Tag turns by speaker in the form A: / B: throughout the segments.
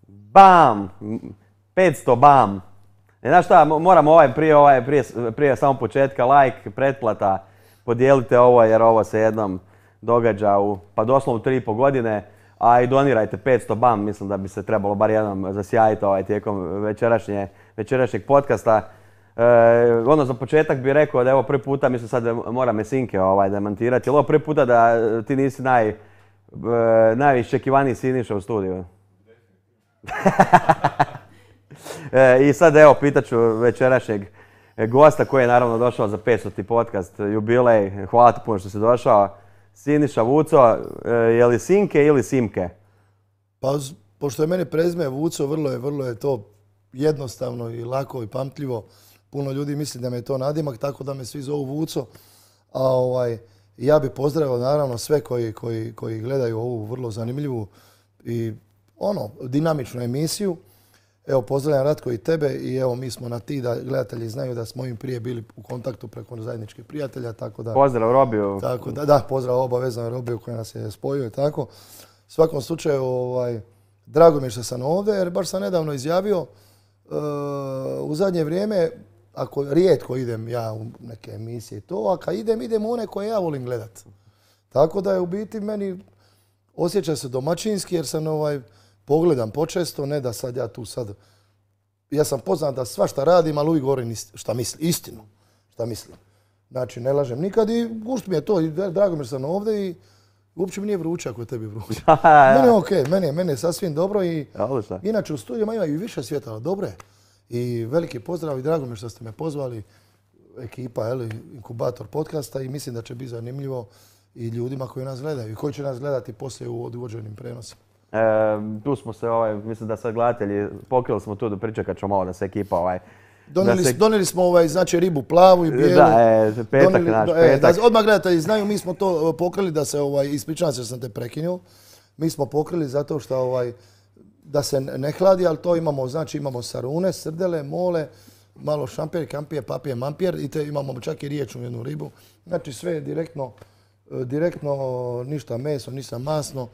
A: Bam! 500 bam! Znaš šta, moramo prije samog početka, like, pretplata, podijelite ovo jer ovo se jednom događa pa doslovno 3,5 godine, a i donirajte 500 bam, mislim da bi se trebalo bar jednom zasjajiti tijekom večerašnjeg podcasta. Za početak bih rekao da je ovo prvi puta, mislim sad moram me Sinke demantirati, je li ovo prvi puta da ti nisi najiščekivaniji Siniša u studiju? I sad evo, pitaću večerašnjeg gosta koji je naravno došao za 500. podcast, jubilej. Hvala ti puno što si došao. Siniša Vuco, je li Sinke ili Simke?
B: Pa, pošto je meni prezime Vuco, vrlo je to jednostavno i lako i pamtljivo. Puno ljudi misli da me je to nadimak, tako da me svi zovu Vuco. Ja bih pozdravio naravno sve koji gledaju ovu vrlo zanimljivu i dinamičnu emisiju. Evo, pozdravljam Ratko i tebe i evo, mi smo na ti da gledatelji znaju da smo im prije bili u kontaktu preko zajedničkih prijatelja, tako da...
A: Pozdrav Robiju.
B: Tako da, pozdrav obavezno Robiju koji nas je spojio i tako. U svakom slučaju, drago mi je što sam ovdje jer baš sam nedavno izjavio u zadnje vrijeme, ako rijetko idem ja u neke emisije i to, a kad idem u one koje ja volim gledat. Tako da je u biti meni osjeća se domaćinski jer sam pogledam počesto, ne da sad ja sam poznat da svašta radim, ali uvijek govorim šta mislim, istinu, šta mislim. Znači, ne lažem nikad i gušt mi je to i drago mi je što sam ovdje i uopće mi nije vruće ako je tebi vruće. Mene je okej, mene je sasvim dobro i inače u studijima ima i više svjetala, dobro je. I veliki pozdrav i drago mi je što ste me pozvali, ekipa, Inkubator podcasta i mislim da će biti zanimljivo i ljudima koji nas gledaju i koji će nas gledati poslije u odvođenim prenosima.
A: Tu smo se, mislim da sad gledatelji, pokrili smo tu da pričekat ćemo malo da se ekipa
B: Donijeli smo znači ribu plavu i bijelu.
A: Da, petak naš, petak.
B: Odmah gledatelji znaju, mi smo to pokrili da se, ispričavam se što sam te prekinuo, mi smo pokrili zato što da se ne hladi, ali to imamo, znači imamo sarune, srdele, mole, malo šampir, kampije, papije, mampir i te imamo čak i riječnu jednu ribu. Znači sve je direktno, ništa meso, ništa masno.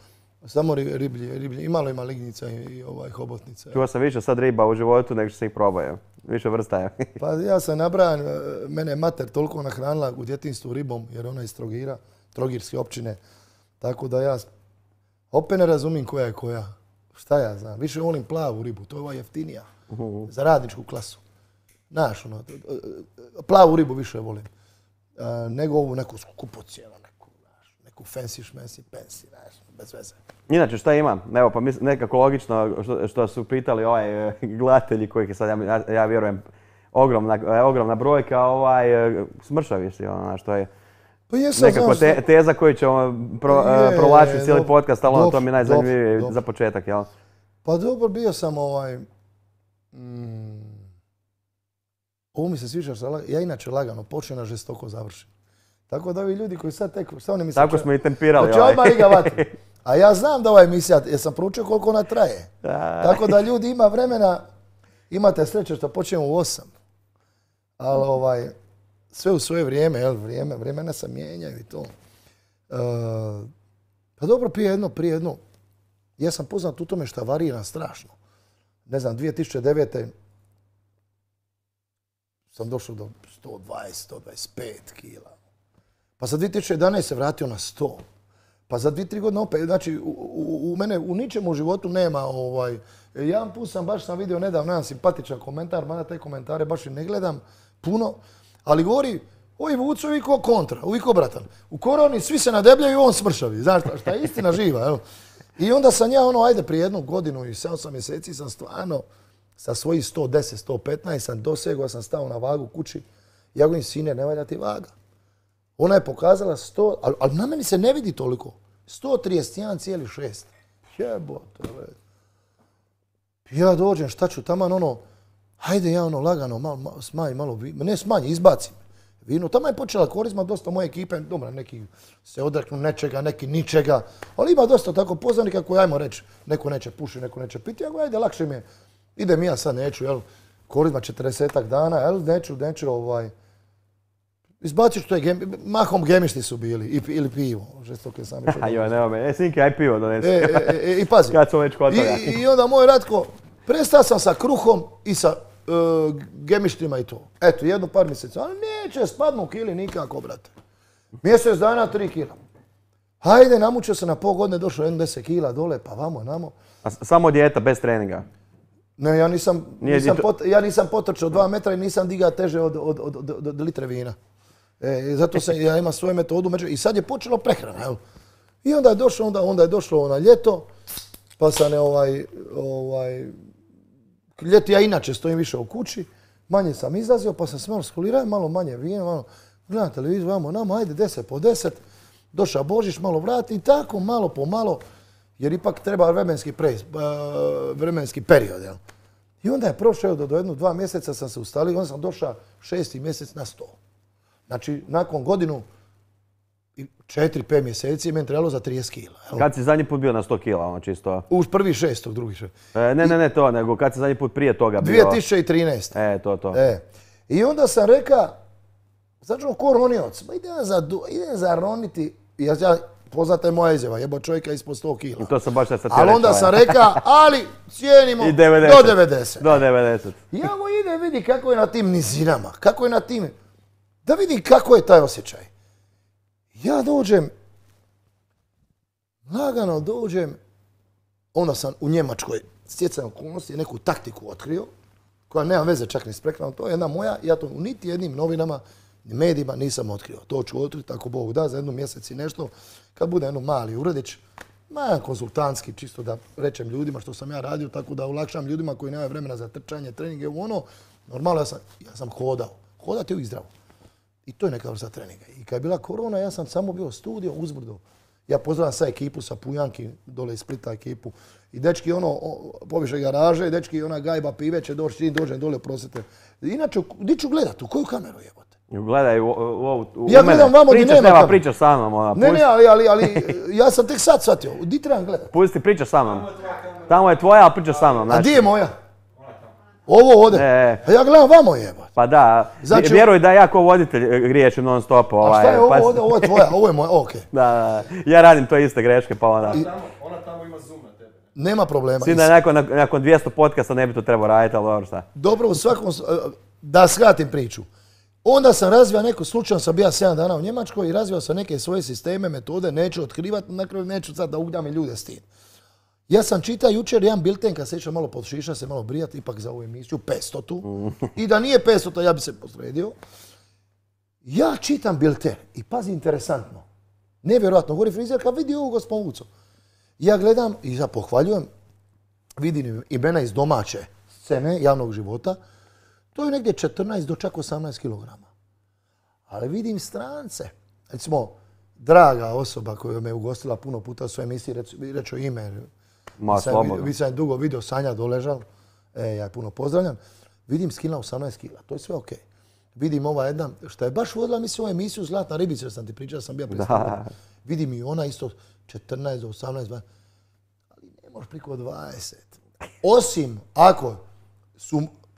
B: Samo riblje, i malo ima lignica i hobotnica.
A: Čuo sam više sad riba u životu nego što se ih probaju. Više vrsta je.
B: Pa ja sam nabrajan, mene je mater toliko nahranila u djetinjstvu ribom, jer ona je iz Trogira, Trogirske općine. Tako da ja opet ne razumijem koja je koja. Šta ja znam, više volim plavu ribu, to je ova jeftinija. Za radničku klasu. Znaš, plavu ribu više volim. Nego ovu neku skupocijenu, neku fancy šmensi, pensy, znaš, bez veze.
A: Inače, šta ima? Evo, pa nekako logično što su pitali gledatelji kojih je sad, ja vjerujem, ogromna brojka, smršavi si, što je nekako teza koju ćemo provlačiti cijeli podcast, ali to mi je najzanimljivije za početak, jel?
B: Pa dobro, bio sam ovo mi se sviđa što ja inače lagano počnem, a žestoko završim. Tako da ovi ljudi koji sad tek, šta oni misle?
A: Tako smo i tempirali.
B: Hoće odmah iga vatru. A ja znam da ova emisija, jer sam proučio koliko ona traje. Tako da ljudi ima vremena, imate sreće što počnemo u 8. Ali sve u svoje vrijeme, vremena se mijenjaju i to. Pa dobro, prije jedno. Ja sam poznat u tome što varira strašno. Ne znam, 2009. sam došao do 120, 125 kila. Pa za 2011 se vratio na 100. Pa za 2-3 godine opet, znači u mene u ničemu u životu nema jedan put sam vidio nedavno jedan simpatičan komentar, mada te komentare baš i ne gledam puno, ali govori, oj Vuco, uvijek kontra, uvijek obratan. U koroni svi se nadebljaju, on smršavi, znaš šta je istina živa, evo. I onda sam ja ajde prije jednu godinu i 7 mjeseci sam stvarno sa svojih 110, 115 sam dosegao, sam stao na vagu kući, ja govorim, sine, ne valja ti vaga. Ona je pokazala 100, ali na meni se ne vidi toliko. 131,6. Jebote. Ja dođem, šta ću taman hajde ja lagano, smanji malo vino. Ne smanji, izbacim vino. Tamo je počela korizma dosta moje ekipe. Dobro, neki se odreknu nečega, neki ničega. Ali ima dosta tako poznanika koji, ajmo reći, neko neće puši, neko neće piti. Ajde, lakše mi je. Idem ja sad, neću, korizma 40-ak dana, neću, Izbaciš to je mahom gemišti su bili, ili pivo, žestoke sam još.
A: Joj, nema me. Sinke, aj pivo donesi.
B: I pazi.
A: Kad smo već kod toga.
B: I onda moj Ratko, prestao sam sa kruhom i sa gemištima i to. Eto, jedno par mjeseca, ali neće spadnu kili nikako, brate. Mjesec dana 3 kila. Hajde, namučio se na pol godine, došlo 10 kila dole, pa vamo, namo.
A: A samo dijeta, bez treninga?
B: Ne, ja nisam potrčao 2 metra i nisam digao teže od litre vina. Zato ja imam svoju metodu i sad je počelo prehrana. Jel? I onda je došlo na ljeto, pa sam ljeti ja inače stojim više u kući, manje sam izlazio, pa sam se malo skulirao, malo manje vina, malo gledam televiziju, vamo nama, ajde 10 po 10, došao Božić, malo vrati i tako malo po malo, jer ipak treba vremenski period. Jel? I onda je prošao do 1-2 mjeseca sam se ustalio, onda sam došao 6. mjesec na 100. Znači, nakon godinu i 4-5 mjeseci meni trebalo za 30 kila. Jel?
A: Kad si zadnji put bio na 100 kila, ono čisto?
B: Uz 1.6., drugi 6.
A: Ne to, nego kad si zadnji put prije toga bio?
B: 2013.
A: To.
B: I onda sam rekao, sad ćemo ko ronioc, idem zaroniti, ja poznata je moja izjava, jebo čovjeka ispod 100 kila.
A: I to sam baš sad ti
B: ali onda sam rekao, ali cijenimo do 90.
A: Do 90.
B: Ja mu idem vidi kako je na tim nizinama, kako je na tim, da vidi kako je taj osjećaj. Ja dođem, lagano dođem, onda sam u Njemačkoj stjecajem okolnosti neku taktiku otkrio, koja nema veze čak ni s prehranom, to je jedna moja, ja to u niti jednim novinama, ni medijima nisam otkrio. To ću otkriti ako Bog da za 1 mjesec i nešto, kad bude jedan mali uredić, konzultantski, čisto da rečem ljudima što sam ja radio, tako da olakšam ljudima koji nemaju vremena za trčanje, treninge, normalno ja sam hodao. Hodati uvijek zdravo. I to je neka vrsta treninga. I kad je bila korona, ja sam samo bio studio uzbrdo. Ja pozdravljam sa ekipu, sa Pujanki, dole iz Splita ekipu. I dečki poviše garaže, i dečki gajba pive će doći, čim dođem dole, prosite. Inače, di ću gledat, u koju kameru jebote?
A: Gledaj u
B: ja gledam vamo gdje nema kameru.
A: Pričaš sa mnom.
B: Ne, ali ja sam tek sad shvatio, di trebam gledat?
A: Pusti, pričaš sa mnom. Tamo je tvoja, ali pričaš sa mnom.
B: A di je moja? Ovo ovdje. A ja gledam vamo jebate.
A: Pa da, vjeruj da ja ko voditelj griješim non stop.
B: A šta je ovo ovdje? Ovo je tvoja, ovo je moja, okej.
A: Da, ja radim to iste greške, pa onda.
C: Ona tamo ima zoom na tebe.
B: Nema problema.
A: Svi da nakon 200 podcasta ne bi to trebao raditi, ali dobro šta.
B: Dobro, u svakom, da shvatim priču. Onda sam razvio neko, slučajno sam bio 7 dana u Njemačkoj i razvio sam neke svoje sisteme, metode, neću otkrivati, na kraju neću sad da ugnjam ljude s tim. Ja sam čitao jučer jedan bilten, kad se išao malo pod šiša, se malo brijati, ipak za ovu emisiju, 500. I da nije 500, ja bi se posredio. Ja čitam bilten i pazi, interesantno. Nevjerojatno, govori frizerka, vidi ovu gospodicu. Ja gledam i ja pohvaljujem, vidim imena iz domaće scene, javnog života. To je negdje 14 do čak 18 kilograma. Ali vidim strance. Recimo, draga osoba koja me ugostila puno puta u svojoj emisiji, reću ime. Vi sam dugo vidio Sanja Doležal, ja je puno pozdravljam. Vidim skila 18 kila, to je sve okej. Vidim ova jedna, što je baš vodila mi svoju emisiju Zlatna ribica, sam ti pričao, sam bio predstavljen. Vidim i ona isto 14 do 18, ali ne možeš priko 20. Osim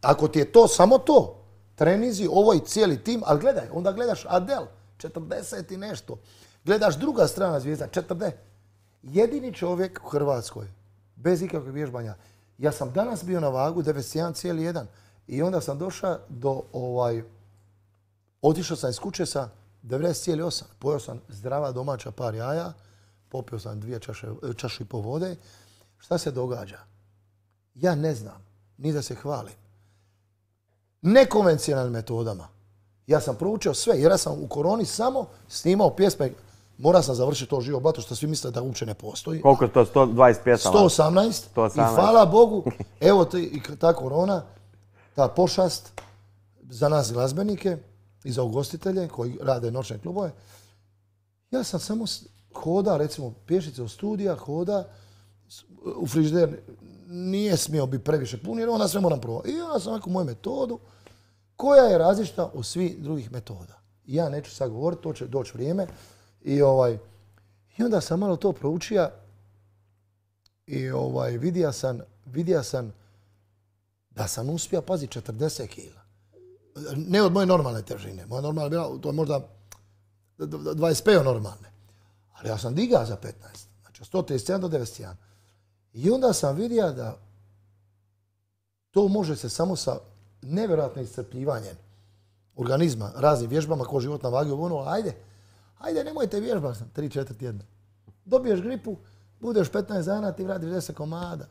B: ako ti je to samo to, trenizi, ovo i cijeli tim, ali gledaj, onda gledaš Adel, 40 i nešto. Gledaš druga strana zvijezda, 40. Jedini čovjek u Hrvatskoj, bez ikakvog vježbanja. Ja sam danas bio na vagu 91,1 i onda sam došao do otišao sam iz kuće sa 90,8. Pojeo sam zdrava domaća par jaja, popio sam 2 čaše i pol vode. Šta se događa? Ja ne znam, ni da se hvalim. Nekonvencionalnim metodama. Ja sam proučio sve, jer ja sam u koroni samo snimao pjesme. Morao sam završiti to živo blato, što svi misle da uopće ne postoji.
A: Koliko je to? 120 pjesama?
B: 118. I hvala Bogu, evo ta korona, ta pošast za nas glazbenike i za ugostitelje koji rade noćne klubove. Ja sam samo hoda, recimo pješice od studija, hoda, u frižider nije smio biti previše pun jer onda sve moram probati. I onda sam neku moju metodu koja je različita od svih drugih metoda. Ja neću sad govoriti, to će doći vrijeme. I onda sam malo to proučio i vidio sam da sam uspio, pazi, 40 kila. Ne od moje normalne težine. Moja normalna bila, to je možda 25 normalne. Ali ja sam digao za 15. Znači, 137 do 91. I onda sam vidio da to može se samo sa nevjerojatnim iscrpljivanjem organizma, raznim vježbama, ko život na vagi, ajde, nemojte vježbati 3-4 tjedna. Dobiješ gripu, budeš 15 dana, ti vratiš 10 komada.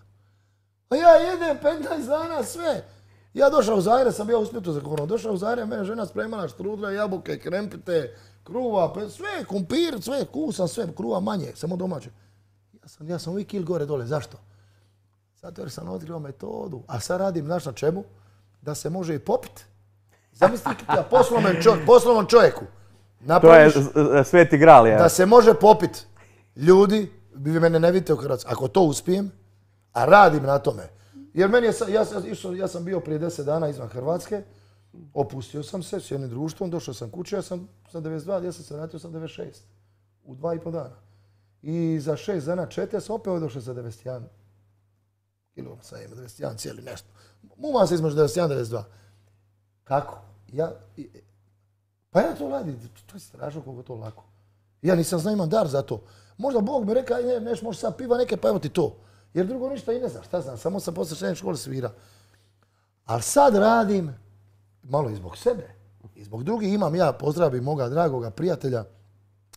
B: A ja jedem 15 dana sve. Ja došao u Zagreb, sam bio u Splitu za koronu. Došao u Zagreb, mene žena spremala štrudle, jabuke, krempite, kruva, sve, kumpir, sve, kusam, sve, kruva manje, samo domaće. Ja sam uvijek kil gore dole, zašto? Zato jer sam otkrio metodu, a sad radim, znaš na čemu? Da se može i popiti. Zamislite ja poslovnom čovjeku.
A: To je sveti gral, ja.
B: Da se može popiti. Ljudi, vi mene ne vidite u Hrvatskoj. Ako to uspijem, a radim na tome. Jer meni ja sam bio prije 10 dana izvan Hrvatske, opustio sam se s jednim društvom, došao sam kući, ja sam sa 92, ja sam se vratio sa 96. U 2,5 dana. I za 6 dana, 4, ja sam opet došao sa 91. Kilom sam imao, 91 cijeli nešto. Muma se između 91 i 92. Kako? Pa ja to radim, to je strašno koliko to lako. Ja nisam znao, imam dar za to. Možda Bog mi rekao, neš možeš sad piva neke, pa evo ti to. Jer drugo ništa i ne znam, šta znam, samo sam poslije srednje škole svira. Ali sad radim, malo i zbog sebe, i zbog drugih. Imam ja, pozdravim moga dragoga prijatelja,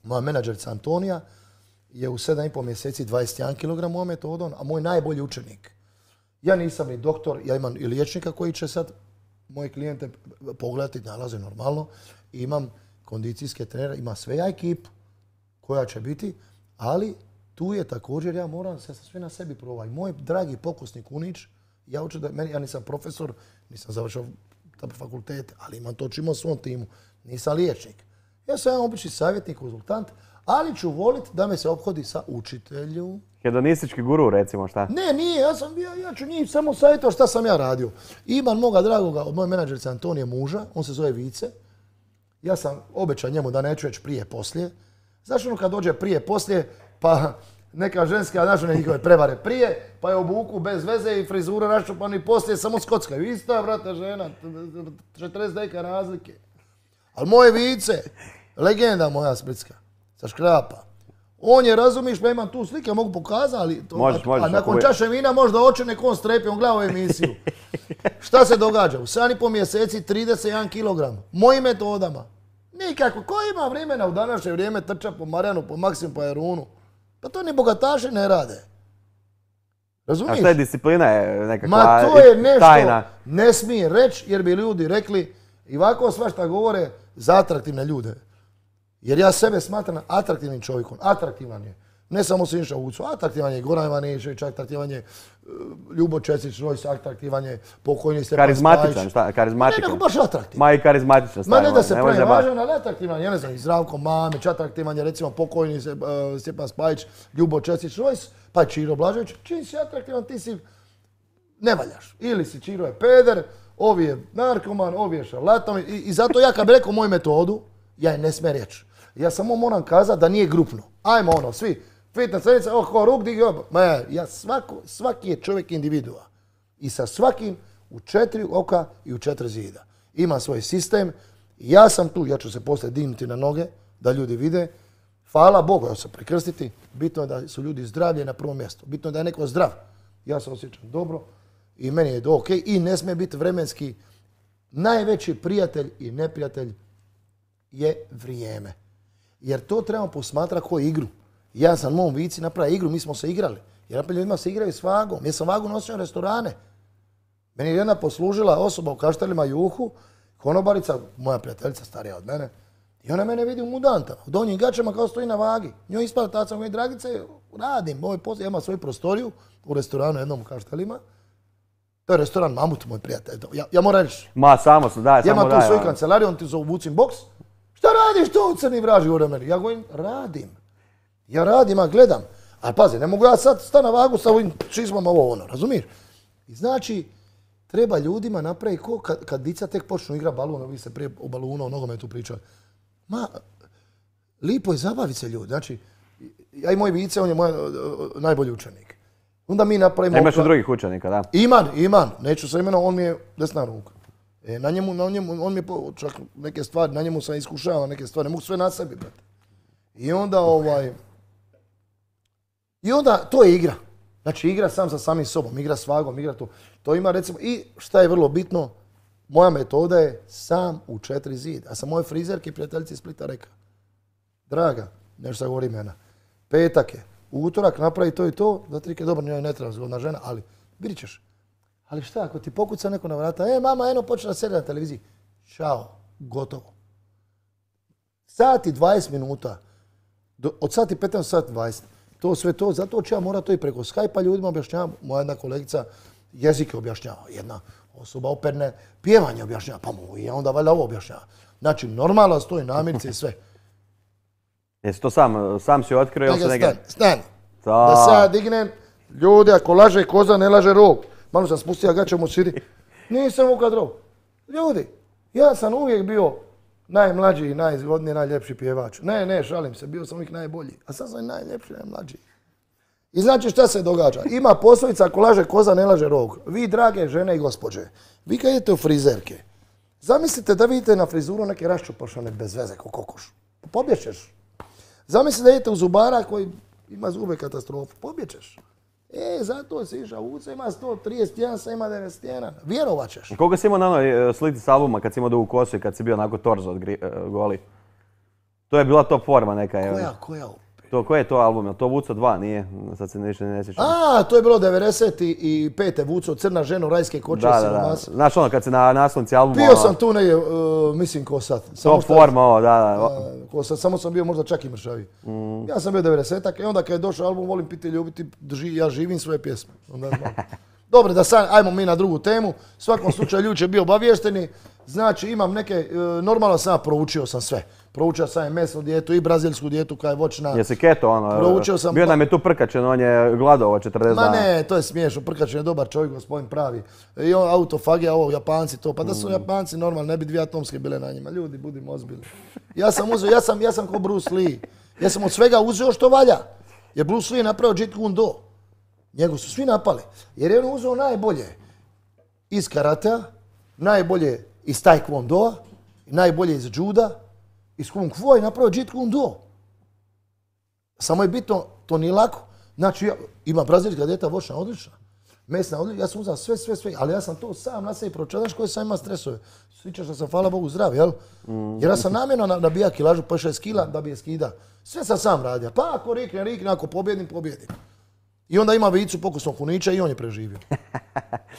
B: moja menadžerica Antonija, je u 7,5 mjeseci 21 kg mojom metodom, a moj najbolji učenik. Ja nisam ni doktor, ja imam i liječnika koji će sad moje klijente pogledati, nalaze normalno. I imam kondicijske trenere, ima sve ja ekipu koja će biti, ali tu je također ja moram se sve na sebi probati. Moj dragi pokusni Kunić, ja nisam profesor, nisam završao fakultete, ali imam to čimo u svom timu. Nisam liječnik. Ja sam obični savjetnik, konzultant, ali ću voliti da me se ophodi sa učitelju.
A: Hedonistički guru, recimo, šta?
B: Ne, nije, ja ću njih samo savjetovati šta sam ja radio. Imam moga dragoga od moje menadžerice Antonije muža, on se zove Vice. Ja sam obećao njemu da neću već prije poslije. Znaš ono kad dođe prije poslije, pa neka ženska, znaš one njihove prevare prije, pa je obuku bez veze i frizura raščupani poslije, samo skockaju. Ista, brate, žena, 40 deka razlike. Ali moje Vice, legenda moja splitska, sa Škrapa, on je, razumiješ, pa imam tu slike, mogu pokazati, ali a nakon čaše vina možda oči nek on strepi, on gleda u emisiju. Šta se događa? U 7,5 mjeseci 31 kg. Mojim metodama. Nikako. Ko ima vremena u današnje vrijeme trča po Marjanu, po Maksimu, po Jarunu? Pa to ni bogataši ne rade. Razumiješ?
A: A šta je disciplina? Je nekakva
B: tajna? Ma to je nešto
A: tajna.
B: Ne smije reći jer bi ljudi rekli i ovako svašta govore za atraktivne ljude. Jer ja sebe smatram atraktivnim čovjekom. Atraktivan je. Ne samo Siniša Vucu, atraktivan je Goran Ivanišević, atraktivan je Ljubo Česić-Rojs, atraktivan je pokojni Stjepan Spajić.
A: Karizmatičan, šta? Karizmatičan.
B: Ne, nego baš atraktivan.
A: Ma i karizmatičan
B: Ma ne da se pravi važan, ali atraktivan. Ja ne znam, i Zdravko Mamić, atraktivan je recimo pokojni Stjepan Spajić, Ljubo Česić-Rojs, pa je Čiro Blažević. Čim si atraktivan, ti si ne valjaš. Ili si Čiro je peder, ovi je narkoman, ovi je šarlatan. I zato ja kad bi rekao moju metodu, ja je ne smije reći. Ja samo moram kazati da nije grupno. Ajmo ono, svi. Fitness trenica, ko ruk digi, svaki je čovjek individua. I sa svakim u 4 oka i u 4 zida. Ima svoj sistem. Ja sam tu, ja ću se poslije dignuti na noge, da ljudi vide. Hvala Bogu, ja ću se prekrstiti. Bitno je da su ljudi zdravlje na prvom mjestu. Bitno je da je neko zdrav. Ja se osjećam dobro i meni je to ok. I ne smije biti vremenski. Najveći prijatelj i neprijatelj je vrijeme. Jer to trebamo posmatrati kao igru. Ja sam mom Vici napravio igru, mi smo se igrali. Jer naprijed ljudima se igraju s vagom. Ja sam vagu nosio u restorane. Meni je jedna poslužila osoba u Kaštelima Juhu, konobarica, moja prijateljica starija od mene. I ona mene vidi u mudantama, u donjim gačama kao stoji na vagi. Njoj ispada taca moje dragice, radim, ja imam svoju prostoriju u restoranu jednom u Kaštelima. To je restoran Mamut, moj prijatelj. Ja moram reći.
A: Ma, samo su, daj,
B: ja
A: samo daj.
B: imam tu svoju kancelariju, on ti zove Vucin box. Šta radiš tu, crni vraži u meni? Ja govorim, radim. Ja radim, a gledam. A pazi, ne mogu ja sad stati na vagu sa ovim čizmama ovo ono, razumiješ? I znači, treba ljudima napraviti ko kad dica tek počnu igrati balon, vi ste prije o balonu, o nogometu pričali. Ma, lipo je zabaviti se ljudi. Znači, ja i moj Vice, on je moj najbolji učenik. Onda mi napravimo...
A: Imaš i drugih učenika, da?
B: Imam. Neću se imenovati, on mi je desna ruka. Na njemu, on mi je čak neke stvari, na njemu sam iskušava neke stvari, ne mogu sve na sebi, brate. I onda to je igra. Znači igra sam sa samim sobom, igra s vagom, igra to. To ima recimo, i šta je vrlo bitno, moja metoda je sam u 4 zida. Ja sam moje frizerke i prijateljici iz Splita rekao, draga, nešto sad govori imena, petak je, utorak napravi to i to, za 3 dobro, ne treba zgodna žena, ali vidit ćeš. Ali šta, ako ti pokuca neko na vrata, mama, eno počela serija na televiziji, čao, gotovo. Sat i 20 minuta, od sati 15 do sati 20, to sve to, zato ću ja morat to i preko Skype-a ljudima objašnjava, moja jedna kolegica jezike objašnjava, jedna osoba operne pjevanje objašnjava, pa mu i onda valjda ovo objašnjava. Znači, normalno stoji namirnice i sve.
A: Jesi to sam si otkrio?
B: Stani. Da se ja dignem, ljudi, ako laže koza, ne laže rog. Malo sam spustio gaće mu sidi. Nisam ukad rog. Ljudi, ja sam uvijek bio najmlađi, najzgodniji, najljepši pjevač. Ne, šalim se, bio sam uvijek najbolji. A sad sam i najljepši, najmlađi. I znači šta se događa? Ima poslovica, ako laže koza, ne laže rog. Vi, drage žene i gospođe, vi kad idete u frizerke, zamislite da vidite na frizuru neke raščupašane bez veze ko kokoš. Pobjećeš. Zamislite da idete u zubara koji ima zube katastrofu. Pobjećeš. Zato si išao uca, ima 131, sad ima 91. Vjerovat ćeš.
A: Koliko si imao na onoj sliti s albuma kad si imao dugu kosu i kad si bio onako torzo od goli? To je bila top forma neka.
B: Koja?
A: Koji je to album? Je to Vuco 2? Nije? Sad se ništa ne sjećam.
B: To je bilo 95. Vuco, Crna žena u rajske koče.
A: Da. Znaš ono kad si na naslovnici albuma...
B: Bio sam tu negdje, mislim ko sad.
A: Top forma ovo, da.
B: Ko sad, samo sam bio možda čak i mršavi. Ja sam bio 90-ak i onda kad je došao album Volim piti ljubiti, ja živim svoje pjesme. Dobro, da sad, ajmo mi na drugu temu. U svakom slučaju ljudi će biti obaviješteni. Znači imam neke, normalno sam proučio sam sve. Proučio sam i mesnu dijetu i brazilsku dijetu koja je voćna.
A: Jesi keto ono?
B: Proučio sam...
A: Bio nam je tu Prkačin, on je gladovao 40 dana.
B: Ma ne, to je smiješno. Prkačin je dobar čovjek, gospodin pravi. I on autofagija, ovo, Japanci to. Pa da su Japanci normalno, ne bi 2 atomske bile na njima. Ljudi, budimo ozbiljni. Ja sam ko Bruce Lee. Ja sam od svega uzeo što valja. Jer Bruce Lee je napravio Jeet Kune Do. Njegu su svi napali. Jer je on uzeo najbolje iz karatea, najbolje iz taekwondoa, najbolje iz juda, iz kung fu i napravio Jeet Kune Do. Samo je bitno, to nije lako. Znači, ima brazilska dijeta voćna, odlična. Mesna, odlična, ja sam uzao sve, ali ja sam to sam na sebi pročeo. Znaš koje sam ima stresove? Sviđa što sam, hvala Bogu, zdrav, jel? Jer ja sam namjerno nabija kilažu po 6 kila da bi je skida. Sve sam radio. Pa ako rikne, ako pobjedim. I onda ima vicu pokusnog kunića i on je preživio.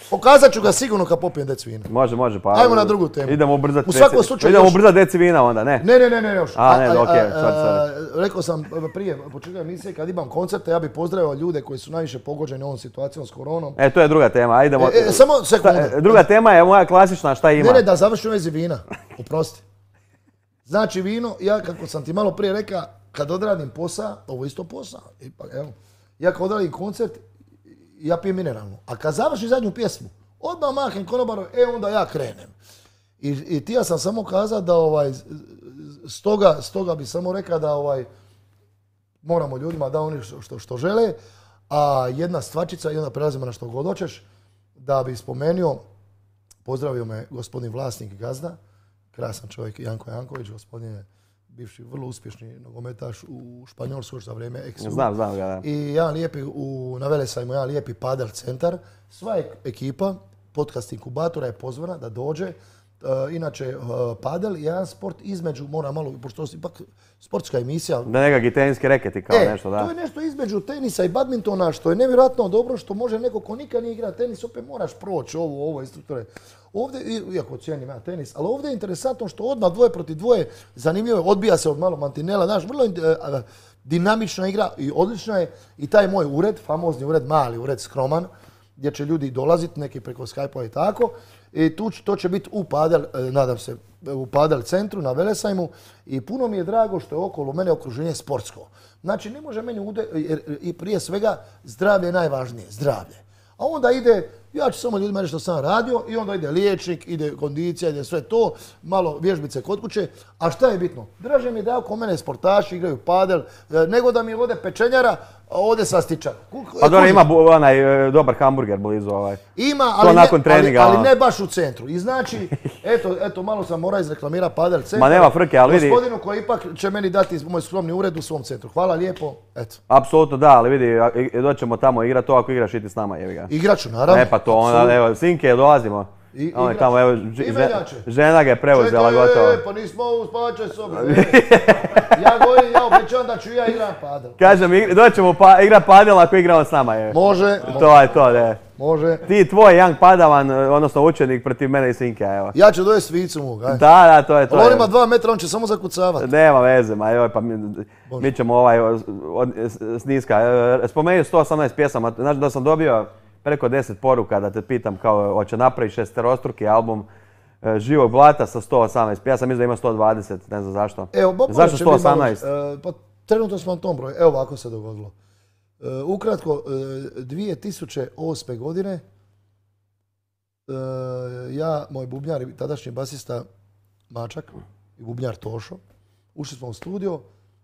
B: Pokazat ću ga sigurno kad popijem deci vina.
A: Može, pa...
B: Ajmo na drugu temu.
A: Idemo ubrzati deci vina onda, ne?
B: Ne, još.
A: Sorry.
B: Rekao sam prije početka emisije, kad imam koncerte, ja bih pozdravio ljude koji su najviše pogođeni ovom situacijom s koronom.
A: To je druga tema, idemo...
B: Samo sekundu.
A: Druga tema je moja klasična, šta ima?
B: Ne, da završim vezi vina. Oprosti. Znači vino, ja kako sam ti malo prije rekao, kad odradim posao, ovo je isto posao. Ja kad odradim koncert, ja pijem mineralnu. A kad završim zadnju pjesmu, odmah mahnem konobaru, onda ja krenem. I ti ja sam samo kazao da stoga bi samo rekao da moramo ljudima da oni što žele, a jedna stvačica i onda prelazimo na što god hoćeš, da bi spomenuo, pozdravio me gospodin vlasnik gazda, krasan čovjek Janko Janković, gospodin je bivši vrlo uspješni nogometaš u Španjolskoj za vrijeme ex-u.
A: Znam ga, da.
B: I jedan lijepi, na Velesajmu, jedan lijepi padel centar. Sva ekipa podcast inkubatora je pozvana da dođe. Inače, padel je jedan sport između, moram malo, pošto je ipak sportska emisija.
A: Da nekakvi teniski reketi kao nešto, da.
B: To je nešto između tenisa i badmintona, što je nevjerojatno dobro, što može neko ko nikad nije igra tenis, opet moraš proći ovo instruktore. Ovdje, iako cijenim ja tenis, ali ovdje je interesantno što odmah 2 protiv 2, zanimljivo je, odbija se od malo mantinela, znaš, vrlo dinamična igra i odlična je i taj moj ured, famozni ured, mali ured, skroman, gdje će ljudi dolaziti, neki preko Skype-a i tako. I to će biti u padel, nadam se, u padel centru na Velesajmu i puno mi je drago što je okolo mene okruženje sportsko. Znači ne može meni i prije svega zdravlje je najvažnije, zdravlje. A onda ide ja ću samo ljudima reći što sam radio i onda ide liječnik, ide kondicija, ide sve to, malo vježbice kod kuće. A šta je bitno? Draže mi je da oko mene sportaši igraju padel, nego da mi ode pečenjara, a ode sastičar.
A: Pa dobro, ima onaj dobar hamburger blizu ovaj.
B: Ima,
A: nakon treninga,
B: ali ne baš u centru. I znači, eto malo sam morao izreklamirati padel centar.
A: Ma nema frke, ali vidi.
B: Gospodinu koji ipak će meni dati moj skromni ured u svom centru. Hvala lijepo, eto.
A: Apsolutno da, ali vidi, doćemo tamo igrati to ako igraš i ti s nama, jebi ga.
B: Igraću, naravno.
A: Pa to onda, evo, sinke, dolazimo. On je tamo, evo, žena ga je preuzela gotovo.
B: Pa nismo u spavačoj sobi. Ja govorim, ja obećavam da ću ja igrat padel.
A: Kažem, doćemo igrat padel ako igramo s nama, je.
B: Može.
A: To je to, ne.
B: Može.
A: Ti tvoj young padavan, odnosno učenik protiv mene i sinke, evo.
B: Ja ću dovesti svicu mu, aj.
A: Da, to je to.
B: Ali on ima 2 metra, on će samo zakucavati.
A: Nema veze, ma joj, pa mi ćemo sniska. Spomenuo 118 pjesama, znači da sam dobio preko 10 poruka da te pitam kao hoće napraviti 6-struki album Živog blata sa 118. Ja sam mislim da ima 120, ne znam zašto.
B: Evo,
A: zašto 118?
B: Pa trenutno smo na tom broju, evo ovako se dogodilo. Ukratko, 2008. godine ja, moj bubnjar i tadašnji basista Mačak i bubnjar Tošo, ušli smo u studio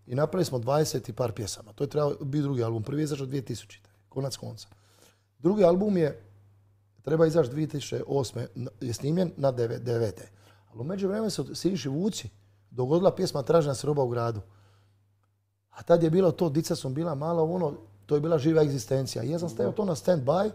B: i napravili smo 20 i par pjesama. To je trebao biti drugi album, prvi je izašao 2000. Konac konca. Drugi album treba izaći 2008. je snimljen na 9. Ali u međuvremenu se Siniši Vuci dogodila pjesma Tražena se roba u gradu. A tad je bilo to, dica sam bila mala, to je bila živa egzistencija. I ja sam stavio to na stand-by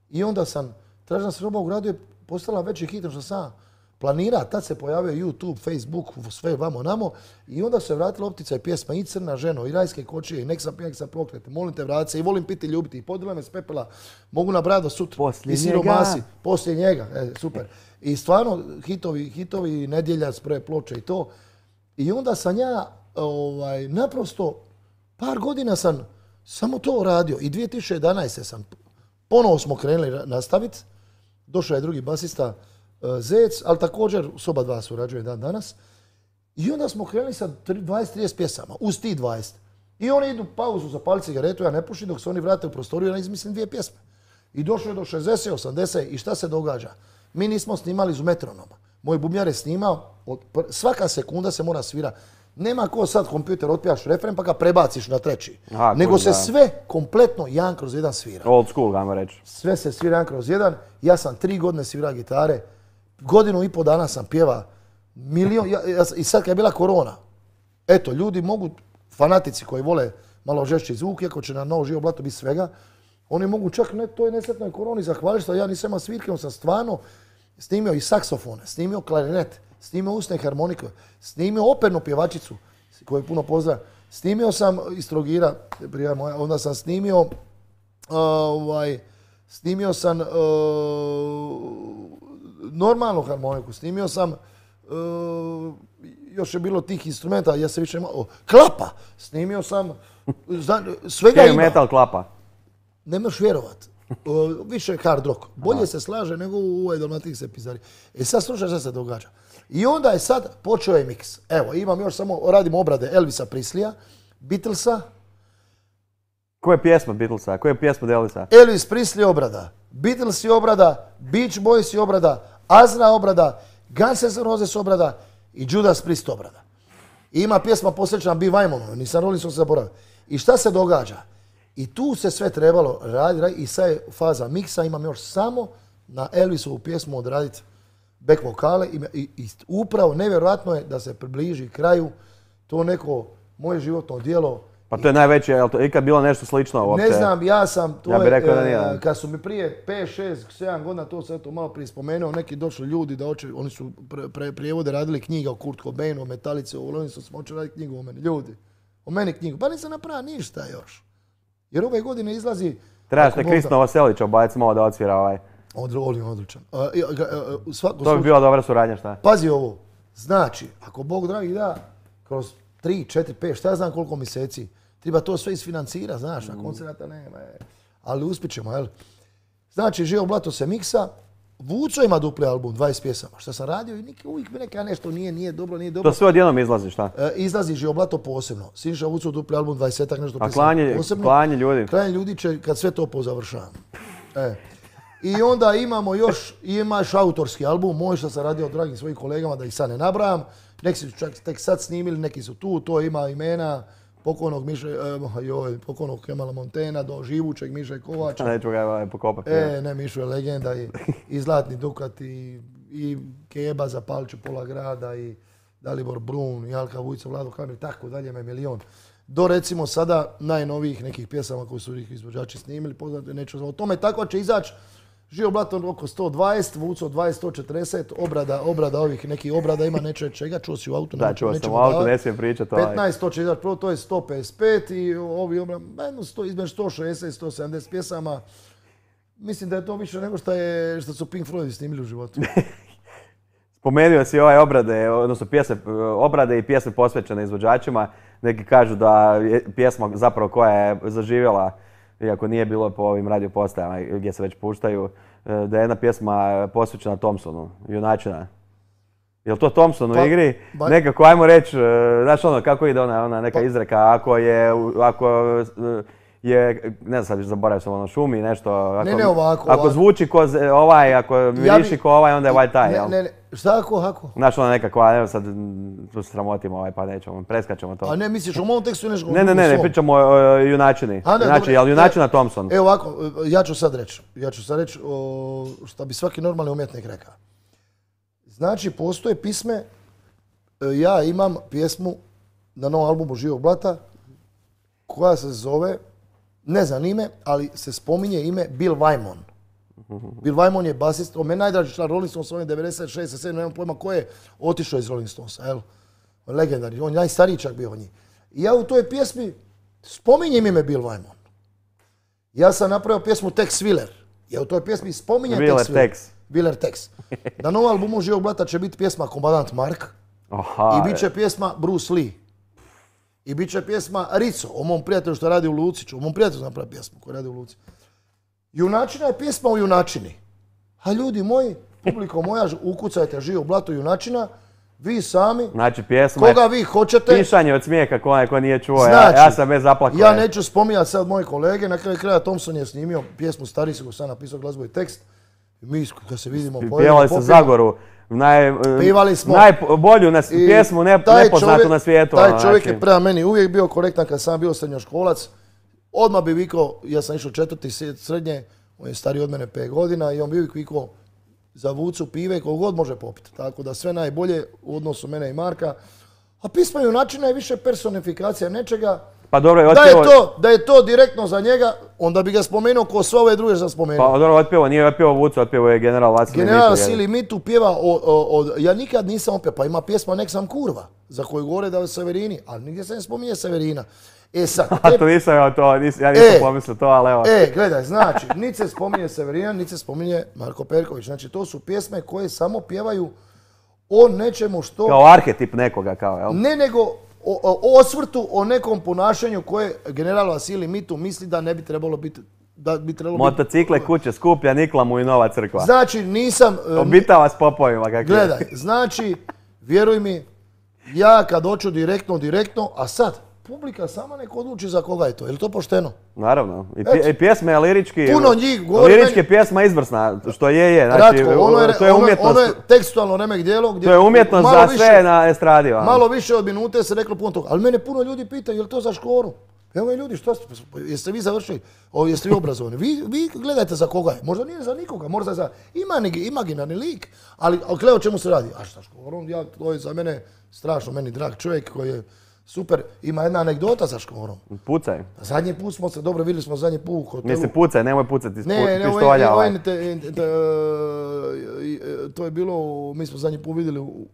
B: i onda sam, Tražena se roba u gradu je postala veći hit što sam planira. Tad se pojavio YouTube, Facebook, sve vamo namo i onda se vratila optica i pjesma i Crna ženo, i Rajske kočije, i Nek sam pijak sa proklete, molim te vrati se, i Volim piti i ljubiti, i Podila me s pepela, mogu nabrati do sutra.
A: Poslije
B: i Siromasi, poslije njega, super. I stvarno hitovi Nedjeljac, prve ploče i to. I onda sam ja naprosto par godina sam samo to radio i 2011. sam ponovo smo krenuli nastaviti. Došao je drugi basista Zec, ali također soba 2 surađuje dan danas. I onda smo krenuli sa 20-30 pjesama, uz ti 20. I oni idu pauzu, zapali cigaretu, ja ne pušim, dok se oni vrate u prostoriju, ja izmislim 2 pjesme. I došlo je do 60, 80 i šta se događa? Mi nismo snimali iz metronoma. Moj bubnjar je snimao, svaka sekunda se mora svira. Nema ko sad kompjuter otpijaš refren pa ga prebaciš na treći. Nego se sve kompletno 1/1 svira.
A: Old school, ajmo reći.
B: Sve se svira 1/1. Ja sam 3 godine svirao gitare. 1,5 godina dana sam pjeva. I sad kad je bila korona, eto, ljudi mogu, fanatici koji vole malo žešći zvuk, iako će na Novo živo blato biti svega, oni mogu čak toj nesretnoj koroni zahvaliti što ja nisam imao svirke, on sam stvarno snimio i saksofone, snimio klarinet, snimio usne harmonike, snimio opernu pjevačicu, koju puno pozdravljam. Snimio sam iz Trogira, onda sam snimio normalnu harmoniku, snimio sam, još je bilo tih instrumenta, ja se više imao, klapa, snimio sam, svega ima.
A: Metal klapa.
B: Ne možeš vjerovat. Više hard rock. Bolje se slaže nego u ovoj Dalmatinske pizari. Sad slušaj šta se događa. I onda je sad počeo je miks. Evo, imam još samo, radim obrade Elvisa Preslija, Beatlesa.
A: Koje pjesma Beatlesa? Koje pjesma Elvisa?
B: Elvis Presley obrada, Beatles je obrada, Beach Boys je obrada, Azra obrada, Guns N' Roses obrada i Judas Priest obrada. I ima pjesma posvećena Bi Weimanu, nisam Rolling Stones zaboravio. I šta se događa? I tu se sve trebalo raditi i sad je faza miksa, imam još samo na Elvisovu pjesmu odraditi back vokale i upravo nevjerojatno je da se približi kraju to neko moje životno djelo.
A: Pa to je najveće, je li to ikad bilo nešto slično uopće?
B: Ne znam, ja sam,
A: ja bih rekao da nije.
B: Kad su mi prije 5, 6, 7 godina, to sam malo prije spomenuo, neki došli ljudi da hoće, oni su prijevode radili knjiga o Kurt Cobainu, o Metalici, o Lorenzu, smo hoće raditi knjigu o meni. Ljudi, o meni knjigu, pa nisam napravio ništa još. Jer ove godine izlazi...
A: Trebaš te Kristina Vaselića obaviti malo da odsvira ovaj.
B: Odličan.
A: To bi bila dobra suradnja, šta?
B: Pazi ovo, znači, ako Bog dragi da, kroz 3, 4, 5, šta ja znam koliko mjeseci, treba to sve isfinancira, znaš, a koncerata nema. Ali uspit ćemo, jel? Znači, Živo blato se miksa, Vuco ima dupli album, 20 pjesama. Što sam radio i uvijek mi neka nešto nije dobro.
A: To sve odjednom izlazi, šta?
B: Izlazi Živo blato posebno. Siniša Vuco dupli album, 20-ak nešto pjesama posebno.
A: Klanje ljudi?
B: Klanje ljudi će kad sve to pozavršavam. I onda imamo još, imaš autorski album, moj što sam radio od dragim svojim kolegama, da ih sad ne nabrajam. Neki su čak tek sad snimili, neki su tu, to ima imena pokojnog Kemala Montena do živućeg Miše Kovača.
A: Neću ga pokopati.
B: Ne, Mišo je legenda i Zlatni Dukat i Keba za Paliću pola grada i Dalibor Brun i Alka Vujica, Vlado Kamil, tako dalje me milion. Do recimo sada najnovijih nekih pjesama koji su ih izvođači snimili, poznate, neću o tome, tako će izaći Živo Blato oko 120, Vuco 20, 140, obrada ovih nekih obrada ima neće čega, čuo si u autu.
A: Da, čuo sam u autu, ne smijem pričati.
B: 15, to će izaći, prvo to je 155 i ovi obrada, između 160 i 170 pjesama. Mislim da je to više nego što su Pink Floyd snimili u životu.
A: Spomenuo si ovaj obrade i pjesme posvećene izvođačima. Neki kažu da je pjesma zapravo koja je zaživjela, iako nije bilo po ovim radio postajama gdje se već puštaju, da je jedna pjesma posvećena Thompsonu, Junačina. Je li to Thompson u igri? Nekako, ajmo reći, znaš ono, kako ide ona neka izreka, ako je, ne znam sad, zaboravio sam ono, šumi nešto, ako zvuči ko ovaj, ako miriši ko ovaj, onda je ovaj taj, jel?
B: Šta ako?
A: Znaš ono nekako, evo sad tu se sramotimo pa nećemo, preskačemo to.
B: A ne, misliš o mom tekstu nešto?
A: Ne, pričamo o Junačini. Znači, jel Junačina Thompson?
B: Evo ovako, ja ću sad reći što bi svaki normalni umjetnik rekao. Znači, postoje pisme, ja imam pjesmu na novom albumu Živog Blata koja se zove, ne znam ime, ali se spominje ime Bill Wyman. Bill Wyman je basist, on je najdraži član Rolling Stones, on je 96, 97, nemam pojma ko je otišao iz Rolling Stonesa, jel? On je legendarni, on je najstariji čak bio od njih. I ja u toj pjesmi spominjem ime Bill Wyman. Ja sam napravio pjesmu Tex Willer. Ja u toj pjesmi spominjem Tex Willer. Willer Tex. Na novom albumu Živog Blata će biti pjesma Komandant Mark. I bit će pjesma Bruce Lee. I bit će pjesma Rico, o mom prijatelju što radi u Luciću. O mom prijatelju napravi pjesmu koji radi u Luci. Junačina je pjesma o junačini. A ljudi moji, publiko moja, ukucajte Živog Blato Junačina, vi sami,
A: znači, pjesma
B: koga vi hoćete.
A: Pišanje od smijeha ko nije čuo, znači, ja sam bez zaplakao.
B: Ja neću spominjati sad moje kolege, na kraju kraja Thompson je snimio pjesmu Stari se, ko sam napisao glazbu i tekst. Mi kad se vidimo
A: pjevali se Zagoru, najbolju pjesmu nepoznatu na svijetu.
B: Taj čovjek je prema meni uvijek bio korektan kad sam bio srednjoškolac. Odmah bi vikao, ja sam išao 4. srednje, on je stariji od mene 5 godina i on bi uvijek vikao za Vucu pive koliko god može popiti. Tako da sve najbolje u odnosu mene i Marka. A pisma Junačina je više personifikacija nečega.
A: Pa dobro,
B: da je to direktno za njega, onda bi ga spomenuo ko sve ove druge što sam spomenuo.
A: Pa dobro, nije otpjevao Vucu, otpjevao je General Vasili Mitu.
B: General Vasili Mitu pjeva ja nikad nisam opjevao, pa ima pjesma Nek sam kurva, za koju govore da je Severini, ali nigdje se ne spominje Severina. Sad...
A: to nisam ja nisam pomislio to, ali evo.
B: Gledaj, znači, niti se spominje Severina, niti se spominje Marko Perković. Znači, to su pjesme koje samo pjevaju o nečemu što...
A: Kao arhetip nekoga, kao, jel?
B: Ne, nego o osvrtu, o nekom ponašanju koje general Vasili Mitu misli da ne bi trebalo biti...
A: Motocikle, kuće skuplja, nikla mu i nova crkva.
B: Znači, nisam...
A: Obitava s popovima, kako je.
B: Gledaj, znači, vjeruj mi, ja kad hoću direktno, a sad, publika sama nek odluči za koga je to. Je li to pošteno?
A: Naravno. I pjesma je lirički...
B: Puno njih govori...
A: Lirički pjesma izvrsna, što je. Znači, to je umjetnost.
B: Ono je tekstualno remek dijelo gdje...
A: To je umjetnost za sve na estradi.
B: Malo više od minute se reklo puno toga. Ali mene puno ljudi pita, je li to za Škoru? Evo ljudi, što ste, jeste vi završili? Jeste vi obrazovani? Vi gledajte za koga je. Možda nije za nikoga, možda za imaginarni lik. Ali gle o čemu se radi? A šta Škorom? To je za mene strašno, meni drag čovjek koji je super. Ima jedna anegdota sa Škorom.
A: Pucaj.
B: Zadnji put smo se, dobro vidjeli smo zadnji put u hotelu.
A: Mislim pucaj, nemoj pucati iz pištolja.
B: To je bilo, mi smo zadnji put vidjeli u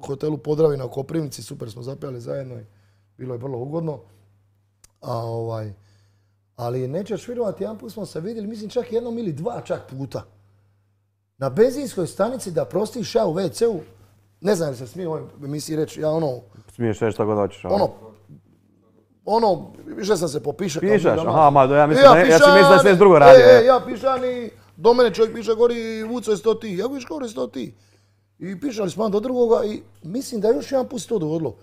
B: hotelu Podravina u Koprivnici, super smo zapjali zajedno i bilo je vrlo ugodno. Ali nećeš vjerovati, jedan put smo se vidjeli, mislim čak jednom ili dva čak puta. Na benzinskoj stanici da prostiš ja u WC-u, ne znam li se smije u ovoj emisiji reći, ja ono...
A: Smiješ reći što god hoćeš.
B: Više sam se popišao.
A: Pišaš? Aha, ja sam mislio da sve drugo radio.
B: Ja pišan i do mene čovjek piše gori Vuco je 100 ti. Ja viš gore 100 ti. I pišali smo do drugoga i mislim da još jedan put se to dogodilo.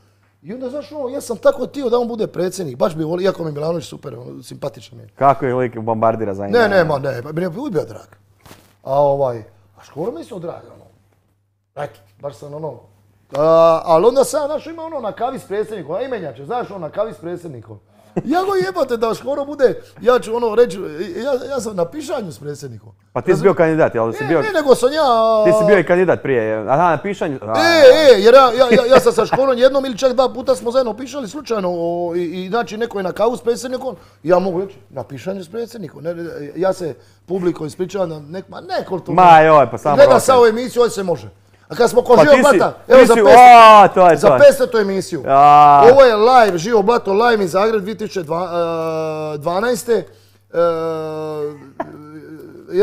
B: I onda znaš ja sam tako htio da on bude predsjednik. Baš bi volio, iako mi Milanović super, simpatičan je.
A: Kako je lik bombardira za njega?
B: Ne, meni je bio drag. A Škoro mi su dragi, ono. Eto, baš sam ono. Ali onda sam, znaš, ima ono na kavi s predsjednikom, a imenjače, znaš, ono na kavi s predsjednikom. Ja go jebate da Škoro bude, ja ću ono reći, ja sam na pišanju s predsjednikom.
A: Pa ti si bio kandidat, jel si bio?
B: Ne, nego sam ja...
A: Ti si bio i kandidat prije, aha, na pišanju...
B: Jer ja sam sa Škorom jednom ili čak 2 puta smo zajedno pišali slučajno i znači neko je na kavu s predsjednikom, ja mogu reći na pišanju s predsjednikom. Ja se publiko ispričavam na nekoliko...
A: Ma joj, pa samo...
B: Gleda sa ovu emisiju, ovdje se može. A kad smo ko Živo Blata, evo za 500. emisiju. Ovo je live, Živo Blato live iz Zagreb 2012.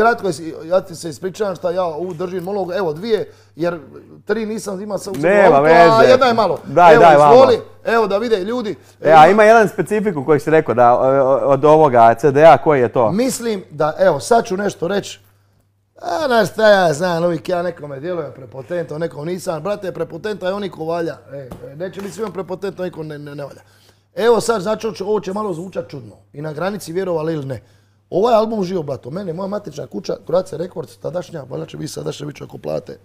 B: Ratko, ja ti se ispričavam šta ja ovu držim monolog, evo 2, jer 3 nisam imao sa auto, a jedna je malo.
A: Daj,
B: izvoli, evo da vide ljudi.
A: A ima jedan specifikum koji si rekao da od ovoga CD-a, koji je to?
B: Mislim da, evo sad ću nešto reći. Znaš šta ja znam, uvijek ja nekome djelujem prepotentno, nekom nisam. Brate, prepotenta je oni ko valja. Neće biti svima prepotentno, niko ne valja. Evo sad, znači ovo će malo zvučat čudno. I na granici vjerovali ili ne. Ovaj album Živo Blato, mene, moja matična kuća, Croatia Records, tadašnja, valjda će biti sadašnja, bit će ako plate.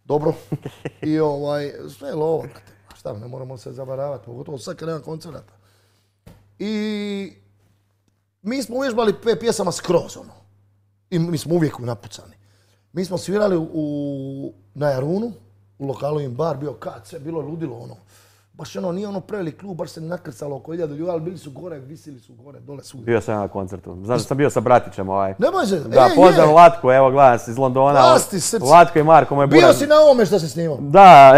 B: Dobro. I sve je lovo, brate. Šta, ne moramo se zavaravati, pogotovo sad kad nema koncerata. I mi smo uvježbali 5 pjesama skroz, ono. I mi smo uvijek napucani. Mi smo svirali na Jarunu, u lokalu im bar, bio kad, sve bilo ludilo, ono. Baš ono, nije ono prevelik klub, baš se nakrcalo oko 1000 ljudi, ali bili su gore, visili su gore, dole svugdje.
A: Bio sam na koncertu. Znaš da sam bio sa bratićem
B: Nemoj se,
A: da, pozdrav Latko, evo gledam iz Londona.
B: Pasti srce.
A: Latko i Marko, moj buraz.
B: Bio si na ovome što se snimao?
A: Da,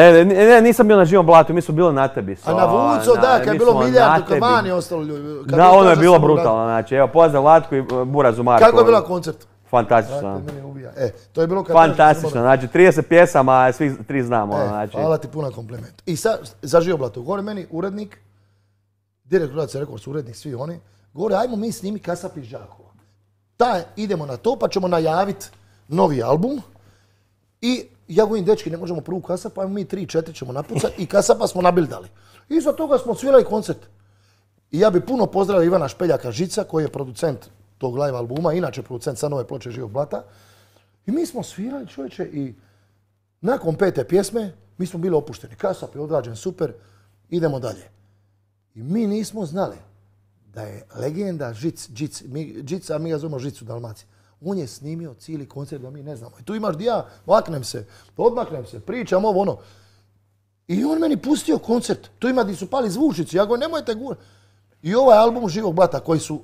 A: nisam bio na Živom Blatu, mi smo bili na tebi.
B: A na Vuco, da, kad je bilo milijardu, kad vani ostalo ljudi.
A: Da, ono je bilo brutalno, znači, evo pozdrav Latko i burazu Marko.
B: Kako je bila koncert?
A: Fantastično.
B: To je bilo kad...
A: Fantastično, znači 30 pjesama, svi 3 znamo.
B: Hvala ti puno kompliment. I sad, za Živo Blato, gore meni urednik, direktor Croatia Records, urednik, svi oni, gore ajmo mi snimi Kasap iz Đakova. Idemo na to pa ćemo najaviti novi album i ja govorim, dečki, ne možemo prvu Kasap, ajmo mi 3-4 ćemo napucati i Kasapa smo nabildali. Iza toga smo svirali koncert. I ja bi puno pozdravio Ivana Špeljaka Žica, koji je producent tog live albuma, inače producent sa nove ploče Živog Blata. I mi smo svirali, čovječe, i nakon 5. pjesme mi smo bili opušteni. Kasap je odrađen super, idemo dalje. I mi nismo znali da je legenda Žica, mi ga zovemo Žicu Dalmaciji. On je snimio cijeli koncert da mi ne znamo. I tu imaš di ja, odmaknem se, pričam ovo ono. I on meni pustio koncert. Tu ima di su pali zvučnici. Ja govorim, nemojte gurati. I ovaj album Živog Blata koji su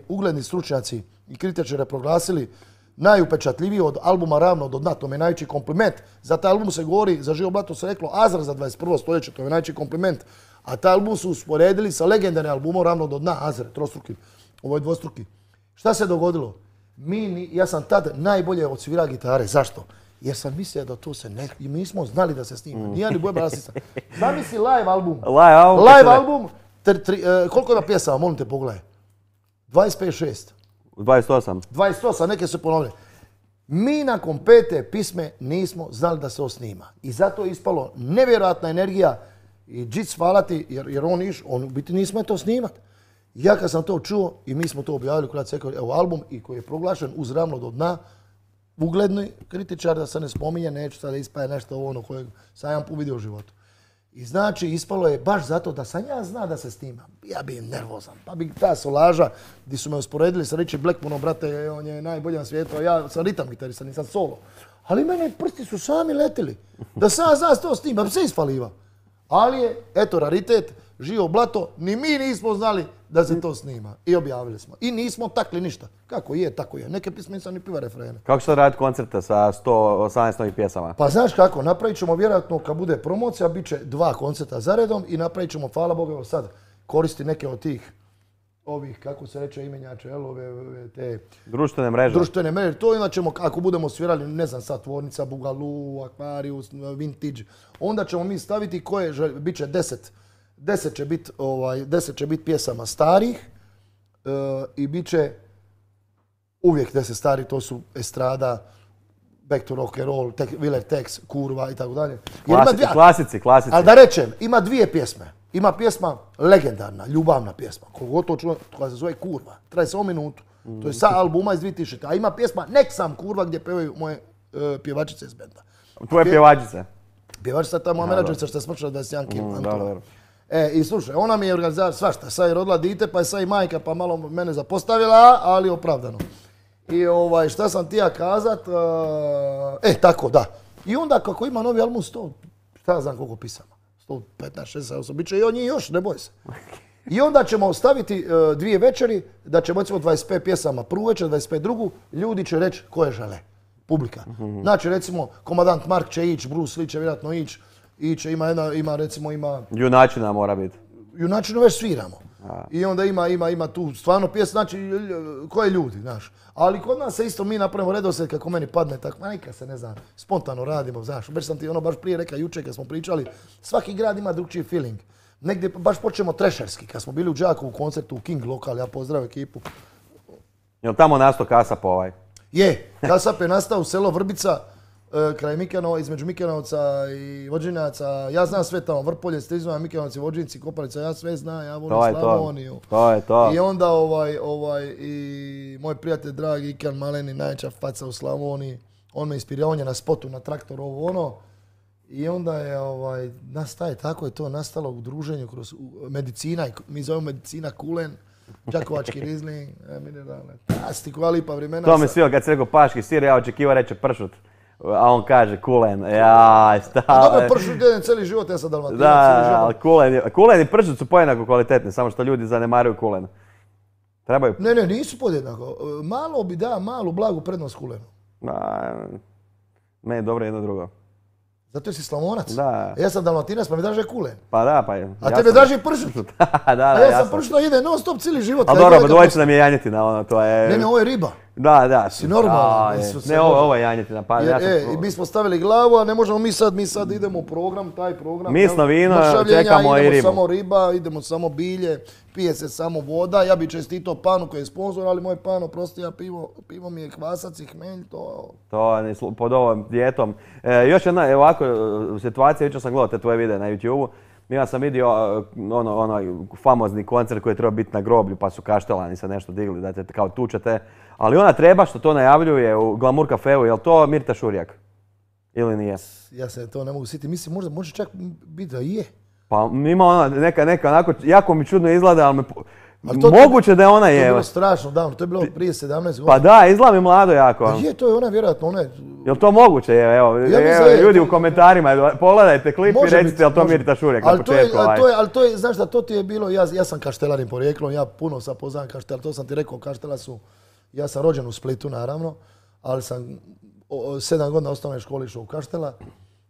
B: ugledni stručnjaci i kritičari proglasili najupečatljiviji od albuma Ravno do dna, to mi je najveći kompliment. Za taj album se govori, za Živo Blato se reklo Azra za 21. stoljeće, to je najveći kompliment. A taj album su usporedili sa legendarnim albumom Ravno do dna, Azre, trostruki, ovo je dvostruki. Šta se dogodilo? Ja sam tad najbolje odsvirao gitare. Zašto? Jer sam mislio da to se i mi smo znali da se snima. Nije ni boja basista. Zamisli live album. Live album. Koliko ima pjesama, molim te pogledaj. 25-6.
A: 28.
B: 28, neke su ponovile. Mi nakon 5. pisme nismo znali da se snima. I zato je ispalo nevjerojatna energija i Džic hvala ti, jer on u biti nismo to snimat. Ja kad sam to čuo i mi smo to objavili u Croatia Records, evo album i koji je proglašen uz Ravno do dna, ugledni kritičar, da se ne spominje, neću sada ispaje nešto ono kojeg sam jedan put vidio u životu. I znači ispalo je baš zato da sam ja zna da se snima. Ja bi nervozan, pa bi ta solaža gdje su me usporedili sa Richie Blackmoreom, brate, on je najbolji na svijetu, a ja sam ritam gitarista, nisam solo. Ali mene prsti su sami letili. Da sam ja zna to snima, bi se ispaliva. Ali je, eto, raritet, Živo Blato, ni mi nismo znali da se to snima. I objavili smo. I nismo takli ništa. Kako je, tako je. Neke pisme nisam ni piva refrene.
A: Kako ćete raditi koncerte sa 118 novih pjesama?
B: Pa znaš kako, napravit ćemo vjerojatno kad bude promocija, bit će 2 koncerta za redom i napravit ćemo, hvala Bogu, evo sad, koristi neke od tih ovih, kako se reče, imenjače, te...
A: Društvene mreže.
B: Društvene mreže. To onda ćemo, ako budemo svirali, ne znam sad, Tvornica, Bugalu, Aquarius, Vintage, onda ćemo mi staviti koje, bit će 10 će biti pjesama starih i bit će uvijek 10 stari, to su Estrada, Back to Rock and Roll, Willer Tex, Kurva i tako dalje.
A: Klasici.
B: Ali da rečem, ima 2 pjesme. Ima pjesma legendarna, ljubavna pjesma, koliko to čuo, koja se zove Kurva, traje samo minutu. To je sa albuma iz 2000. A ima pjesma Nek sam kurva gdje pevaju moje pjevačice iz benda.
A: Tvoje pjevačice?
B: Pjevačica ta moja menadžerica što je smršala 21 kg.
A: Dobro.
B: I slušaj, ona mi je organizator svašta. Sad je rodila dite, pa je sad i majka, pa malo mene zapostavila, ali opravdano. I šta sam ti ja kazat? Tako, da. I onda kako ima novi album 100, šta ja znam koliko pisama? 115, 68, bit će i od njih još, ne boj se. I onda ćemo staviti 2 večeri, da ćemo recimo 25 pjesama prvu večer, 25 drugu, ljudi će reći koje žele, publika. Znači recimo, Komadant Mark će ići, Bruce Lee će vjerojatno ići, ima...
A: Junačina mora biti.
B: Junačinu već sviramo. I onda ima tu stvarno pjesma, znači koje ljudi, znaš. Ali kod nas se isto mi napravimo redoslijed kako meni padne, tako, nikad se ne znam, spontano radimo, znaš. Već sam ti baš prije rekao jučer kad smo pričali, svaki grad ima drugčiji feeling. Negdje baš počnemo trešerski, kad smo bili u Đakovu koncertu u King Lokal, ja pozdravim ekipu.
A: Jel tamo nastao Kasap ovaj?
B: Je, Kasap je nastao u selo Vrbica, kraj Mikanova, između Mikanovca i Vođinjaca. Ja znam sve tamo, Vrpolje, Strizma, Mikanovci, Vođinci, Kopalica, ja sve znam, ja volim Slavoniju.
A: To je to.
B: I onda i moj prijatelj dragi Ikan Maleni, najveća faca u Slavoniji, on me inspirirao, on je na spotu, na traktor, ovo ono. I onda je, tako je to nastalo u druženju kroz medicina, mi zovemo medicina Kulen, Đakovački rizling, mineralne, plastiku, ali lipa vremena.
A: To mi svilo kad se rekao paški sir, ja očekivao reče pršut. A on kaže kulen, jaj, stavljaj.
B: A dobro, pršut jedem cijeli život, ja sam Dalmatinac.
A: Da, ali kulen i pršut su pojednako kvalitetni, samo što ljudi zanemaruju kulen. Trebaju...
B: Ne, nisu podjednako. Malo bi malu blagu prednost kulenu.
A: Meni je dobro jedno drugo.
B: Zato si Slavonac.
A: Da.
B: Ja sam Dalmatinac, pa mi draže kulen.
A: Pa da, pa je.
B: A tebe draže pršut.
A: Da,
B: a ja sam pršut ide non stop cijeli život.
A: Ali dobro, dvojica nam je janjetina, ono, to je...
B: Ne, ovo je riba.
A: Da.
B: Si normalan.
A: Ne, ovo je janjetina. Pa,
B: mi smo stavili glavu, a ne možemo mi sad idemo u program, taj program.
A: Misno vino, čekamo i ribu.
B: Idemo samo riba, idemo samo bilje, pije se samo voda. Ja bi čestitao Panu koji je sponsor, ali moj Pan, oprosti, ja pivo mi je kvasac i hmelj, to...
A: To je pod ovom dijetom. Još jedna ovako situacija, jučer sam gledao te tvoje videe na YouTube-u. Ja sam vidio onaj famozni koncert koji je trebao biti na groblju, pa su Kaštelani se nešto digli da te kao tučete. Ali ona treba što to najavljuje u Glamour Cafeu, je li to Mirta Šurjak? Ili nije?
B: Ja se to ne mogu sjetiti, mislim možda može čak biti da je.
A: Pa ima ona neka onako, jako mi čudno izgleda, ali moguće da je ona je.
B: To je bilo strašno davno, to je bilo prije 17 godina.
A: Pa da, izgleda mi mlado jako.
B: Pa je, to je ona vjerojatno, ona je...
A: Jel to moguće? Evo, ljudi u komentarima, pogledajte klip i recite jel to Mirta Šurjak na početku.
B: Ali to je, znaš da to ti je bilo, ja sam kaštelanin porijeklom, ja puno sad poznam kaštela, to sam ti rekao, kaštela su, ja sam rođen u Splitu naravno, ali sam 7 godina osnovne škole išao u Kaštela,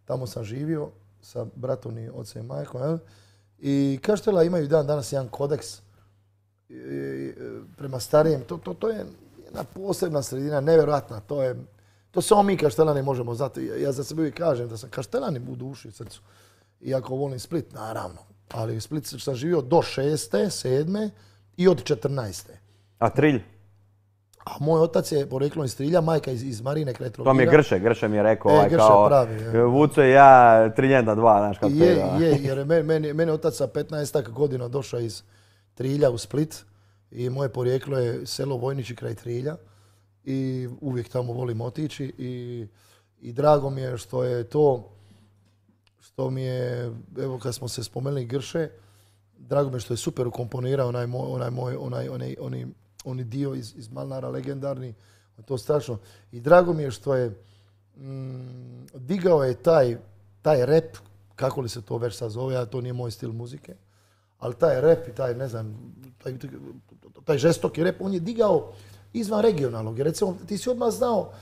B: tamo sam živio sa bratom i ocem i majkom, i Kaštela imaju danas jedan kodeks prema starijem, to je jedna posebna sredina, nevjerojatna, to samo mi Kaštelani možemo znati. Ja za sebe uvijek kažem da sam Kaštelanin u duši i srcu. Iako volim Split, naravno. Ali u Split sam živio do 6., 7. i od 14.
A: A Trilj?
B: A moj otac je poreklom iz Trilja, majka iz Marine kraj Trogira.
A: To mi je Grše mi je rekao
B: Grše,
A: kao
B: pravi,
A: Vuco i ja Triljenda 2, znaš kako to je.
B: Jer meni otac sa 15 godina došao iz Trilja u Split i moje porijeklo je selo Vojnići kraj Trilja. I uvijek tamo volim otići i drago mi je što je to, što mi je, evo kad smo se spomenuli Grše, drago mi je što je super ukomponirao onaj dio iz Malnara legendarni, to strašno. I drago mi je što je digao je taj rap, kako li se to već sad zove, a to nije moj stil muzike, ali taj rap i taj, ne znam, taj žestoki rap, on je digao izvan regionalnog. Jer recimo, ti si odmah znao,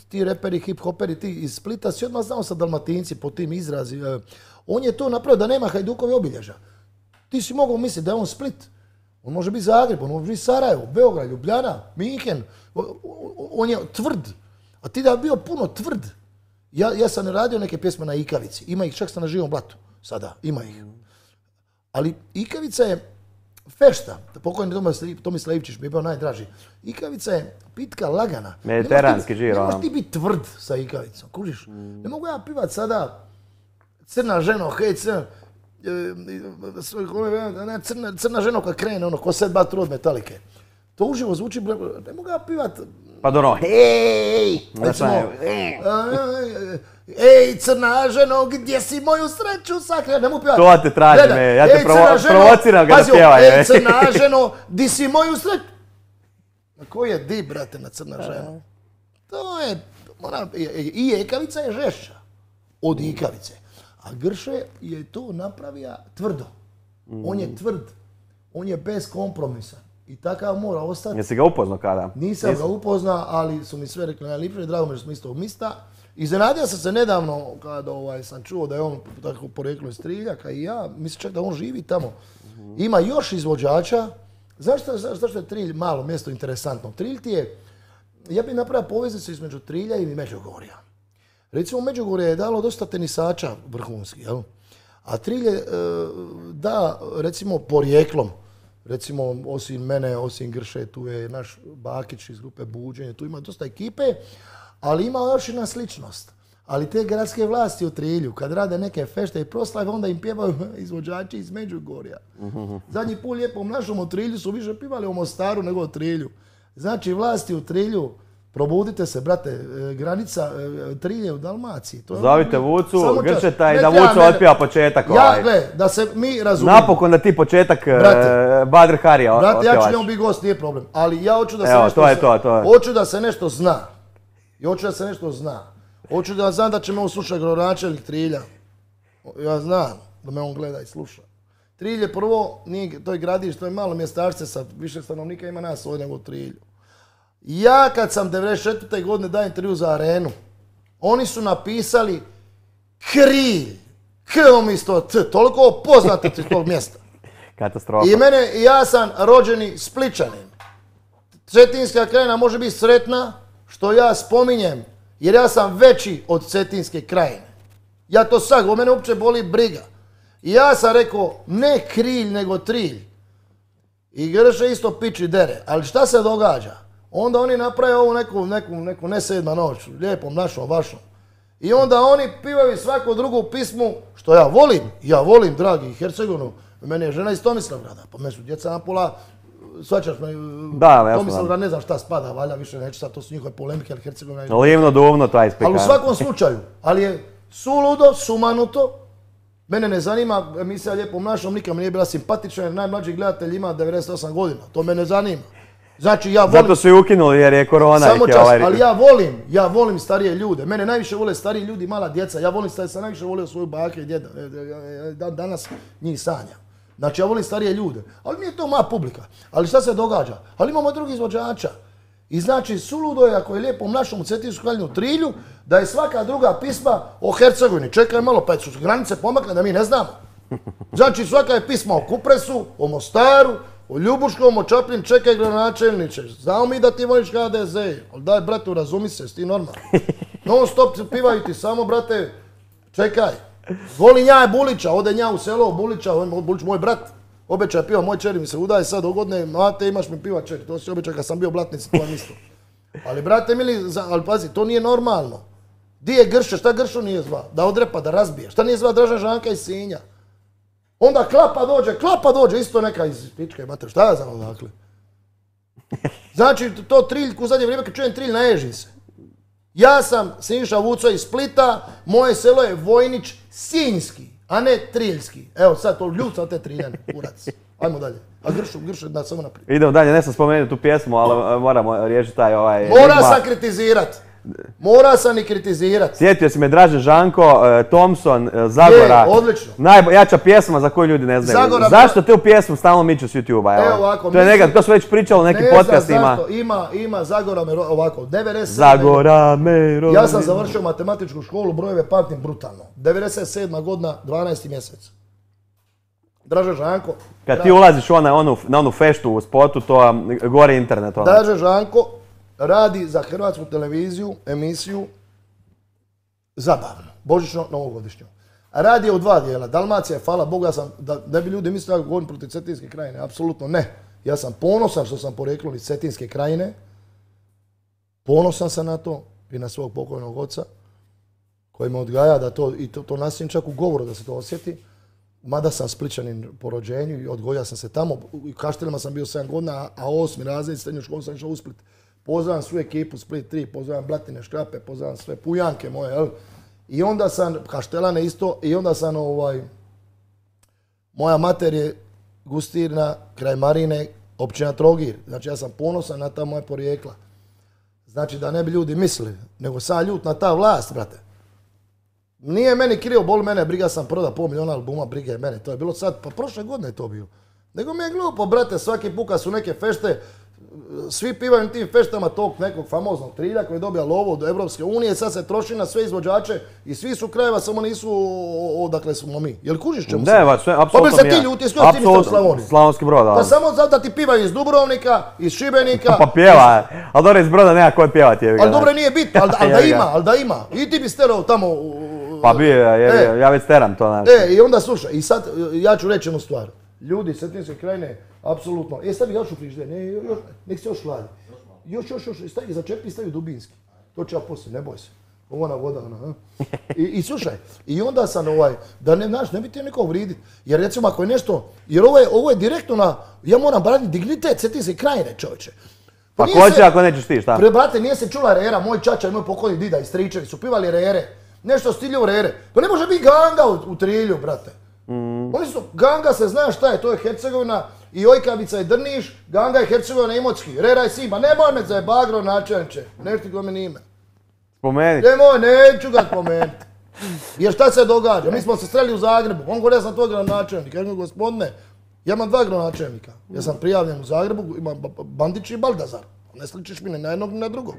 B: ti reperi, hip-hoperi, ti iz Splita si odmah znao sa Dalmatinci po tim izrazi. On je to napravio da nema Hajdukovi obilježja. Ti si mogao misliti da je on Split. On može biti Zagreb, on može biti Sarajevo, Beograd, Ljubljana, Minhen. On je tvrd. A ti da je bio puno tvrd. Ja sam radio neke pjesme na Ikavici. Ima ih čak sam na Živom blatu. Sada, ima ih. Ali Ikavica je fešta, pokojni Tomislav Ivčić mi je bio najdraži. Ikavica je pitka, lagana.
A: Mediteranski žir.
B: Ne možeš ti biti tvrd sa Ikavicom, kužiš? Ne mogu ja pivat sada crna ženo, hej crna, crna ženo kad krene, ko Sad Bat od Metalike. To uživo zvuči, ne mogu ga pivat.
A: Pa dobro, hej!
B: Ej, crna ženo, gdje si moju sreću sakrila? Ne mogu pivat.
A: To te tražim, ja te provociram ga da pjevaj.
B: Ej, crna ženo, di si moju sreću? Koji je di, brate, na crna žena? To je, i ekavica je žešća od ikavice. A Grše je to napravio tvrdo. On je tvrd, on je bez kompromisa. I takav mora ostati.
A: Jesi ga upoznao kada?
B: Nisam ga upoznao, ali su mi sve rekli najlipše. Drago mi je što smo istog mista. Iznenadio sam se nedavno kada sam čuo da je on tako poreklo iz Triljaka i ja. Mislim čak da on živi tamo. Ima još izvođača. Zašto je Trilj malo mjesto interesantno? Trilj ti je, ja bih napravio poveznicu između Trilja i Međugorja. Recimo Međugorje je dalo dosta tenisača vrhunskih, jel? A Trilj je da, recimo, porijeklom. Recimo, osim mene, osim Grše, tu je naš Bakić iz grupe Buđenje, tu ima dosta ekipe, ali ima još jedna sličnost. Ali te gradske vlasti u Trilju, kad rade neke fešte i proslave, onda im pjevaju izvođači iz Međugorja. Zadnji put lijepom našom u Trilju su više pivali o Mostaru nego o Trilju. Znači, vlasti u Trilju, probudite se, brate, granica Trilje u Dalmaciji.
A: Zovite Vucu, Gršeta i da Vucu otpjeva početak.
B: Ja, gle, da se mi razumijemo.
A: Napokon da ti početak Badr Harija otpjevaš.
B: Brate, ja ću njemu biti gost, nije problem. Ali ja hoću da se
A: nešto zna.
B: Hoću da se nešto zna. I hoću da se nešto zna. Hoću da znam da će me on slušati gradonačelnik Trilja. Ja znam da me on gleda i sluša. Trilj je prvo, to je gradište, to je malo mjestašce sa više stanovnika, ima nas ovdje nego u Trilju. Ja kad sam 94. godine dao intervju za Arenu, oni su napisali Krilj. K umjesto T, toliko poznate iz tog mjesta.
A: Katastrofa.
B: I ja sam rođeni Spličanin. Cetinska krajina može biti sretna što ja spominjem, jer ja sam veći od Cetinske krajine. Ja to sad, o mene uopće boli briga. I ja sam rekao, ne Krilj, nego Trilj. I Grše isto piči dere. Ali šta se događa? Onda oni naprave ovu neku ne sedma noć, lijepom našom, vašom. I onda oni pivaju svaku drugu pismu, što ja volim, dragi, Hercegovinu. Meni je žena iz Tomislavgrada, pa me su djeca napola, svačaš me, Tomislavgrad ne znam šta spada, valja više neću sad, to su njihove polemike, ali Hercegovina je...
A: Livno, duvno, taj spikar.
B: Ali u svakom slučaju, ali je suludo, sumanuto, mene ne zanima emisija Lijepom našom, nikad mi nije bila simpatična jer najmlađi gledatelj ima 98 godina, to me ne zanima. Znači ja volim...
A: Zato su i ukinuli jer je korona.
B: Samo čas, ali ja volim starije ljude. Mene najviše vole stariji ljudi, mala djeca. Ja volim sam najviše volio svoju bake i djeda. Danas njih sanja. Znači ja volim starije ljude. Ali nije to moja publika. Ali šta se događa? Ali imamo drugih izvođača. I znači suludo je ako je Lijepom našom u Cetinsku kraljinu u Trilju, da je svaka druga pisma o Hercegovini. Čekaj malo, pa su granice pomakle da mi ne znamo. Znači svaka je pisma o Kupresu, o Mostaru, o Ljubuškom, o Čapljin, čekaj gradonačelniče. Znamo mi da ti voliš HDZ, ali daj brate, razumi se, ti normalno. Non stop pivaju ti samo, brate, čekaj. Volim ja Bulića, ode nja u selo Bulića, Bulić moj brat. Obećaj piva, moj čeri mi se udaje sad dogodne, mate imaš mi piva čeri, to si obećaj kad sam bio blatnici, to vam isto. Ali brate mili, ali pazi, to nije normalno. Di je Grše, šta Gršu nije zva? Da odrepa, da razbije. Šta nije zva Dražan Žanka iz Sinja? Onda Klapa dođe, isto neka iz pičke mater, šta ja znam odakle? Znači, to Trilj, u zadnje vrijeme kad čujem Trilj, naježim se. Ja sam Siniša Vuco iz Splita, moje selo je Vojnić Sinjski, a ne Triljski. Evo sad to ljuca te Triljane, kurac. Ajmo dalje. A Gršu da samo naprijed.
A: Idemo dalje, ne sam spomenuti tu pjesmu, ali moramo riješiti taj
B: Mora sam kritizirat. Mora sam i kritizirat.
A: Sjetio si me Dražen Žanko, Thompson, Zagora.
B: Odlično.
A: Najjača pjesma za koju ljudi ne znaju.
B: Zagora,
A: zašto tu pjesmu stalno miču s YouTube-a?
B: Evo ovako.
A: To su već pričali u nekim podcastima.
B: Ima Zagora me ovako. 97.
A: Zagora me
B: Ja sam završio matematičku školu, brojeve pamtim brutalno. 97. godina, 12. mjesec. Dražen Žanko.
A: Kad ti ulaziš na onu feštu u spotu, to gore internet.
B: Dražen Žanko radi za Hrvatsku televiziju emisiju zabavnu, božićno novogodišnju. Radi u dva dijela. Dalmacija, hvala Bogu, da ne bi ljudi mislili da govorim protiv Cetinske krajine, apsolutno ne. Ja sam ponosan što sam poreklo iz Cetinske krajine. Ponosan sam na to i na svog pokojnog oca koji me odgaja da to nastavim čak u govoru da se to osjeti. Mada sam Splićanin po rođenju i odgojio sam se tamo. U Kaštelima sam bio 7 godina, a 8. razred srednju školu sam išao u Split. Pozdravljam svu ekipu Split 3, pozdravljam Blatine, Škrape, pozdravljam sve Pujanke moje, jel? I onda sam, Kaštelane isto, i onda sam moja mater je Gustirna, kraj Marine, općina Trogir. Znači ja sam ponosan na ta moja porijekla. Znači da ne bi ljudi mislili, nego sam ljut na ta vlast, brate. Nije meni krivo, boli mene, briga sam proda $500 000 albuma, brige mene, to je bilo sad, pa prošle godine je to bilo. Nego mi je glupo, brate, svaki puka su neke fešte, svi pivaju na tim feštama tog nekog famoznog trilja koji je dobija lovu od Evropske unije, sad se troši na sve izvođače i svi su krajeva, samo nisu odakle smo mi. Jel kužiš čemu se?
A: Ne, sve, apsolutno.
B: Pa bi se ti ljuti, s kojom ti niste u Slavoniji?
A: Slavonski Brod, da.
B: Pa samo zato da ti pivaju iz Dubrovnika, iz Šibenika.
A: Pa pjeva, ali dobro iz Broda nema koji pjevati.
B: Ali dobro nije bitno, ali da ima. I ti bi sterao tamo.
A: Pa bi, ja već steram to. Znači.
B: I onda slušaj, i sad ja ću reći jednu stvar. Ljudi iz Cetinske krajine, apsolutno. Stavi još u frižder, nek se još hladi. Još, stavi, začepi, stavi dubinski. To ću ja poslije, ne boj se. Ona voda, ona. I slušaj, i onda sam da ne bi ti neko vriditi. Jer recimo ako je nešto, jer ovo je direktno na, ja moram braniti dignitet Cetinske krajine, čovječe.
A: Pa ko će ako nećeš ti, šta?
B: Brate, nije se čula rera, moj čača i moj pokojni dida i stričevi su pivali rere. Nešto stilju rere. Pa ne može biti ganga u trilju, brate. Oni su, ganga se zna šta je, to je Hercegovina i Ojkavica i Drniš, ganga je Hercegovina i Imotski, rera je Sima, nemoj me za bagro načelniče, nešto ti meni ime.
A: Spomeni.
B: Nemoj, neću ga spomenuti. Jer šta se događa, mi smo se sreli u Zagrebu, on govori ja sam tvoj gradonačelnik, ja kažem gospodine, ja imam 2 gradonačelnika, ja sam prijavljen u Zagrebu, imam Bandić i Baldazar, ne sličiš mi ni na jednog ni na drugog.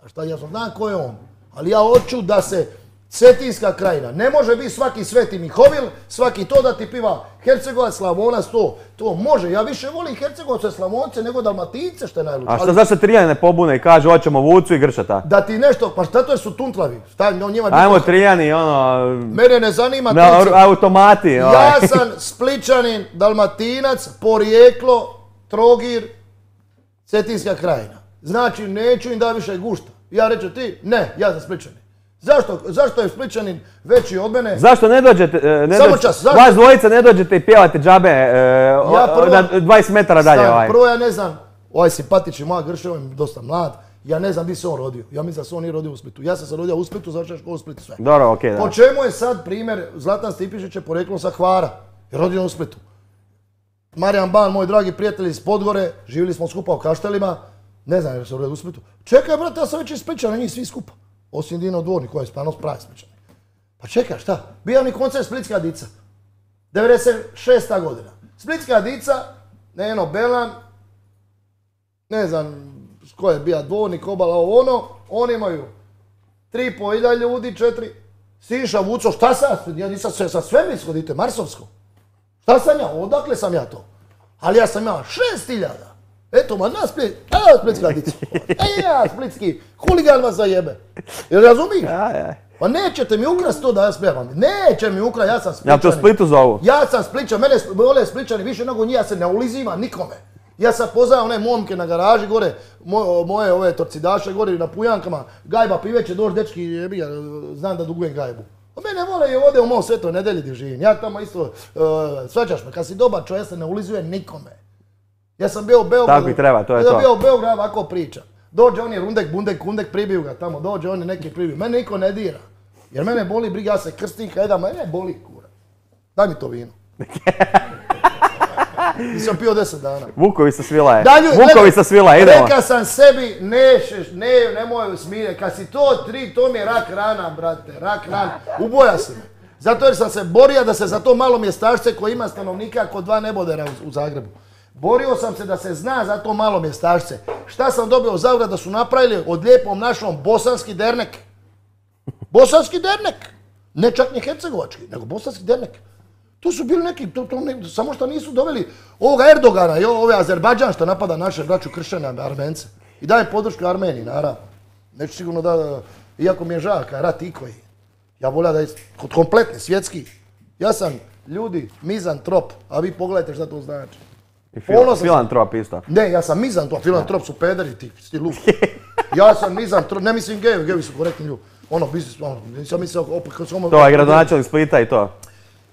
B: A šta, ja znam ko je on, ali ja hoću da se Cetinska krajina, ne može biti svaki Sveti Mihovil, svaki to da ti piva Hercegovac, Slavonac, to može. Ja više volim Hercegovce, Slavonce nego Dalmatince, što je najluče.
A: A zašto se Triljani ne pobune i kaže hoćemo Vucu i Gršata?
B: Da ti nešto, pa šta to je su tuntlavi?
A: Ajmo Triljani,
B: Mene ne zanima
A: automati.
B: Ja sam Splićanin, Dalmatinac, porijeklo, Trogir, Cetinska krajina. Znači neću im da više gušta. Ja reću ti, ne, ja sam Splićanin. Zašto je Splićanin veći od mene?
A: Zašto ne dođete, vas dvojica ne dođete i pjevate džabe na 20 metara dalje?
B: Prvo ja ne znam, ovaj simpatični moja Grše, on je dosta mlad, ja ne znam gdje se on rodio. Ja mislim da se on nije rodio u Splitu. Ja sam se rodio u Splitu, završao školu u Splitu sve.
A: Dobro, okej, da.
B: Po čemu je sad primjer Zlatan Stipišić je poreklom sa Hvara, je rodio u Splitu. Marijan Ban, moj dragi prijatelj iz Podgore, živjeli smo skupa u Kaštelima, ne znam jer se rodio u Splitu. Čekaj, brate, ja sam već iz Splićana, njih svi skupa. Osim Dino Dvornik koji je stvarno pravi Splićan. Pa čekaj, šta? Bio mi koncert Splitska dica. 96. godina. Splitska dica, Neno Belan, ne znam ko je bija Dvornik, Obala, oni imaju 3.500 ljudi, 4. Siša, Vuco, šta sam? Ja nisam sa svemirsko dite, marsovsko. Šta sam ja? Odakle sam ja to? Ali ja sam imao 6.000. Eto, ma na Split, Splitska dica. Ja, splitski, huligan vas zajebe. Jel razumiješ? Pa nećete mi ukrasti to da ja spevam. Neće mi ukrasti, ja sam Splićanin.
A: Ja to Splitu zovu.
B: Ja sam Splićan, mene vole Splićani više nego njih, ja se ne ulizivam nikome. Ja sam poznao one momke na garaži gore, moje ove torcidaše gore na Pujankama, gajba piveće, dođi dečki, znam da dugujem gajbu. A mene vole i ovdje u mom Svetoj Nedelji gdje živim. Ja tamo isto, svađaš me, kad si dobar čovjek, ja se ne ulizujem nikome. Ja sam bio u Beogradu.
A: Tako i treba, to je to.
B: Ja sam bio u Beogradu, ovako priča. Dođe oni Rundek, Bundek, Kundek, pribiju ga tamo, dođe oni neki pribiju. Mene niko ne dira. Jer mene boli briga, ja se krstim, kada mene boli kura. Daj mi to vino. Nisam pio 10 dana.
A: Vukovi sa svila je. Vukovi sa svila je, idemo.
B: Reka sam sebi, nemoj smije. Kad si to to mi je rak rana, brate, rak rana. Uboja si me. Zato jer sam se borio da se za to malo mjestašce koje ima stanovnika kod 2 nebodera u Zagrebu. Borio sam se da se zna za to malo mjestašce. Šta sam dobio u Zagrebu da su napravili od lijepom našom bosanski dernek. Bosanski dernek. Ne čak ni hercegovački, nego bosanski dernek. Tu su bili neki, samo što nisu doveli ovoga Erdogana i ove Azerbajdžan što napada naše braću kršćane Armence. I daje podršku Armeniji, naravno. Neću sigurno da, iako mi je žao, kaj rat ikoji. Ja volim da je kompletni, svjetski. Ja sam, ljudi, mizantrop, a vi pogledajte šta to znači.
A: Filantrop isto.
B: Ne, ja sam mizantrop, filantrop su pederi ti lupi. Ja sam mizantrop, ne mislim gevi su korektni ljudi. Nisam mislio opet...
A: To je gradonačelnik Splita i to.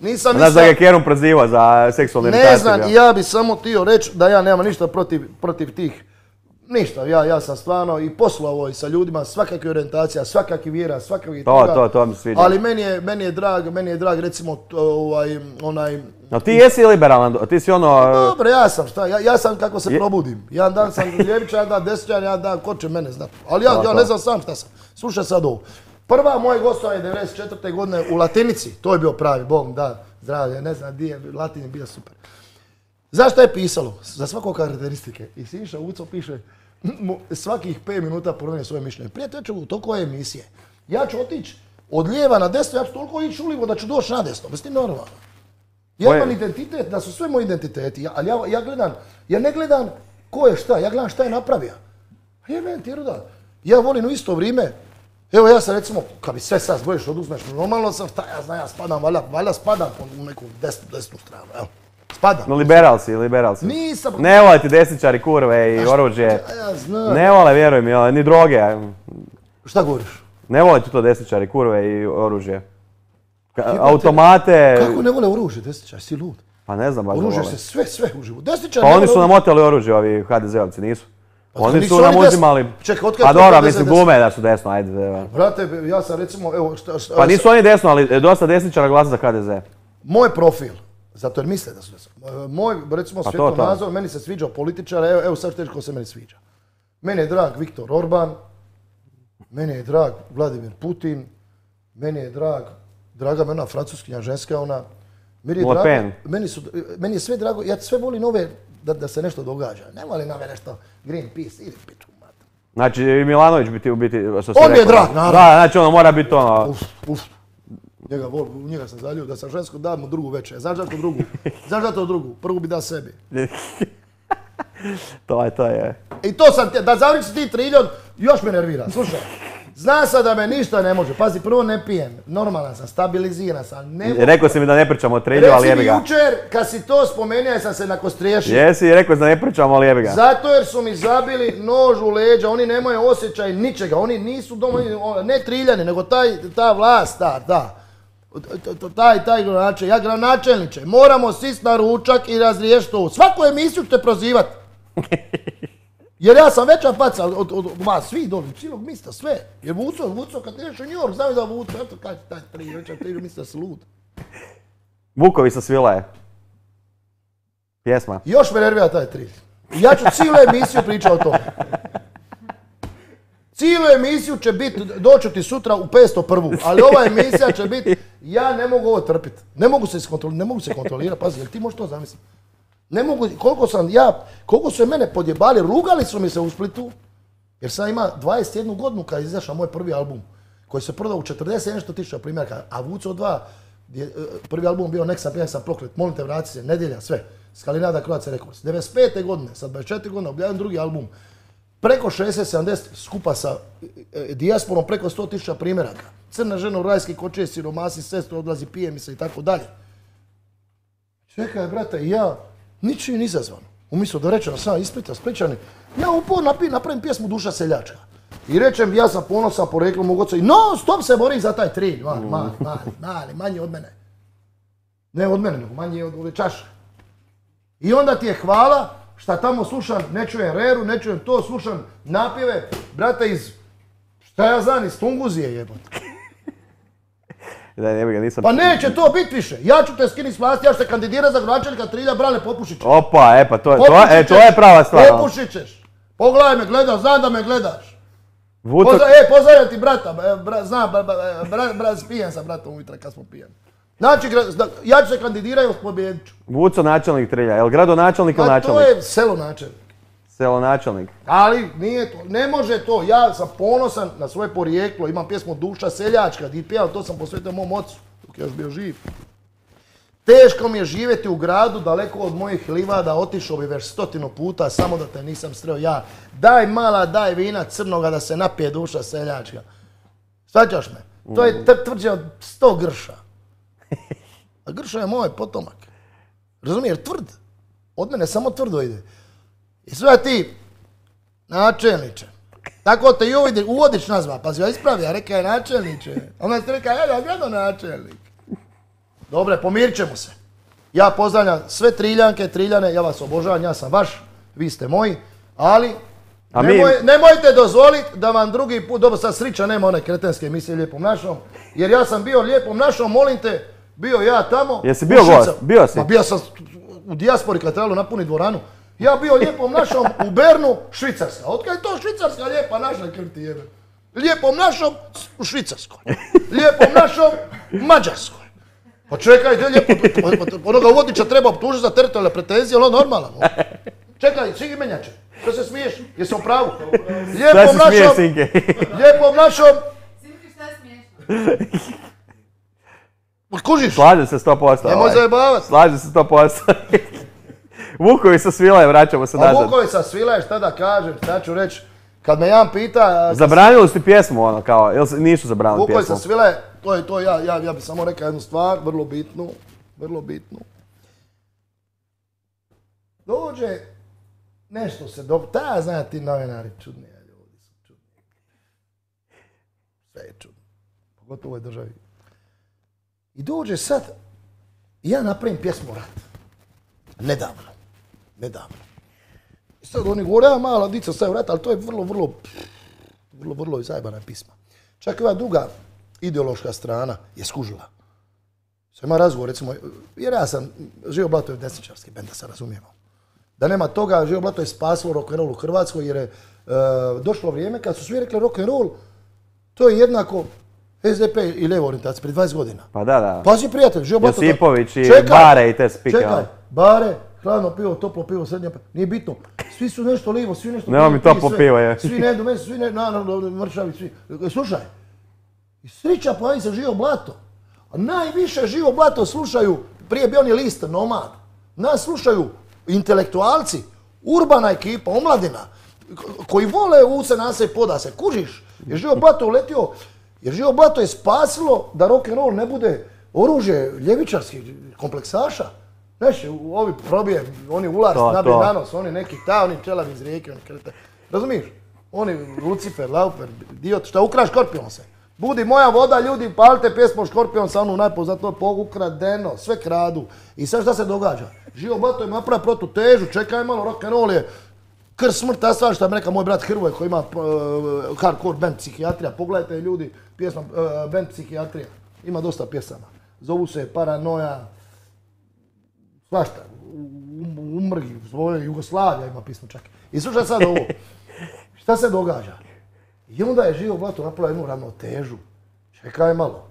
B: Nisam
A: Znaš da ga Kerum prozivao za seksualnu iritaciju.
B: Ne znam, ja bi samo htio reći da ja nemam ništa protiv tih. Ništa, ja sam stvarno i poslovao i sa ljudima, svakakve orijentacija, svakakve vjera, svakakve toga.
A: To mi sviđa.
B: Ali meni je drag recimo onaj...
A: No ti jesi liberalan, ti si ono...
B: Dobro, ja sam kako se probudim. Jedan dan sam ljevičar, jedan dan desničar, jedan dan ko će mene znati. Ali ja ne znam sam šta sam. Slušaj sad ovo. Prva moje gostovanje 94. godine u Latinici, to je bio pravi, Bog da, zdravlje, ne znam di je, Latin je bio super. Znaš šta je pisalo? Za svakog karakteristike. I Siniša Vuco piše, svakih 5 minuta promijeni svoje mišljenje. Prijatelju, toliko je emisije. Ja ću otići od lijeva na desno, ja ću toliko ići ulivo da ću doći na desno. Bez ti normalno. Ja imam identitet, da su sve moji identiteti, ali ja ne gledam ko je šta, ja gledam šta je napravio. Ja volim u isto vrijeme, evo ja sam recimo, kad bi sve sad zbojiš, oduzmeš, normalno sam, šta ja znam, ja spadam, valjda spadam u neku desnu stranu, evo. Spadam.
A: No, liberal si.
B: Nisam.
A: Ne vole ti desničari, kurve i oružje.
B: Ja znam.
A: Ne vole, vjeruj mi, ni droge.
B: Šta govoriš?
A: Ne vole ti to desničari, kurve i oružje. Automate...
B: Kako ne vole oružje, desničari, si lud?
A: Pa ne znam baš da vole.
B: Oružje se sve uživo.
A: Pa oni su nam oteli oružje, ovi HDZ-ovci, nisu? Oni su nam uzimali... Pa dobro, mislim glume da su desno, ajde.
B: Brate, ja sam recimo, evo...
A: Pa nisu oni desno, ali dosta desničara glasa za HDZ.
B: Moj profil, zato jer misle da su desno. Moj, recimo, svjetonazor, meni se sviđa političar, evo sad što ko se meni sviđa. Meni je drag Viktor Orban, meni je drag Vladimir Putin, meni je draga me ona francuskinja ženska, ona... Meni je sve drago, ja sve volim ove da se nešto događa. Ne volim ove nešto Greenpeace, ili piču mater.
A: Znači i Milanović bi ti u biti, što si
B: rekao. On je drag, naravno.
A: Da, znači ono mora biti ono...
B: Njega sam zaljio, da sam žensko dam mu drugu večer. Znaš da to drugu? Znaš da to drugu? Prvu bi dao sebi.
A: To je.
B: I to sam, da završi ti triljon, još me nervira. Slušaj, zna sam da me ništa ne može. Pazi, prvo ne pijem. Normalan sam, stabiliziran sam.
A: Rekao si mi da ne pričamo o trilju, ali jebi ga.
B: Reci mi jučer, kad si to spomenuo, sam se nakostriješio.
A: Jesi, rekao si da ne pričamo, ali jebi ga.
B: Zato jer su mi zabili nož u leđa, oni nemaju osjećaj ničega. Oni nisu ne triljani, nego ta vlast, taj gradonačelnik. Ja gradonačelniče, moramo sist na ručak i razriješiti to. Svaku emisiju ćete prozivati. Jer ja sam veća faca od vas, svi doli, cijelog mista, sve. Jer Vuco, kad ideš u New York, znaju da Vuco, eto kaj taj tri mista si lud.
A: Vukovi sa Svilaje. Pjesma.
B: Još me nervira taj tri. Ja ću cijelu emisiju pričati o tome. Cijelu emisiju će biti, doću ti sutra u 501. Ali ova emisija će biti, ja ne mogu ovo trpiti. Ne mogu se kontrolirati, pazi, jel ti možeš to zamisliti? Ne mogu, koliko su mene podjebali, rugali su mi se u Splitu, jer sam ima 21 godinu kad je izašao moj prvi album, koji se prodao u 40 nešto tisuća primjerka, a Vuco 2, prvi album bio Nek sam pijan sam proklet, molim te vrati se, Nedjelja, sve, Skalinada, Croatia Records. 95. godine, sad 24 godina, objavljam drugi album, preko 60-70 skupa sa dijasporom, preko 100 tisuća primjeraka. Crna žena u rajski koče, siromasi, sestru, odlazi, pije mi se i tako dalje. Čekaj, brate, ja ničim izazvan. Umjesto da rečem sam ispita Spličani, ja uporno napravim pjesmu Duša seljačka. I rečem, ja sam ponosan poreklom mog oca i non stop se borim za taj trilj. Mali, manji od mene. Ne od mene, nego manji od ove čaše. I onda ti je hvala šta tamo slušam, ne čujem reru, ne čujem to, slušam napjeve, brate iz, šta ja znam, iz Tunguzije jebote.
A: Nisam...
B: Pa neće to biti više. Ja ću te skiniti s vlasti, ja ću te kandidirati za gradonačelnika Trilja, Brane Popušića.
A: Opa, to je prava stvar.
B: Popušit ćeš. Pogledaj me, gledaš, znam da me gledaš.
A: Vuco...
B: Pozdravljam ti brata, znam, pijen sam bratom ujutro kad smo pijeni. Znači, ja ću se kandidirati u pobjedniču.
A: Vuco načelnik Trilja, je li gradonačelnik ili načelnik?
B: To je selo načelnik.
A: Selo načelnik.
B: Ali nije to, ne može to. Ja sam ponosan na svoje porijeklo, imam pjesmu Duša seljačka, di pjevam, to sam posvetio mom ocu, dok je još bio živ. Teško mi je živjeti u gradu, daleko od mojih livada, otišao bi već 100 puta, samo da te nisam sreo ja. Daj mala, daj vina crnoga da se napije Duša seljačka. Svaćaš me? To je tvrđe od 100 grša. A grša je moj potomak. Razumiješ, tvrd. Od mene samo tvrdo ide. I sve ti, načelniče, tako te i uvodič nazva, pazi, ja ispravlja, reka je načelniče. Onda ti reka, ja gradonačelnik. Dobre, pomirit ćemo se. Ja pozdravljam sve Triljanke, Triljane, ja vas obožavam, ja sam vaš, vi ste moji, ali nemojte dozvoliti da vam drugi put, dobro sad srića nema one kretenske emisije Lijepom našom, jer ja sam bio Lijepom našom, molim te, bio ja tamo.
A: Jesi bio gost? Bio si?
B: Ma bio sam u dijaspori kad trebalo napuniti dvoranu. Ja bio Lijepom našom u Bernu, Švicarska. Otkad je to Švicarska Lijepa naša, krv ti jebe? Lijepom našom u Švicarskoj. Lijepom našom Mađarskoj. Pa čekaj, gdje lijepo, onoga uvodniča treba optužiti za teritorijalne pretenzije, ono normalno. Čekaj, svi imenjače, što se smiješ? Jesam u pravu? Lijepom našom, lijepom našom...
D: Sinki, šta je smiješno?
B: Kužiš?
A: Slažem se 100%.
B: Nemoj zajebavat.
A: Slažem se 100%. Vukovi sa Svilaje, vraćamo se nazad.
B: A Vukovi sa Svilaje, šta da kažem, šta ću reći? Kad me jedan pita...
A: Zabranili ste pjesmu, ono, kao, jel nisu zabranili pjesmu?
B: Vukovi sa Svilaje, to je ja bih samo rekao jednu stvar, vrlo bitnu. Dođe, nešto se dobro, ta zna ti novinari, čudni ljudi su čudni. Sve je čudno, pogotovo u ovoj državi. I dođe sad, i ja napravim pjesmu o ratu. Nedavno. I sad oni govore, mala dica staje u rat, ali to je vrlo zajebana pisma. Čak i ova druga ideološka strana je skužila. Sad ima razgovor, recimo, jer ja sam, Živo Blato je desničarski bend, da se razumijemo. Da nema toga, Živo Blato je spasilo rock'n'roll u Hrvatskoj jer je došlo vrijeme kad su svi rekli rock'n'roll, to je jednako SDP i lijevo orijentacija, prije 20 godina.
A: Pa da.
B: Pazi prijatelj, Živo Blato...
A: Josipović i Bare i te spike.
B: Čekaj, Bare, hladno pivo, toplo pivo, srednje pivo, nije bitno. Svi su nešto lijevo, svi nešto...
A: Nema mi toplo pivo, je.
B: Svi ne jedu meso, svi ne, naravno, mršavi, svi. Slušaj, i srića pojavi se Živo Blato. A najviše Živo Blato slušaju, prije bio on je list Nomad, nas slušaju intelektualci, urbana ekipa, omladina, koji vole u se nase i poda se, kužiš, jer Živo Blato uletio, jer Živo Blato je spasilo da rock'n'roll ne bude oružje ljevičarskih kompleksaša. Znaš, ovi probije, oni ulaz, nabije nanos, oni neki oni čelavi iz rijeke, oni krete. Razumiješ? Oni Lucifer, Laufer, Diot, šta ukraš Škorpion se. Budi moja voda, ljudi, palite pjesmu Škorpion sa onu najpoznatiju ukradeno, sve kradu. I sad šta se događa? Živo Blato ima napravio protutežu, čekaj malo, rock'n'roll je krst smrt, asfalt, šta mi reka moj brat Hrvoje koji ima hardcore band Psihijatrija. Pogledajte ljudi, pjesma band Psihijatrija. Ima dosta pjesama. Zovu se Paranoja, svašta, Umrgi, Jugoslavija ima pismo čak. I slušaj sad ovo, šta se događa? I onda je Živo Blato napravio jednu ravnotežu. Čekaj malo.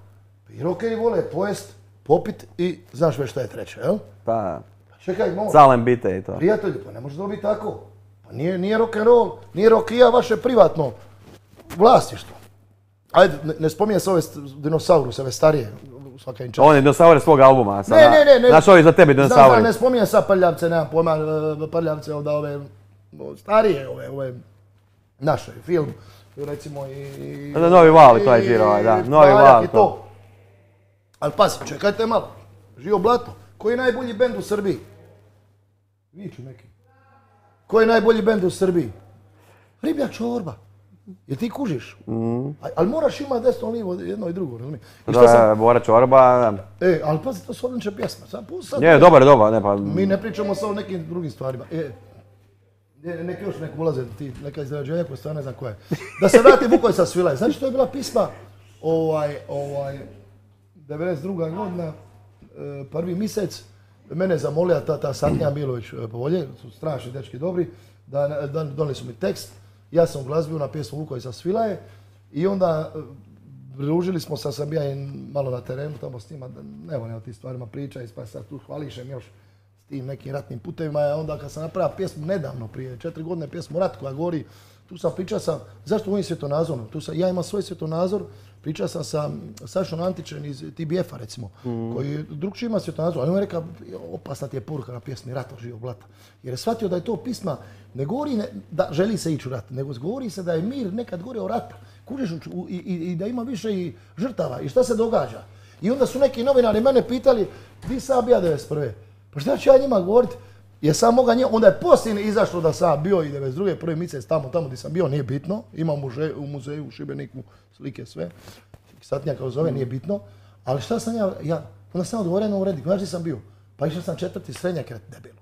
B: I rockeri vole pojest, popit i znaš već šta je treće, jel?
A: Pa,
B: čekaj malo.
A: Salem bite i to.
B: Prijatelji, pa ne može to biti tako. Pa nije rock'n'roll, nije rockija vaše privatno vlasništvo. Ajde, ne spominje se ove dinosauruse, ove starije.
A: On je dinosaure svog albuma.
B: Ne.
A: Znaš ovi za tebe dinosauri.
B: Znam, ne spominjem sad Prljavce, nemam pojma, Prljavce, ove starije, ove naše, film, recimo i...
A: Novi val i to je žiro, da, Novi val to.
B: Ali pazi, čekajte malo, Živo Blato, koji je najbolji bend u Srbiji? Viču neki. Koji je najbolji bend u Srbiji? Riblja čorba. Jer ti kužiš. Ali moraš imati desno livo jedno i drugo, razumiješ?
A: Da, Bora čorba.
B: Ali pazi, to su odlične pjesme.
A: Je, dobar.
B: Mi ne pričamo sad o nekim drugim stvarima. Neki još nek ulaze, neka izrađenja koja stvarno ne znam koja je. Da se vrati Vukovi sa Svilaje. Znači to je bila pisma 92. godina, prvi mjesec. Mene je zamolila ta Satnija Milović Povolje, su strašni dečki dobri, da donijeli su mi tekst. Ja sam uglazbio na pjesmu Vukovi sa Svilaje i onda družili smo se, sam ja malo na terenu tamo s njima, ne volim o tim stvarima pričati, pa sad tu hvališem još s tim nekim ratnim putevima. Onda kad sam napravio pjesmu nedavno, prije 4 godine, pjesmu Rat koja govori, tu sam pričao zašto ovim svjetonazorom, ja imam svoj svjetonazor, pričao sam sa Sašom Antićem iz TBF-a recimo, koji drugčiji ima svjetonazor, ali on je rekao, opasna ti je poruka na pjesmi Rat od Živog Blata. Jer je shvatio da je to pisma, ne govori da želi se ići u rat, nego govori se da je mir nekad govorio o ratu, kužiš, i da ima više i žrtava. I šta se događa? I onda su neki novinari mene pitali, di sam ja 91. Pa šta ću ja njima govoriti? Jer sam moga njima, onda je poslije izašlo da sam bio i 92. prvi mjesec tamo gdje sam bio, nije bitno. Imam u muzeju u Šibeniku slike sve. Satnija kao zove, nije bitno. Ali šta sam ja Onda sam odgovorio na uredi, znaš gdje sam bio? Pa išao sam 4. srednjak debelo.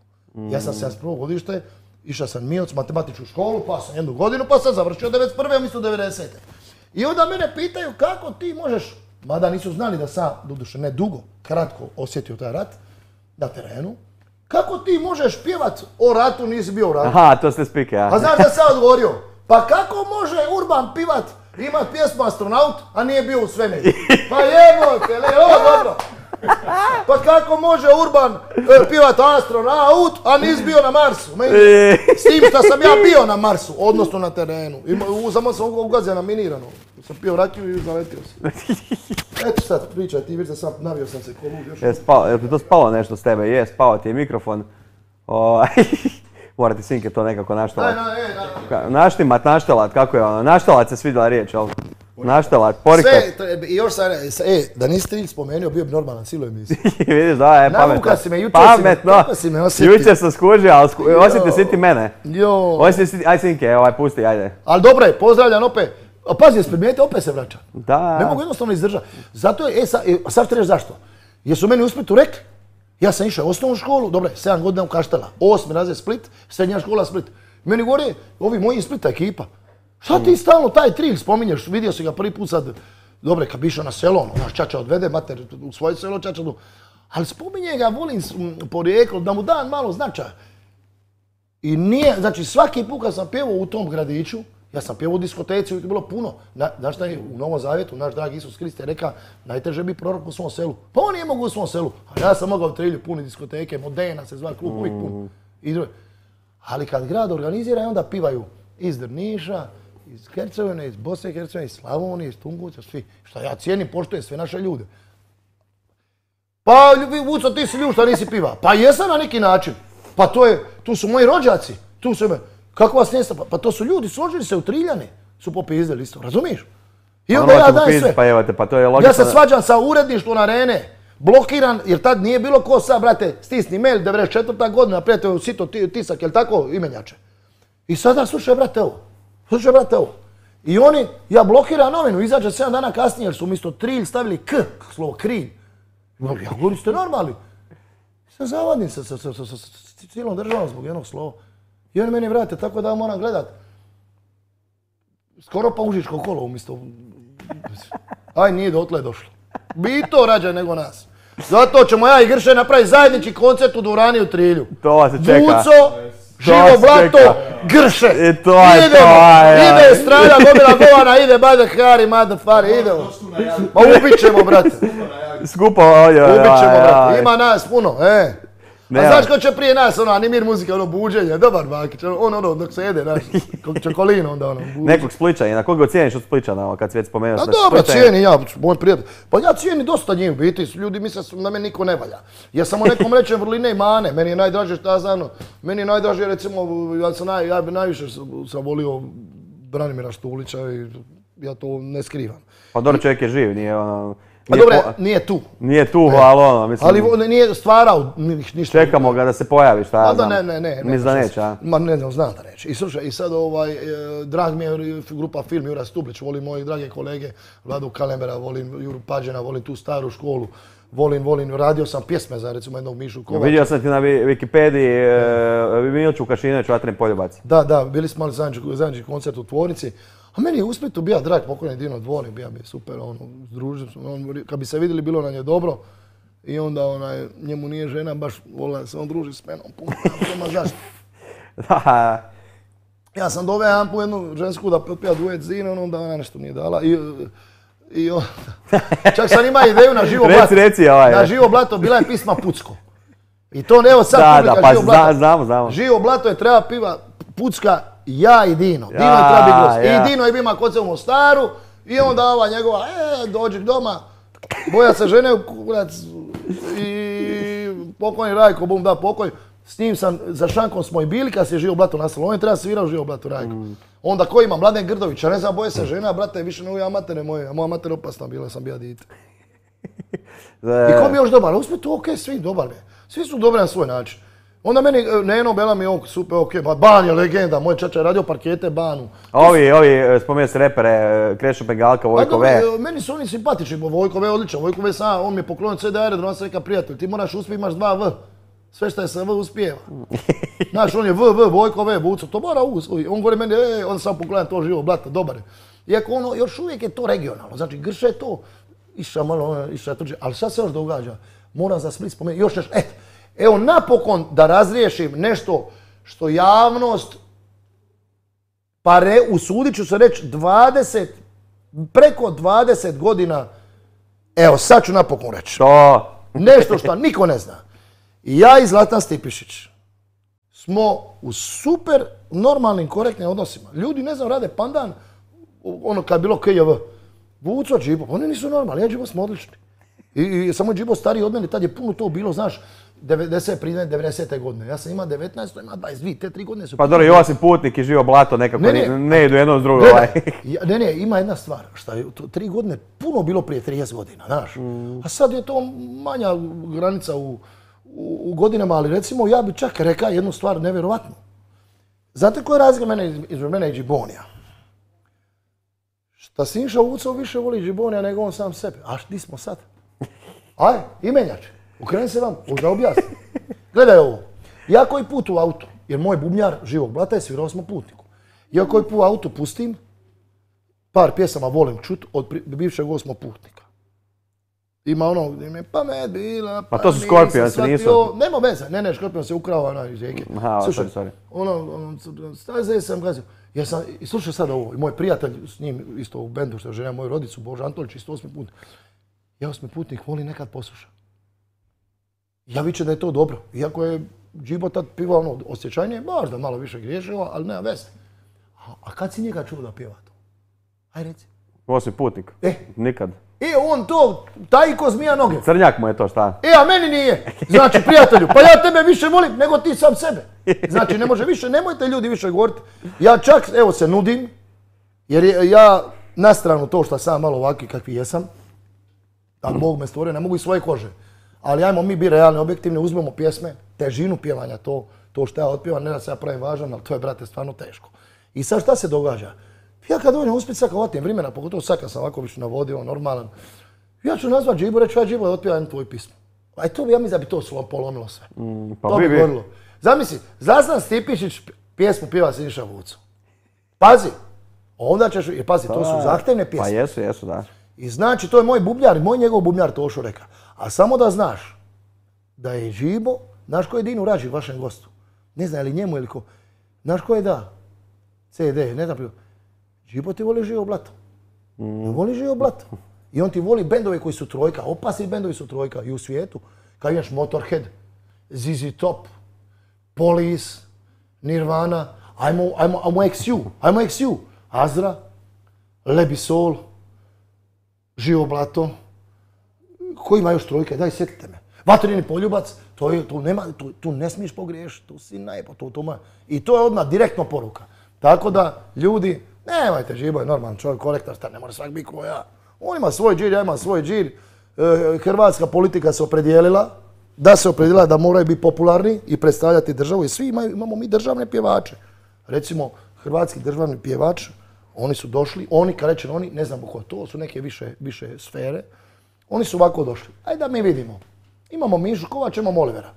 B: Ja sam 71. godište, išao sam Mioc, matematičku školu, pa sam 1 godinu, pa sam završio 91. umjesto 90. I onda mene pitaju kako ti možeš, mada nisu znali da sam, doduše ne dugo, kratko osjetio taj rat na terenu, kako ti možeš pjevat o ratu, nisi bio u ratu?
A: Aha, to ste spike, ja.
B: A znaš da sam odgovorio? Pa kako može Urban pivat, imat pjesmu Astronaut, a nije bio u svemiru? Pa jebote, ovo dobro. Pa kako može Urban pivat Astronaut, a nisi bio na Marsu? S tim što sam ja bio na Marsu, odnosno na terenu. Samo sam ugazio na minirano. Sam pio rakiju i zaletio sam. Eto sad, pričaj, ti vidiš da sam navio sam se ko lud još.
A: Je li to spalo nešto s tebe? Je, spao ti je mikrofon. Mora ti Sinke to nekako naštelat. Naštimat, naštelat, kako je ono? Naštelat se svidjela riječ, jel? Naštelat, porikot.
B: Sve, i još sam, da nisi Trilj spomenuo, bio bi normalan cijelu emisiju.
A: Vidiš, da, je pametno.
B: Navuka si me,
A: Pametno.
B: si me osjetio.
A: Jučer sam skužio, ali osjeti si ti mene. Aj Sinke, pusti, ajde.
B: Ali dobro je, pozdravljam opet. A pazi, jesi primijetio, opet se vraća.
A: Da.
B: Ne mogu jednostavno izdržati. Zato je, sad ću reći zašto. Jer su meni u Splitu rekli, ja sam išao u osnovnu školu, dobro, 7 godina u Kaštela, 8. razred Split, srednja škola Split. Meni govore, ovi moji iz Splita ekipa, šta ti stalno taj Trilj spominješ, vidio si ga prvi put sad, dobro, kad bi išao na selo, naš čača odvede, mater u svoje selo čača, ali spominje ga, volim porijeklo, da mu dan malo značaja. I nije, znači svaki put kad sam pjevao u tom gradiću, ja sam pjevao u diskoteci, uvijek je bilo puno. Znaš šta je u Novom Zavjetu, naš dragi Isus Krist je rekao, najteže biti prorok u svom selu. Pa on nije mogao u svom selu, a ja sam mogao u Trilju puni diskoteke, Modena se zva klub, uvijek pun. Ali kad grad organizira, onda pivaju iz Drniša, iz Hercegovine, iz Bosne i Hercegovine, iz Slavonije, iz Tunguća, svi. Šta ja cijenim, poštujem sve naše ljude. Pa, Vuco, ti si ljud šta nisi piva. Pa jesam na neki način. Pa tu su moji rođaci, tu su kako vas nesta? Pa to su ljudi, složili se u Triljane, su popizdeli isto, razumiješ? I onda ja dajem sve.
A: Pa jevate, pa to je logično.
B: Ja se svađam sa uredništvom Arene, blokiran, jer tad nije bilo ko sad, brate, stisni mail, 94. godina, prijatelj, sito tisak, jel tako, imenjače? I sada slušaj, brate, ovo. I oni, ja blokiram novinu, izađe 7 dana kasnije, jer su umjesto Trilj stavili K, slovo Krilj. Ja govorim, ste normalni. Sam zavadim sa cijelom državom zbog jednog slova. I oni meni vrate, tako da moram gledat. Skoro pa užičko kolo umjesto... Aj, nije dotle došlo. Bi to rađe nego nas. Zato ćemo ja i Grše napraviti zajednički koncert u dvorani u Trilju.
A: To se čeka.
B: Vuco, Živo Blato, Grše.
A: I to je to,
B: ide Strada, Gomila Govana, ide Bada Hari, Mada Fari, idemo. Ma ubit ćemo, brate.
A: Skupo ovdje.
B: Ubit ćemo, brate. Ima nas puno, A znaš ko će prije nas, animir muzika, buđenje, dobar Bakić, dok se jede, znaš, čokolin onda
A: Nekog Spličanina, koga cijeniš od Spličana, kad si već spomenuo
B: sve Spličanina? Dobro, cijenim ja, moj prijatelj. Pa ja cijenim dosta njih, biti, ljudi misle da me niko ne valja. Ja samo nekom rečem vrline i mane, meni je najdraže šta znam, meni je najdraže recimo, ja bi najviše sam volio Branimira Štulića i ja to ne skrivam.
A: Pa dobro, čovjek je živ, nije ono...
B: Pa dobro, nije tu.
A: Nije tu, ali ono, mislim...
B: Ali nije stvarao ništa.
A: Čekamo ga da se pojavi, šta ja znam.
B: Ne.
A: Mislim da neće, a?
B: Ma ne znam, znam da neće. I slušaj, i sad drag mi je grupa Film, Jura Stublić, volim moji drage kolege, Vladu Kalembera, volim Juru Pađena, volim tu staru školu. Volim, radio sam pjesme za recimo jednog Mišu Kovača.
A: Vidio sam ti na Wikipediji Milču Kašinović, Vatren poljubac.
B: Da, bili smo imali zajednički koncert u tvornici. A meni je u Splitu bija drag pokojni Dino Dvornik, bija mi super, združili smo, kad bi se vidjeli bilo nam je dobro. I onda njemu nije žena, baš volila se on druži s menom, puno, zašto. Ja sam doveo jedan put jednu žensku da potpija duet s Dinom, onda ona nešto nije dala. I čak sam ima ideju na Živo Blato. Na Živo Blato bila je pisma Pucko. I to evo sad publika Živo Blato.
A: Znamo.
B: Živo Blato je treba piva Pucka, ja i Dino. Dino je treba biti gost. I Dino je bima kod se u Mostaru i onda ova njegova, dođi doma, boja se žene u kurac i pokojni Rajko, bum da pokoj. S njim sam, za šankom smo i bili kad se je Živo Blato nastalo. On je treba svirao Živo Blato Rajko. Onda ko ima? Mladen Grdović, a ne znam, boje se žena, brate, više ne uvijek matere moje, a moja mater opasna bila, sam bija dite. I ko mi je još dobar? Uspije to, okej, svi dobar mi je. Svi su dobri na svoj način. Onda meni Neno Bela mi je super, ok, pa Ban je legenda, moj čača je radio parkete Banu.
A: Ovi, spomenuo se repere, Krešo Pengalka, Vojko V.
B: Meni su oni simpatični, Vojko V odličan, Vojko V sam, on mi je poklonio CD aerodrom, on sam rekao prijatelj, ti moraš uspjeti, imaš 2 V. Sve što je sa V uspijeva. Znaš, on je Vojko V, Vuco, to mora on govori meni, onda sam pogledam to živo blato, dobar je. Iako ono, još uvijek je to regionalno, znači Grše je to, iša malo, iša tuđe, ali šta se još događa? Moram za Split spomenuti, još nešto, evo napokon da razriješim nešto što javnost, pa usudit ću se reći, preko 20 godina, evo sad ću napokon reći.
A: To.
B: Nešto što niko ne zna. I ja i Zlatan Stipišić smo u super normalnim, korektnim odnosima. Ljudi, ne znam, rade pandan, ono kad je bilo KJV. Vuco, Džibo, oni nisu normalni, ja i Džibo smo odlični. I samo je Džibo stariji od mene, tad je puno to bilo, znaš, 90. godine. Ja sam imao 19, to ima 22, te 3 godine su...
A: Pa dobro, Josip Putnik i Živo Blato nekako ne idu jedno s drugo.
B: Ne, ima jedna stvar, što je 3 godine puno bilo prije 30 godina, znaš. A sad je to manja granica u godinama, ali recimo ja bi čak rekao jednu stvar nevjerovatnu. Znate koja je razlika između mene i Džibonija? Šta Sinša Vucov više voli Džibonija nego on sam sebe. A di smo sad? Aj, imenjač, okreni se vam, da objasnim. Gledaj ovo, ja koji put u autu, jer moj bubnjar Živog Blata je svirao smo Putniku. Ja koji put u autu pustim, par pjesama volim čut od bivšeg osmog Putnika. Ima ono gdje mi pamet bila,
A: pa to su Scorpions, nisu?
B: Nema veze, ne, Scorpion se ukrao iz rijeke.
A: Slušaj,
B: staze sam gazio. I slušaj sad ovo, i moj prijatelj s njim isto u bendu što je žena moju rodicu, Božo Antolić, isto 8. put. Ja 8. putnik volim nekad poslušati. Ja vičem da je to dobro, iako je Džibo tad pivao ono osjećajnije, možda malo više griješio, ali nema veze. A kad si njega čuo da pjeva to? Aj reci.
A: 8. putnik? Nikad.
B: On to, taj ko zmija noge.
A: Crnjak mu je to, šta?
B: A meni nije. Znači, prijatelju, pa ja tebe više volim nego ti sam sebe. Znači, ne može više, nemojte ljudi više govoriti. Ja čak, evo se nudim, jer ja na stranu to što sam malo ovakvi kakvi jesam, tako Bog me stvorio, ne mogu iz svoje kože. Ali ajmo mi biti realni, objektivni, uzmemo pjesme, težinu pjevanja, to što ja otpjevam, ne da se ja pravim važan, ali to je, brate, stvarno teško. I sad šta se događa? Ja kad dođem uspjeti sad hvatim vremena, pogotovo sad kad sam ovako više navodio, normalan, ja ću nazvat Džibu, reći ja Džibu da otpjeva jednu tvoju pismu. A to bi, ja mislim da bi to polomilo sve. To bi gorilo. Zamisli, Zlatan Stipišić pjesmu pjeva Siniša Vuco. Pazi, onda ćeš, jer pazi, to su zahtevne pjesme.
A: Pa jesu, da.
B: I znači, to je moj bubnjar, moj njegov bubnjar Tošo reka. A samo da znaš, da je Džibo, znaš ko je Dinu Rađi, vašem gostu? Ne znam, ili njemu ili ko. Znaš ko je da? CD, ne znam, Džibo ti voli Živo Blato. Voli Živo Blato. I on ti voli bendove koji su trojka, opasni bendovi su trojka i u svijetu. Kao imaš Motorhead, ZZ Top, Police, Nirvana, ajmo XU, Azra, Lebisol, Živo Blato. Ko ima još trojke? Daj, sjetite me. Vatreni poljubac, tu ne smiješ pogriješiti, tu si najpo, i to je odmah direktno poruka. Tako da, ljudi, nemojte, Žibo je normalan čovjek, korektor, ne mora svak biti ko ja. On ima svoj džir, ja imam svoj džir. Hrvatska politika se opredijelila da moraju biti popularni i predstavljati državu i svi imamo mi državne pjevače. Recimo, hrvatski državni pjevač, oni su došli, kad rečem oni, ne znamo ko to, su neke više sfere, oni su ovako došli. Ajde da mi vidimo. Imamo Mišu Kovač, imamo Olivera.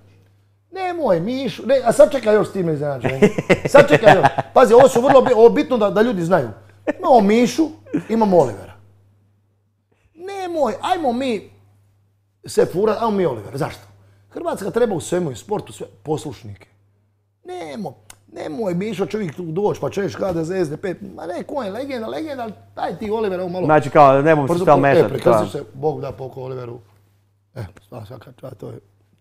B: Nemoj Mišu, a sad čekaj još s tim iznenađenjem. Sad čekaj još. Pazi, ovo su vrlo bitno da ljudi znaju. Imamo Mišu, imamo Olivera. Nemoj, ajmo mi se furati, ajmo mi Olivera. Zašto? Hrvatska treba u svemu i sportu sve poslušnike. Nemoj Mišo čovjek tu doći pa češ HDZ, SDP. Ma ne, ko je legenda, ali daj ti Olivera ovo malo.
A: Znači kao, ne mogu se stal mešati.
B: Prekrstiš se, Bog da poko Oliveru. To je,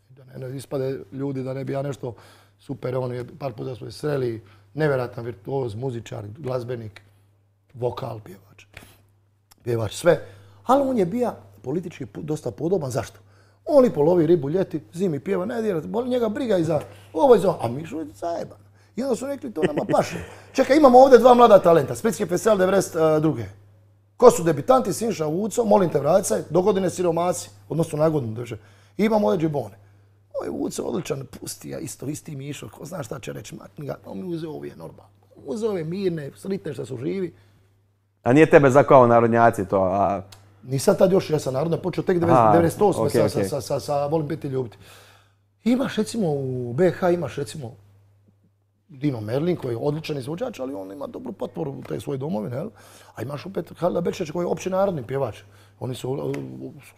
B: da ne ispade ljudi da ne bi ja nešto super, par puta smo je sreli, nevjerojatan virtuoz, muzičar, glazbenik, vokal, pjevač, sve. Ali on je bio politički dosta podoban, zašto? On lipo lovi ribu ljeti, zimi pjeva, ne dira, boli njega briga i za ovo i za ovo, a Mišo je zajeban. I onda su rekli, to nama paše. Čekaj, imamo ovdje 2 mlada talenta, Splitski festival 92. Ko su debitanti, Siniša Vuco, molim te vrati se, dogodine siromasi, odnosno na godinu drže. I imamo ovdje Džibone. Oj, Vuco odličan, pusti ja isti Mišo, ko zna šta će reći, makni ga, on mi uzeo ove normalno. Uzeo ove mirne, sritne što su živi.
A: A nije tebe zakao narodnjaci to, a...
B: Nisam tad još, ja sam narodno počeo tek 98. sa Volim biti ljubiti. Imaš recimo u BiH, imaš recimo Dino Merlin koji je odličan izvođač, ali on ima dobru potporu u te svoje domovine, jel? A imaš opet Halida Bečić koji je općenarodni pjevač. Oni su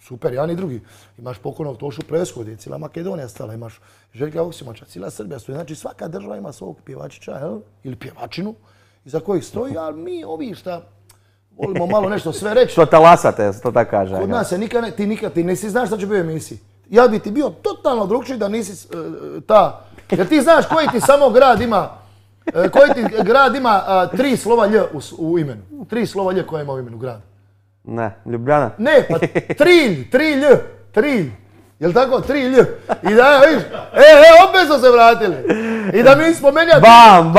B: super, jedan i drugi. Imaš pokojnog Tošu Presku, gdje je cijela Makedonija stala, imaš Željka Oksimača, cijela Srbija stoji. Znači svaka država ima svog pjevačića, jel? Ili pjevačinu, iza kojih stoji, ali mi ovi šta volimo malo nešto sve reći.
A: Što talasate, to tako kaže.
B: Kod nas se ti nisi znaš šta će biti u emisiji. Ja bi ti bio totalno drugčiji da nisi ta... Jer ti znaš koji ti samo grad ima, tri slova lj u imenu. Tri slova lj koja ima u imenu grada.
A: Ne, Ljubljana.
B: Ne, pa Trilj. Jel tako? Trilj. I da, vidiš, opet smo se vratili. I da mi spomenja...
A: Bam!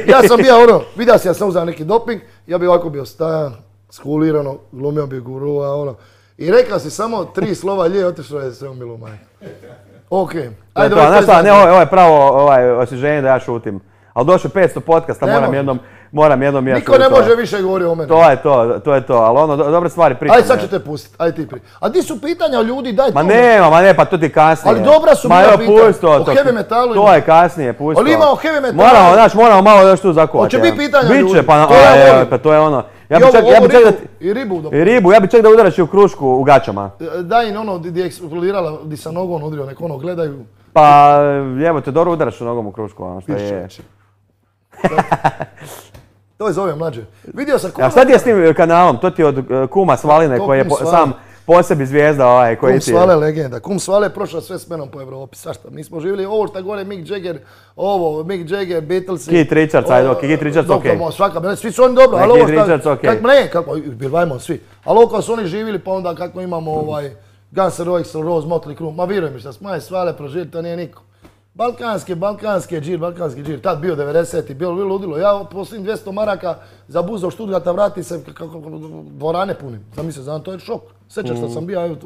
B: Ja sam bio vidio si, ja sam uzao neki doping, ja bi ovako bio stajan, skulirano, glumio bi gurua, I rekao si samo tri slova lje, otišao je sve umilo majka. Okej. Ajde,
A: ovo je pravo osvježenje da ja šutim. Ali došlo 500 podcasta, moram jednom mjestu.
B: Niko ne može više govoriti o mene.
A: To je to, ali dobre stvari pričam.
B: Ajde, sad ću te pustiti, ajde ti pričam. A di su pitanja ljudi, daj to.
A: Ma ne, pa to ti kasnije.
B: Ali dobra su bila pitanja. O heavy metalu.
A: To je kasnije, pusti to.
B: Ali ima o heavy metalu.
A: Moramo malo još tu zakovati.
B: Hoće biti pitanja ljudi.
A: Biće, pa to je ono.
B: I
A: ribu, ja bi čak da udaraš i u krušku u gaćama.
B: Daj im ono gdje je eksplodirala, gdje sam nogom udrio, nek ono gledaju.
A: Pa, evo te dobro udaraš u nogom u krušku, ono što je.
B: To je zove mlađe. Vidio sam
A: kuma... A šta ti je s tim kanalom? To ti je od kuma Svaline koji je sam po sebi zvijezda koji ti je.
B: Kum Svale legenda. Kum Svale je prošao sve s menom po Evropi. Svašta. Mi smo živjeli ovo šta gore Mick Jagger, Beatlesi.
A: Keith Richards, Keith Richards okej.
B: Svi su oni dobro, ali ovo
A: Keith Richards okej.
B: Kako, bilvajmo svi. Ali ovo kao su oni živjeli pa onda kako imamo Guns N' Roses, Motley Crue. Ma vjeruj mi šta smo Svale proživjeli, to nije niko. Balkanski džir, tad bio 90-ti, bilo ludilo. Ja posljednjim 200 maraka za bus do Stuttgarta vrati se kako dvorane punim. Znam, to je šok. Sjećaš što sam bio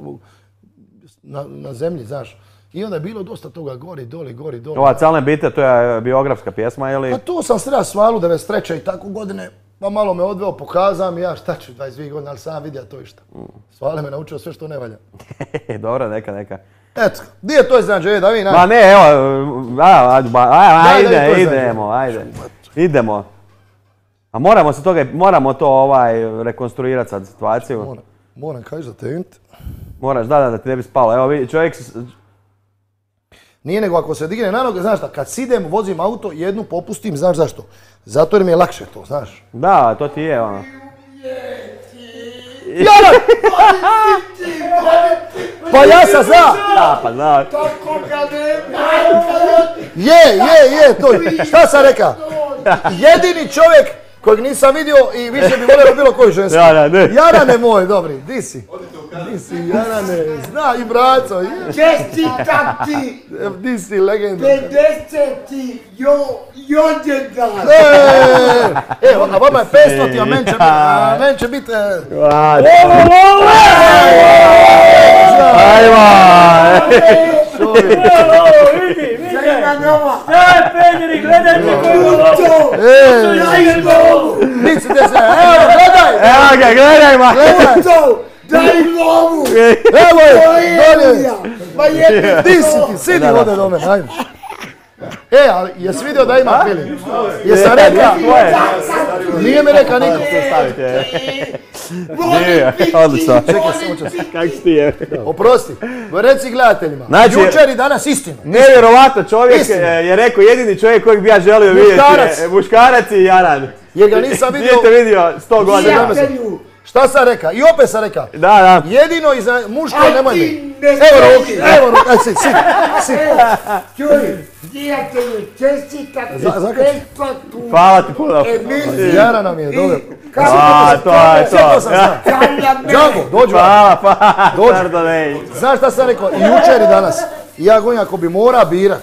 B: na zemlji, znaš. I onda je bilo dosta toga gori, doli.
A: Ova Calne bite, to je biografska pjesma ili?
B: Pa to sam sreo Svalu 93. i tako godine. Pa malo me odveo, pokazao mi ja šta ću 22 godine, ali sam vidio to i šta. Svale me naučio sve što ne valja.
A: Dobro, neka.
B: Eto, gdje je to iznenađenje da vi
A: Ma ne, evo, idemo. A moramo to rekonstruirati sad situaciju.
B: Moram kaži za te
A: Moraš, da ti ne bi spalo. Evo vidi, čovjek...
B: Nije nego ako se digne na noge, znaš šta, kad sidem, vozim auto, jednu popustim, znaš zašto? Zato jer mi je lakše to, znaš.
A: Da, to ti je ono.
B: Jara! Pa ja sam zna!
A: Da, pa zna.
B: Je, to. Šta sam reka? Jedini čovjek kojeg nisam vidio i više bi volio bilo koju žensku. Jarane moj, dobri, di si? Di si, Jarane, zna i braco.
E: Čestitam ti!
B: Di si, legenda.
E: 50 rođendan!
B: Evo, a vama je 500, a men će biti...
E: Daj, Pedri, gledajte koji
B: to! Nici te se, evo, gledaj!
A: Evo ga, gledaj ma!
E: Daj lovu!
B: Evo je, dolje!
E: Ma jedni
B: Di si ti, sidi vode do mene, ajde. Ali jesi vidio da ima feeling? Jesam reka? Nije mi reka niko.
A: Odlično.
B: Čekaj, samo čas.
A: Kako si ti je?
B: Oprosti, reci gledateljima. Jučer i danas istina.
A: Nevjerovatno, čovjek je rekao jedini čovjek kojeg bi ja želio vidjeti. Muškarac i Jaran.
B: Jer ga nisam vidio...
A: Nije te vidio 100 godina.
B: Šta sam reka? I opet sam reka.
A: Da.
B: Jedino iza muško nemoj mi. Evo ruki, aj sit.
E: Čuj, prijatelju, čestitam ti besplatnu
A: Hvala ti puno.
E: emisiju.
B: Jara nam je, dobro.
A: To je to.
B: Džango, dođu.
A: Hvala.
B: Znaš šta sam rekao? I jučer i danas. Ja govorim ako bi mora birat.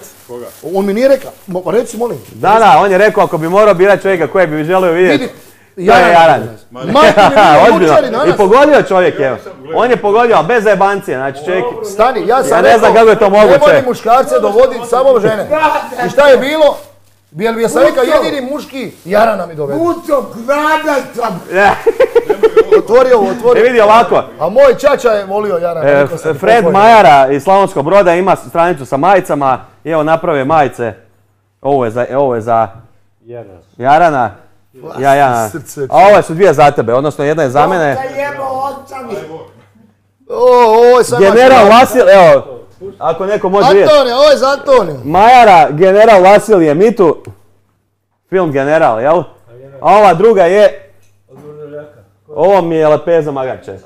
B: On mi nije rekao. Reci molim.
A: Da, on je rekao ako bi morao birat čovjeka kojeg bi želio vidjeti. Jaran.
B: Majke mi nije
A: Ozbiljno.
B: mučari
A: I
B: danas.
A: pogodio čovjek, evo. On je pogodio, ali bez zajebancije, znači čovjek...
B: Stani, ja sam
A: Ja ne znam kako je to
B: ne
A: moguće.
B: volim muškarce dovoditi, samo žene. I šta je bilo? Jel ja sam rekao jedini muški Jarana mi dovede.
E: Puto, grada sam.
B: Otvori ovo,
A: E
B: otvori.
A: vidi ovako,
B: A moj čača je volio Jarana. rekao sam ti,
A: Fred
B: pokojno.
A: Majara iz Slavonskog Broda ima stranicu sa majicama i evo napravio majice. Ovo je za Jarana. Ja.
B: Srce.
A: A ove su dvije za tebe, odnosno jedna je za mene.
E: Da jebo ocavi.
B: Ovo je sam
A: General Vasil, evo, ako neko može vidjeti.
B: Antonija, ovo je za Antoniju.
A: Majara, General Vasilije Mitu. Film General, jel? A ova druga je... Ovo mi je lepeza Magače.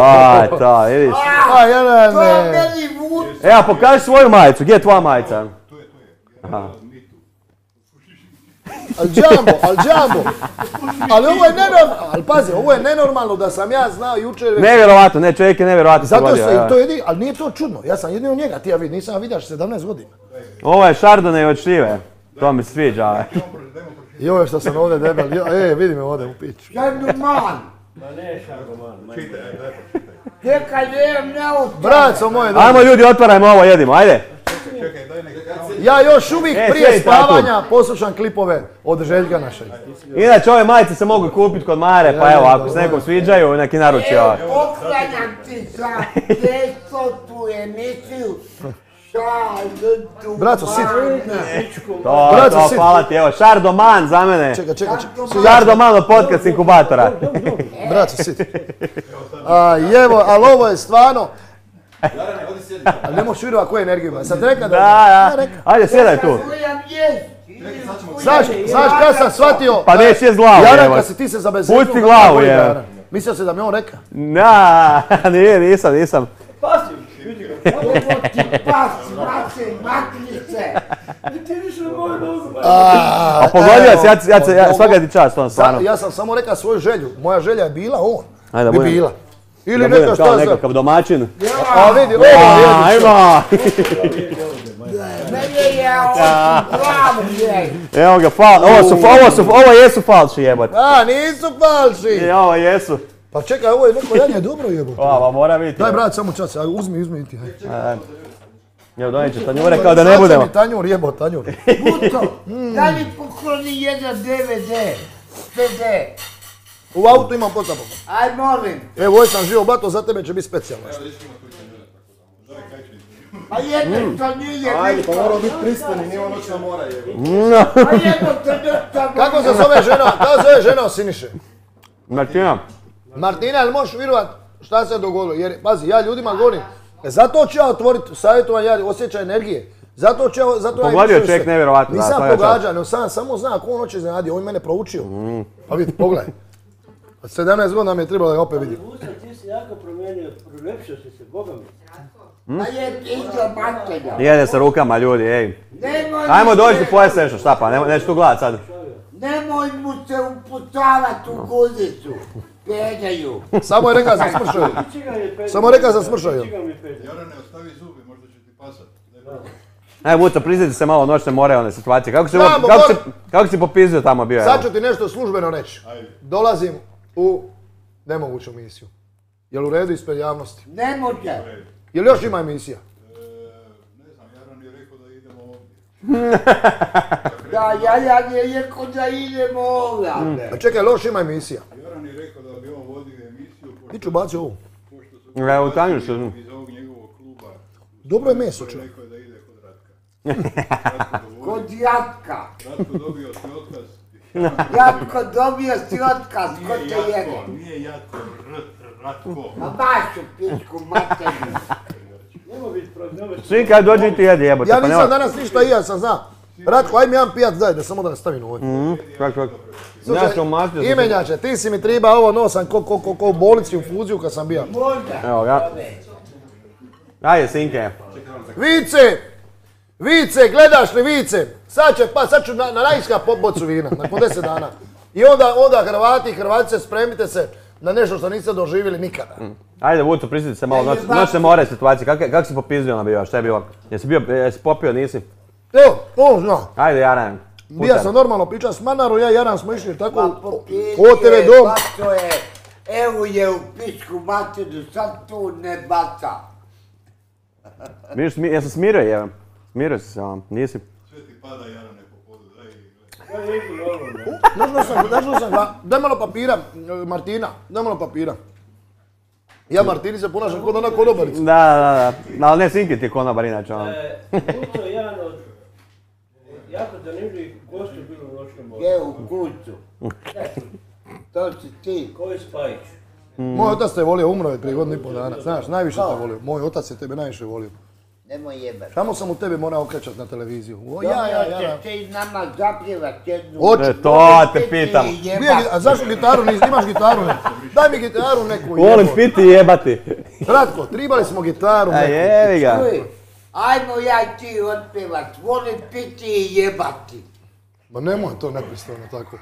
A: Aj, to, vidiš.
B: A, Jarane.
E: To je meni vuč.
A: Evo, pokaži svoju majicu, gdje je tvoja majica?
B: Al džambo. Ali ovo je nenormalno, ali pazi, ovo je nenormalno da sam ja znao jučer već.
A: Nevjerovatno, ne, čovjek je nevjerovatno
B: Zato
A: pogodio,
B: se,
A: evo.
B: to je, ali nije to čudno, ja sam jedino njega, ti ja vidim, nisam ga vidio 17 godina.
A: Ovo je Chardonnay od šljive. To mi se sviđa.
B: I ovo je što sam ovdje debel, vidi me ovdje u piću.
E: Šardoman. Čekaj, ne od...
B: Braco moje,
A: Ajmo ljudi, otvarajmo ovo, jedimo, ajde.
B: ja još uvijek prije
A: sjedi tako.
B: spavanja poslušam klipove od Željka našeg.
A: Inače, ove majice se mogu kupiti kod Mare, pa evo, ako se nekom sviđaju, neki naruči ovo.
E: Oklanjam ti za 500 emisiju.
B: Braco, sit.
A: To, hvala ti, evo, Šardoman za mene.
B: Čekaj.
A: Šardoman od podcast inkubatora.
B: Braco, sit. Jevo, ali ovo je stvarno... Ali ne možeš vidjeti koju energiju ima. Sad reka
A: Da. Ajde, sjedaj tu.
B: Znaš kad sam shvatio...
A: Pa neće jest glavu,
B: Jaran,
A: evo.
B: kad si ti se zabezetio...
A: Pusti glavu, evo.
B: Mislio se da mi on reka.
A: Na, nisam.
E: Ovo ti pas, mace, maknice.
A: A pogodio si, ja svaka ti čast, on stvarno.
B: Ja sam samo rekao svoju želju. Moja želja je bila on.
A: Ajde,
B: Bi
A: budem.
B: bila. Ili
A: Da
B: neka
A: budem
B: šta
A: kao
B: za...
A: nekakav domaćin.
B: A vidi, ovo je
A: Ajmo!
E: Mene je od glavu je.
A: Evo ga, ovo jesu falši jebote.
B: A, nisu falši.
A: Ovo jesu.
B: Pa čekaj, ovo je neko janje dobro jebote.
A: Ova, mora biti.
B: Daj brat, samo čas, uzmi ti.
A: Evo donijet ćeš tanjure kao da ne budemo.
B: Sad tanjur jebot, tanjur.
E: Puto, daj mi pokloni jedan DVD. CD.
B: U autu imam potapom.
E: Aj molim.
B: Evo, ovo sam živo bato, za tebe će biti specijalno.
E: A jedno to nije
C: Ajde,
E: bitno.
C: pa moramo biti pristani, nije ono noćna mora je.
E: A jedno to nešto...
B: Kako se zove žena od Siniše?
A: Martina.
B: Martina, jel možeš vjerovat šta se dogodilo? Jer, pazi, ja ljudima govorim, zato ću ja otvoriti savjetovanje, ja osjećaj energije. Zato
A: Pogodio čovjek nevjerovatno.
B: Nisam pogađao, nego sam samo zna ako on hoće iznenadio, on mene proučio. Pa vidi, pogledaj. Od 17 godina mi je trebalo da ga opet vidim.
F: Ti si jako promijenio, prolepšao si se, Boga mi.
E: A je iza matelja.
A: Jede sa rukama ljudi, ej.
E: Nemoj
A: Ajmo
E: mi
A: dođi
E: se-
A: pojesti nešto, šta pa, neću tu gledat sad.
E: Nemoj mu se upucavati u guzicu. Pedaju.
B: Samo je rekao da sam smršao. Samo rekao da sam smršao.
C: Jarane, ostavi zubi, možda će ti pasat.
A: Ajde, Vuco, priznati se malo noćne one situacije.
B: Znamo,
A: Kako si popizio tamo bio?
B: Sad ću ti nešto službeno reći. Dolazim u nemoguću misiju. Jel u redu ispred javnosti?
E: Ne može.
B: Jel još ima emisija?
C: Ne znam, Jaran je rekao da idemo ovdje.
E: Da, ja je rekao da idemo ovdje.
B: A čekaj, jel još ima emisija?
C: Jaran je rekao da bi on vodio emisiju,
B: Ti ću baci ovu.
C: pošto su
A: Evo, tanju se.
C: iz ovog njegovog kluba.
B: Dobro je meso, čovjek.
C: Rekao je da ide kod Ratka.
E: Kod Jatka.
C: Ratko dobio si otkaz.
E: Jatko, dobio si otkaz, ko te jede?
C: Nije Jatko, Ratko.
E: Ma baš u pičku materinu.
F: Nemo biti prognostičan.
A: Svi kad dođi ti jedi jebote.
B: Ja
A: pa
B: nisam
A: nema-
B: danas ništa i ja sam zna. Ratko, aj mi jedan pijac daj da samo da ga stavim u ovdje.
A: Kako?
B: Slušaj,
A: Ja sam mastio.
B: imenjače, ti si mi triba ovo nosam ko u bolnici u fuziju kad sam bio.
E: Možda.
A: Evo ga. Ajde, sinke.
B: Vice, gledaš li Vice? Sad ću na najska bocu vina, nakon 10 dana. I onda Hrvati i Hrvatice spremite se na nešto što niste doživjeli nikada.
A: Ajde, Vuco, prisjeti se malo noćne more situacije. Kako si popizdio na bio? Šta je bilo? Jesi popio, nisi?
B: Evo, on zna.
A: Ajde, Jaran.
B: Bija sam normalno pričao s Manarom, ja i Jaran smo išli tako
E: Pa popijeni
B: o TV
E: je,
B: dom.
E: bacio je, evo je u pičku materiju, sad tu ne baca.
A: Vidiš, ja sam smirio je. Smirio si se vam, nisi.
C: Sve ti pada Jarane po podu, daj
B: Našao sam, daj malo papira, Martina, daj malo papira. Ja Martini se ponašam kod ona konobarica.
A: Da. Ali ne, Sinki ti je konobar inače.
F: Kuco je jedan od jako zanimljivih gostu bilo u noćnom moru.
E: Je u kuću. To si ti.
F: Ko je Spajić?
B: Moj otac te volio, umro je prije godinu i pol dana. Znaš, najviše te volio. Moj otac je tebe najviše volio.
E: Nemoj jebat.
B: Samo sam u tebe morao okrećat na televiziju. O, ja.
E: Ćeš ti nama zapjevat jednu.
B: Hoće.
A: To te pitam.
B: A zašto gitaru nisi, imaš gitaru ne? Daj mi gitaru neku.
A: Volim
B: jebote.
A: piti i jebati.
B: Kratko, tribali smo gitaru
A: A
B: neku.
A: jevi ga.
E: Čuj, ajmo ja i ti otpevat, volim piti i jebati.
B: Ma nemoj to nepristojno tako.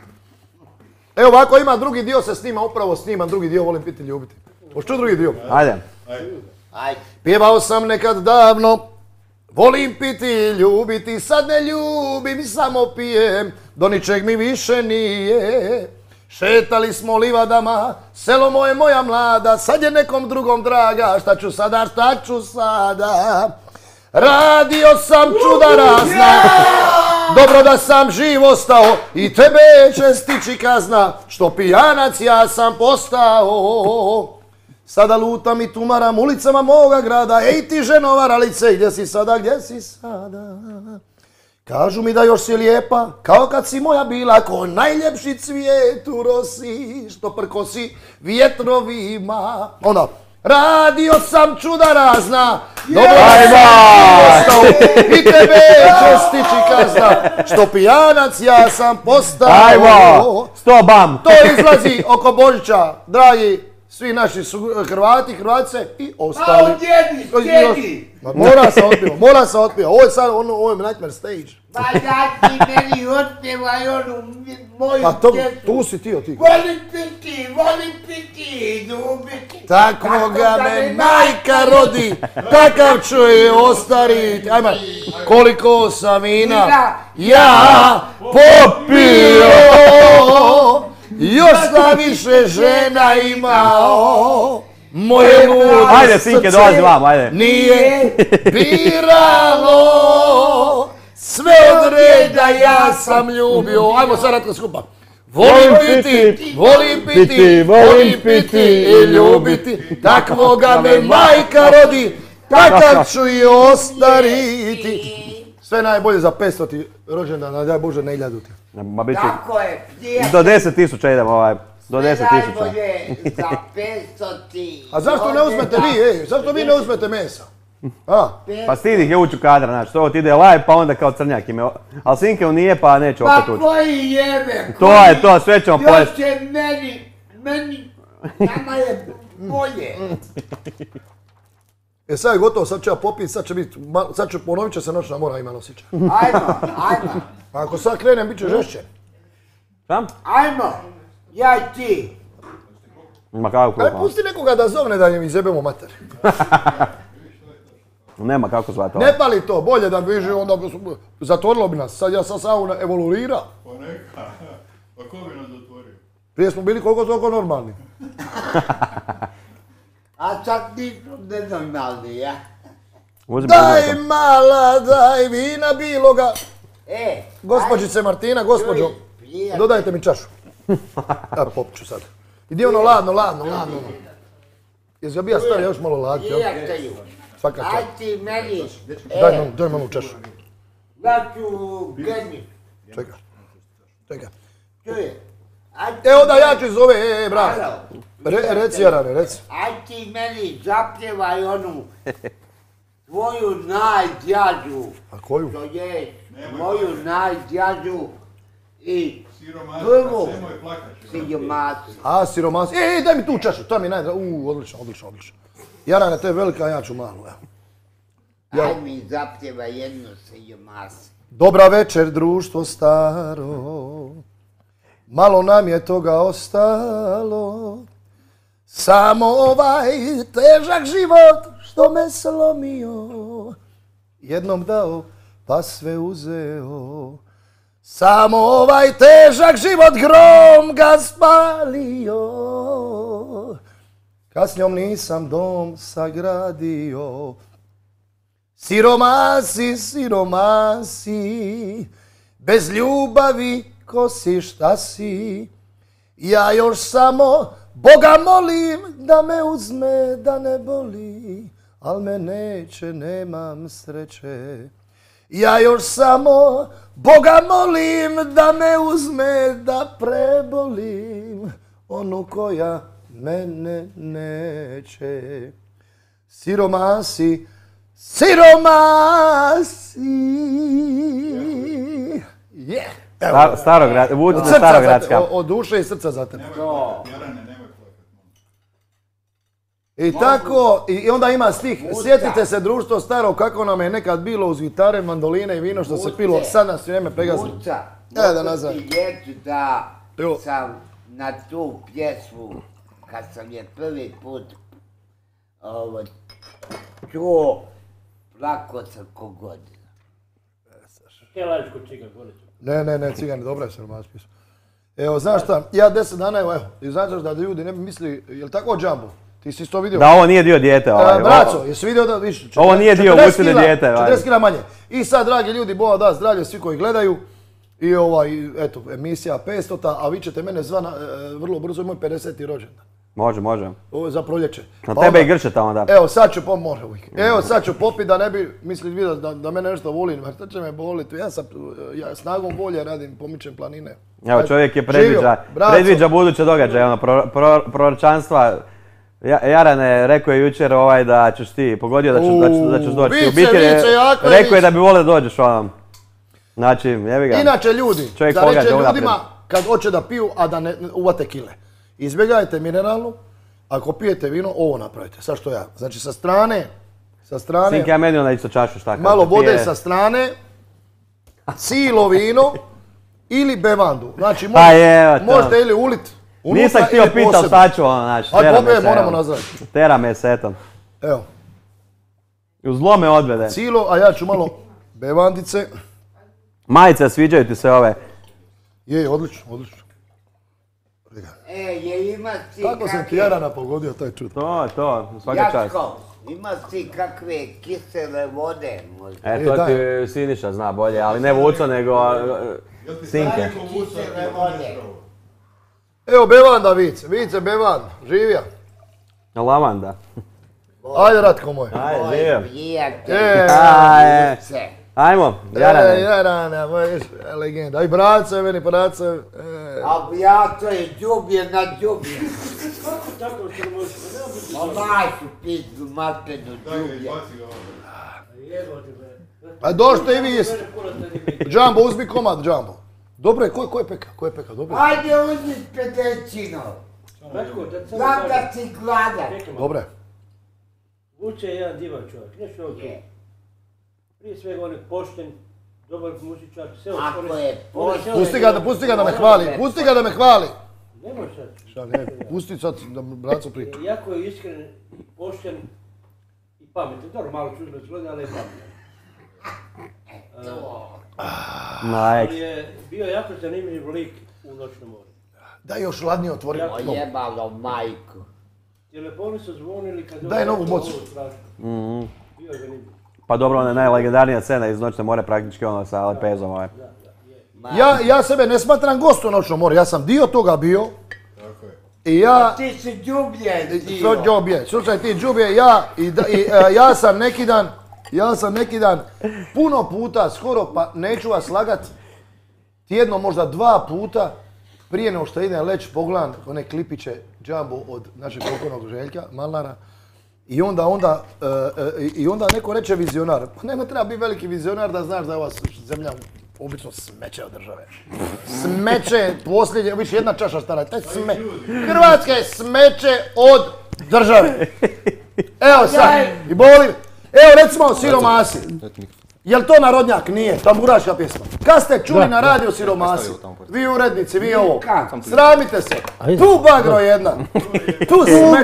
B: Evo ovako ima drugi dio se snima, upravo snimam drugi dio, volim piti i ljubiti. Hoću drugi dio?
A: Ajde.
E: Ajde.
B: Pjevao sam nekad davno, volim piti i ljubiti, sad ne ljubim, samo pijem, do ničeg mi više nije. Šetali smo livadama, selo moje moja mlada, sad je nekom drugom draga, šta ću sada? Radio sam čuda razna, dobro da sam živ ostao i tebe će stići kazna, što pijanac ja sam postao. Sada lutam i tumaram ulicama moga grada, ej ti ženo varalice, gdje si sada? Kažu mi da još si lijepa, kao kad si moja bila, ko najljepši cvijet u rosi, što prkosi vjetrovima. Onda, radio sam čuda razna, dobro da sam ostao i tebe će stići kazna, što pijanac ja sam postao.
A: Ajmo, 100 bam.
B: To izlazi oko Božića, dragi svi naši Hrvati, Hrvatice i ostali.
E: A sjedi!
B: Ma mora sam otpio. Ovo je sad ovo je Nightmare Stage.
E: Pa da ti meni otpevaj onu moju
B: Pa
E: pjesmu.
B: tu si ti.
E: Volim piti i ljubiti.
B: Tako ga me majka rodi, takav ću je ostariti. Ajme, koliko sam vina ja popio, još sam više žena imao. Moje ludo
A: Ajde, Sinke, dolazi vam, ajde.
B: nije biralo, sve od reda ja sam ljubio. Ajmo sad ratko skupa. Volim piti i ljubiti, takvoga me majka rodi, takav ću i ostariti. Sve najbolje za 500 rođendan, daj Bože, ne 1000.
A: Ma bit će.
E: Tako je, prijatelj.
A: Do 10.000 idemo do 10.000.
E: Najbolje za 500.
B: A zašto ne uzmete vi, zašto vi ne uzmete mesa? A?
A: Pa stidi ih je ući u kadra, znači to ti ide live pa onda kao crnjak ime. Ali Sinke nije pa neće opet
E: Pa
A: ući.
E: koji jebe?
A: To je to, sve ćemo pojesti.
E: Još je meni, nama je bolje.
B: Sad je gotovo, sad ću ja popiti, sad ću ponovit će se noćna mora ima nosića.
E: Ajmo.
B: Ako sad krenem, bit će žešće.
A: Šta?
E: Ajmo, ja i ti.
A: Ma kako
B: Aj,
A: pa?
B: pusti nekoga da zovne da im izjebemo mater.
A: Nema kako zvati ovo.
B: Ne pali to, bolje da bi onda zatvorilo bi nas. Sad ja sam sauna evoluira.
C: Pa neka. Pa ko bi nas zatvorio?
B: Prije smo bili koliko toliko normalni.
E: A sad nismo nenormalni, ja?
A: Uzmi
B: Daj
A: uzmi.
B: mala, daj vina biloga. Gospođice Martina, gospođo,
E: Čuj, prijatelj.
B: dodajte mi čašu. Ja popit ću sad. Idi ono ladno. Jesi ga bija stavio još malo laditi, jel?
E: Prijatelju,
B: Svaka
E: aj
B: čast.
E: ti meni,
B: Daj malo čašu.
E: ja ću geni.
B: Čekaj.
E: Čuje, aj ti
B: Evo da ja ću iz ove, brat.
E: Halo.
B: Reci Jarane, reci.
E: Aj ti meni zapjevaj onu tvoju najdjađu.
B: A koju?
E: To je moju najdjađu i
C: Siromasa,
E: prvu
C: nemoj plakat.
E: siromasu.
B: A, siromasi. Daj mi tu čašu, to mi je odlično. Jarane, to je velika, ja ću malu, evo.
E: Aj mi zapjevaj jednu siromasu.
B: Dobra večer, društvo staro, malo nam je toga ostalo, samo ovaj težak život što me slomio, jednom dao pa sve uzeo, Samo ovaj težak život grom ga spalio, kad s njom nisam dom sagradio. Siromasi, siromasi, bez ljubavi ko si šta si. Ja još samo Boga molim da me uzme, da ne boli, al me neće, nemam sreće. Ja još samo Boga molim da me uzme, da prebolim onu koja mene neće. Siromasi, siromasi.
A: Starograd, Vučić Starogradska.
B: Od duše i srca za tebe.
C: Jarane, nemoj plakati.
B: I tako, i onda ima stih, sjetite se društvo staro kako nam je nekad bilo uz gitare, mandoline i vino što se pilo, sad nas vrijeme pregazilo.
E: Muca,
B: Da nazad.
E: mogu ti reći da
B: Evo.
E: sam na tu pjesmu, kad sam je prvi put čuo, plako sam ko godina.
F: Kaj lažiš kod čega, Goricu?
B: Ne, cigani, dobra je Siromasi pisao. Evo, znaš šta, ja 10 dana, evo, i znaš da ljudi ne bi mislili, jel tako Džambo? Ti si to vidio?
A: Da, ovo nije dio dijete.
B: Braco, jesi vidio da više?
A: Ovo nije dio Vučine dijete.
B: 40 kila manje. I sad, dragi ljudi, Boga da zdravlje svi koji gledaju. I eto, emisija 500, a vi ćete mene zva vrlo brzo, moj 50. rođendan.
A: Može.
B: Ovo je za proljeće.
A: Na tebe i Grče tamo da.
B: Evo, sad ću popit da ne bi mislili da mene nešto volim, jer šta će me boliti. Ja snagom volje radim, pomičem planine.
A: Evo, čovjek je
B: Živio, braco.
A: predviđa buduće događaje, proročanstva. Jarane, rekao je jučer da ćeš ti, pogodio da ćeš doći. Rekao je da bi volio da dođeš ovom. Znači, jebi ga.
B: Inače ljudi, da reče ljudima kad hoće da piju, a da ne uvate kile. Izbjegajte mineralnu, ako pijete vino, ovo napravite, sad što ja. Znači sa strane,
A: Sinke, ja meni onda isto čašu šta.
B: malo vode sa strane, cijelo vino ili bevandu. Znači možete ili ulit unutra.
A: Nisam htio pitat šta ću znači.
B: Moramo nazvati.
A: Tera me setom.
B: Evo.
A: U zlo me odvede.
B: Cijelo, a ja ću malo bevandice.
A: Majice, sviđaju ti se ove?
B: Je, odlično.
E: Je ima ti
B: Kako sam ti Jarana pogodio, to je čudo.
A: To, svaka čast.
E: Jacko, ima ti kakve kisele vode možda?
A: To ti Siniša zna bolje, ali ne Vuco, nego Sinke.
E: Kisele vode.
B: Evo bevanda, Vice bevan, živija.
A: Lavanda.
B: Ajde, Ratko moj.
A: Ajde, živio.
E: Prijatelj,
A: Ajmo, Jarane.
B: Jarane, moj legenda. Aj, brace, meni brace.
E: a ja to je džublje na džublje.
F: Tako što možeš, nema biti.
E: Majku pizdu, matenu
C: Daj ga,
E: džublje.
C: izbaci ga ovdje.
F: Jebo ti me.
B: A došte i vi jeste. Džambo, uzmi komad, Džambo. Dobro je, ko je peka? Dobro je.
E: Ajde uzmi pedećino.
F: Ratko, da sam
E: Znam da si gladan.
B: Dobro je.
F: Vuče je jedan divan čovjek, nešto ovdje.
E: Je.
F: Prije svega on je pošten, dobar muzičar, sve
E: Ako je pošten.
B: Pusti ga da me hvali.
F: Nemoj sad.
B: Šta ne, pusti sad da braco priča.
F: Jako je iskren i pošten i pametan. Dobro, malo čudno zgleda, ali je pametan. Ali je bio jako zanimljiv lik u Noćnom moru.
B: Daj još ladnije otvori.
E: Ojebalo majku.
F: Telefoni su zvonili kad...
B: Daj novu bocu.
F: Bio je zanimljiv.
A: Pa dobro, ona je najlegendarnija scena iz Noćne more, praktički sa lepezom ovaj.
B: Ja sebe ne smatram gost u Noćnom moru, ja sam dio toga bio.
C: Tako je.
B: I ja...
E: Ti si džublje dio.
B: Slušaj ti džubje, ja sam neki dan puno puta, skoro pa neću vas lagat, tjedno možda 2 puta prije nego što idem leći pogledam one klipiće Džambo od našeg pokojnog Željka Malnara. I onda neko reče vizionar. Pa nema treba biti veliki vizionar da znaš da je ova zemlja obično smeće od države. Smeće posljednje, više jedna čaša stara. Hrvatska je smeće od države. Evo sad, i boli. Evo recimo Siromasi. Jel to narodnjak? Nije, tamburaška pjesma. Kad ste čuli na radiju Siromasi? Vi urednici, vi ovo. Sramite se. Tu bagro jedna. Tu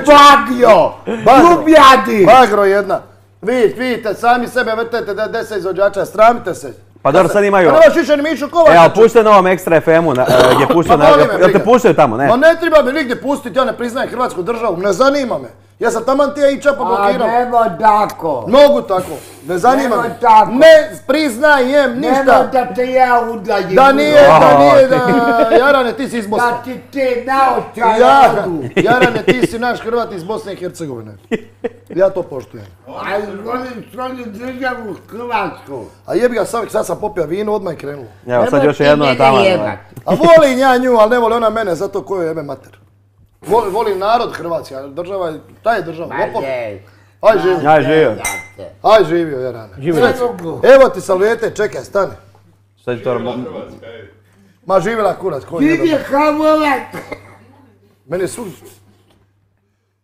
B: bagjo. Ljubljadi. Bagro jedna. Vidite, sami sebe vrtete da 10 izvođača. Sramite se.
A: Pa dobro, sad imaju...
B: Pa nemaš više ni Mišu Kovača.
A: Evo, puštaju na ovom Extra FM-u, gdje puštaju na... Jel te puštaju tamo, ne?
B: Ma ne treba me nigdje pustiti, ja ne priznajem Hrvatsku državu, ne zanima me. Ja sam taman tija i čapa blokiram.
E: A nemoj tako.
B: Mogu tako, ne zanima
E: Nemoj
B: me.
E: tako.
B: Ne priznajem
E: Nemoj
B: ništa.
E: da te ja udaljim.
B: Da nije, Jarane, ti si iz Bosne.
E: Da ti te naočaj odu.
B: Jarane, ti si naš Hrvat iz Bosne i Hercegovine. Ja to poštujem.
E: A volim svoju državu Hrvatsku.
B: A jebi ga, sad sam popio vino, odmah je krenulo.
A: Evo, sad
E: Nemoj
A: još
E: ti
A: jedno na
E: mene
A: tamo.
E: jebat.
B: A volim ja nju, ali ne voli ona mene, zato koju jebe mater. Volim narod Hrvatski, a država je, ta je država,
E: Ma
B: lopov.
E: je.
B: Aj živio,
A: Aj, živio.
B: aj živio, Jarane.
E: Ne mogu.
B: Evo ti salvijete, čekaj, stani.
A: Šta će to...
C: Hrvatska, ej.
B: Ma živjela kurac, koji je
E: Ti je Hamlet.
B: Meni su...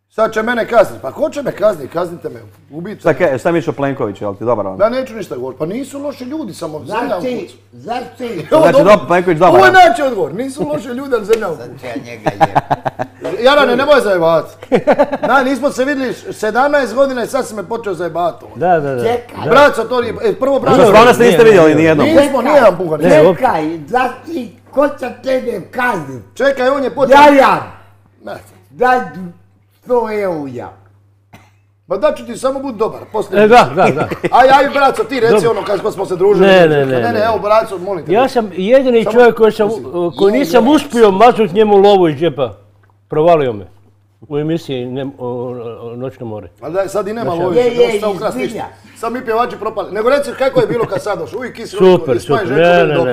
B: Sad će mene kazniti, pa ko će me kazniti, kaznite me, ubijte me.
A: Šta Mišo Plenković, jel ti dobar on?
B: Ja neću ništa govoriti, pa nisu loši ljudi, samo zemlja u kucu.
E: Zašto?
A: Znači, Plenković dobar.
B: Ovo je najveći odgovor, nisu loši ljudi, ali zemlja u kucu.
E: Ja njega jem.
B: Jarane, nemoj zajebavati. Nismo se vidjeli 17 godina i sad si me počeo zajebavati.
F: Da.
E: Čekaj.
B: Braco, to nije, prvo braco.
A: Što stvarno se niste vidjeli nijednom?
B: Nismo, nijedan pugar.
E: Čekaj, zašto ko će tebe kazniti?
B: Čekaj, on je počeo...
E: Jajan,
B: Ne.
E: daj 100 eura.
B: Ma da ću ti samo budi dobar, poslije.
F: Da.
B: Aj, braco, ti reci ono kad smo se družili.
F: Ne.
B: Evo, braco, molim te.
F: Ja sam jedini čovjek koji nisam uspio maznut njemu lovu iz džepa. Provalio me. U emisiji Noćno more.
B: Ali daj, sad i nema
E: Je,
B: lovića,
E: je,
B: još sam ukras ništa.
E: izvinja.
B: Sad mi pjevači propali. Nego reci kako je bilo kad sad došao, uvijek kisi
F: Super.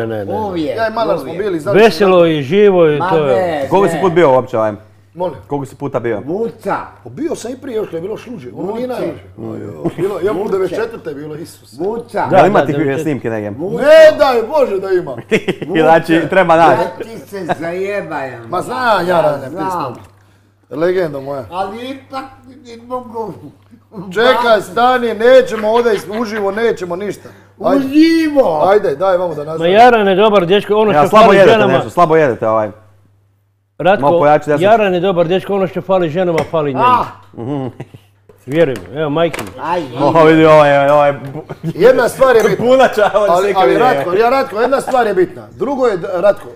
F: Ne.
E: Uvijek.
B: Ja i Malar smo bili, znači.
F: Veselo i živo i
E: Ma
F: to je...
E: ne,
A: Koliko si put bio uopće ovaj?
B: Molim.
A: Koliko si puta bio?
E: Vuca.
B: Pa bio sam i prije još kad je bilo šluđe, ono nije
E: Vuce.
B: najviše. Bilo, ja u 94. je bilo, Isus.
E: Vuca.
A: Da li ima
F: da,
A: ti snimke negdje?
B: Ne daj Bože da ima.
A: Znači, treba naći.
E: Ja ti se zajebajem.
B: Ma znam ja rane
E: Znam.
B: pismo. Legenda moja.
E: Ali ipak ne mogu.
B: Čekaj, stani, nećemo ovdje uživo, nećemo ništa.
E: Uživo.
B: Ajde, daj vamo da
F: Ma
B: nastavimo.
F: Jaran je dobar dečko, ono
A: Ja,
F: što
A: slabo
F: fali
A: jedete
F: ženama...
A: nešto, slabo jedete ovaj. Malo
F: Ratko,
A: pojači desno.
F: Jaran je dobar dečko, ono što fali ženama, fali njemu. Vjeruj mi, evo majke mi.
E: Aj,
A: Oho, vidi ovaj...
B: Jedna stvar je bitna.
A: Punača,
B: Ali Ratko, jedna stvar je bitna.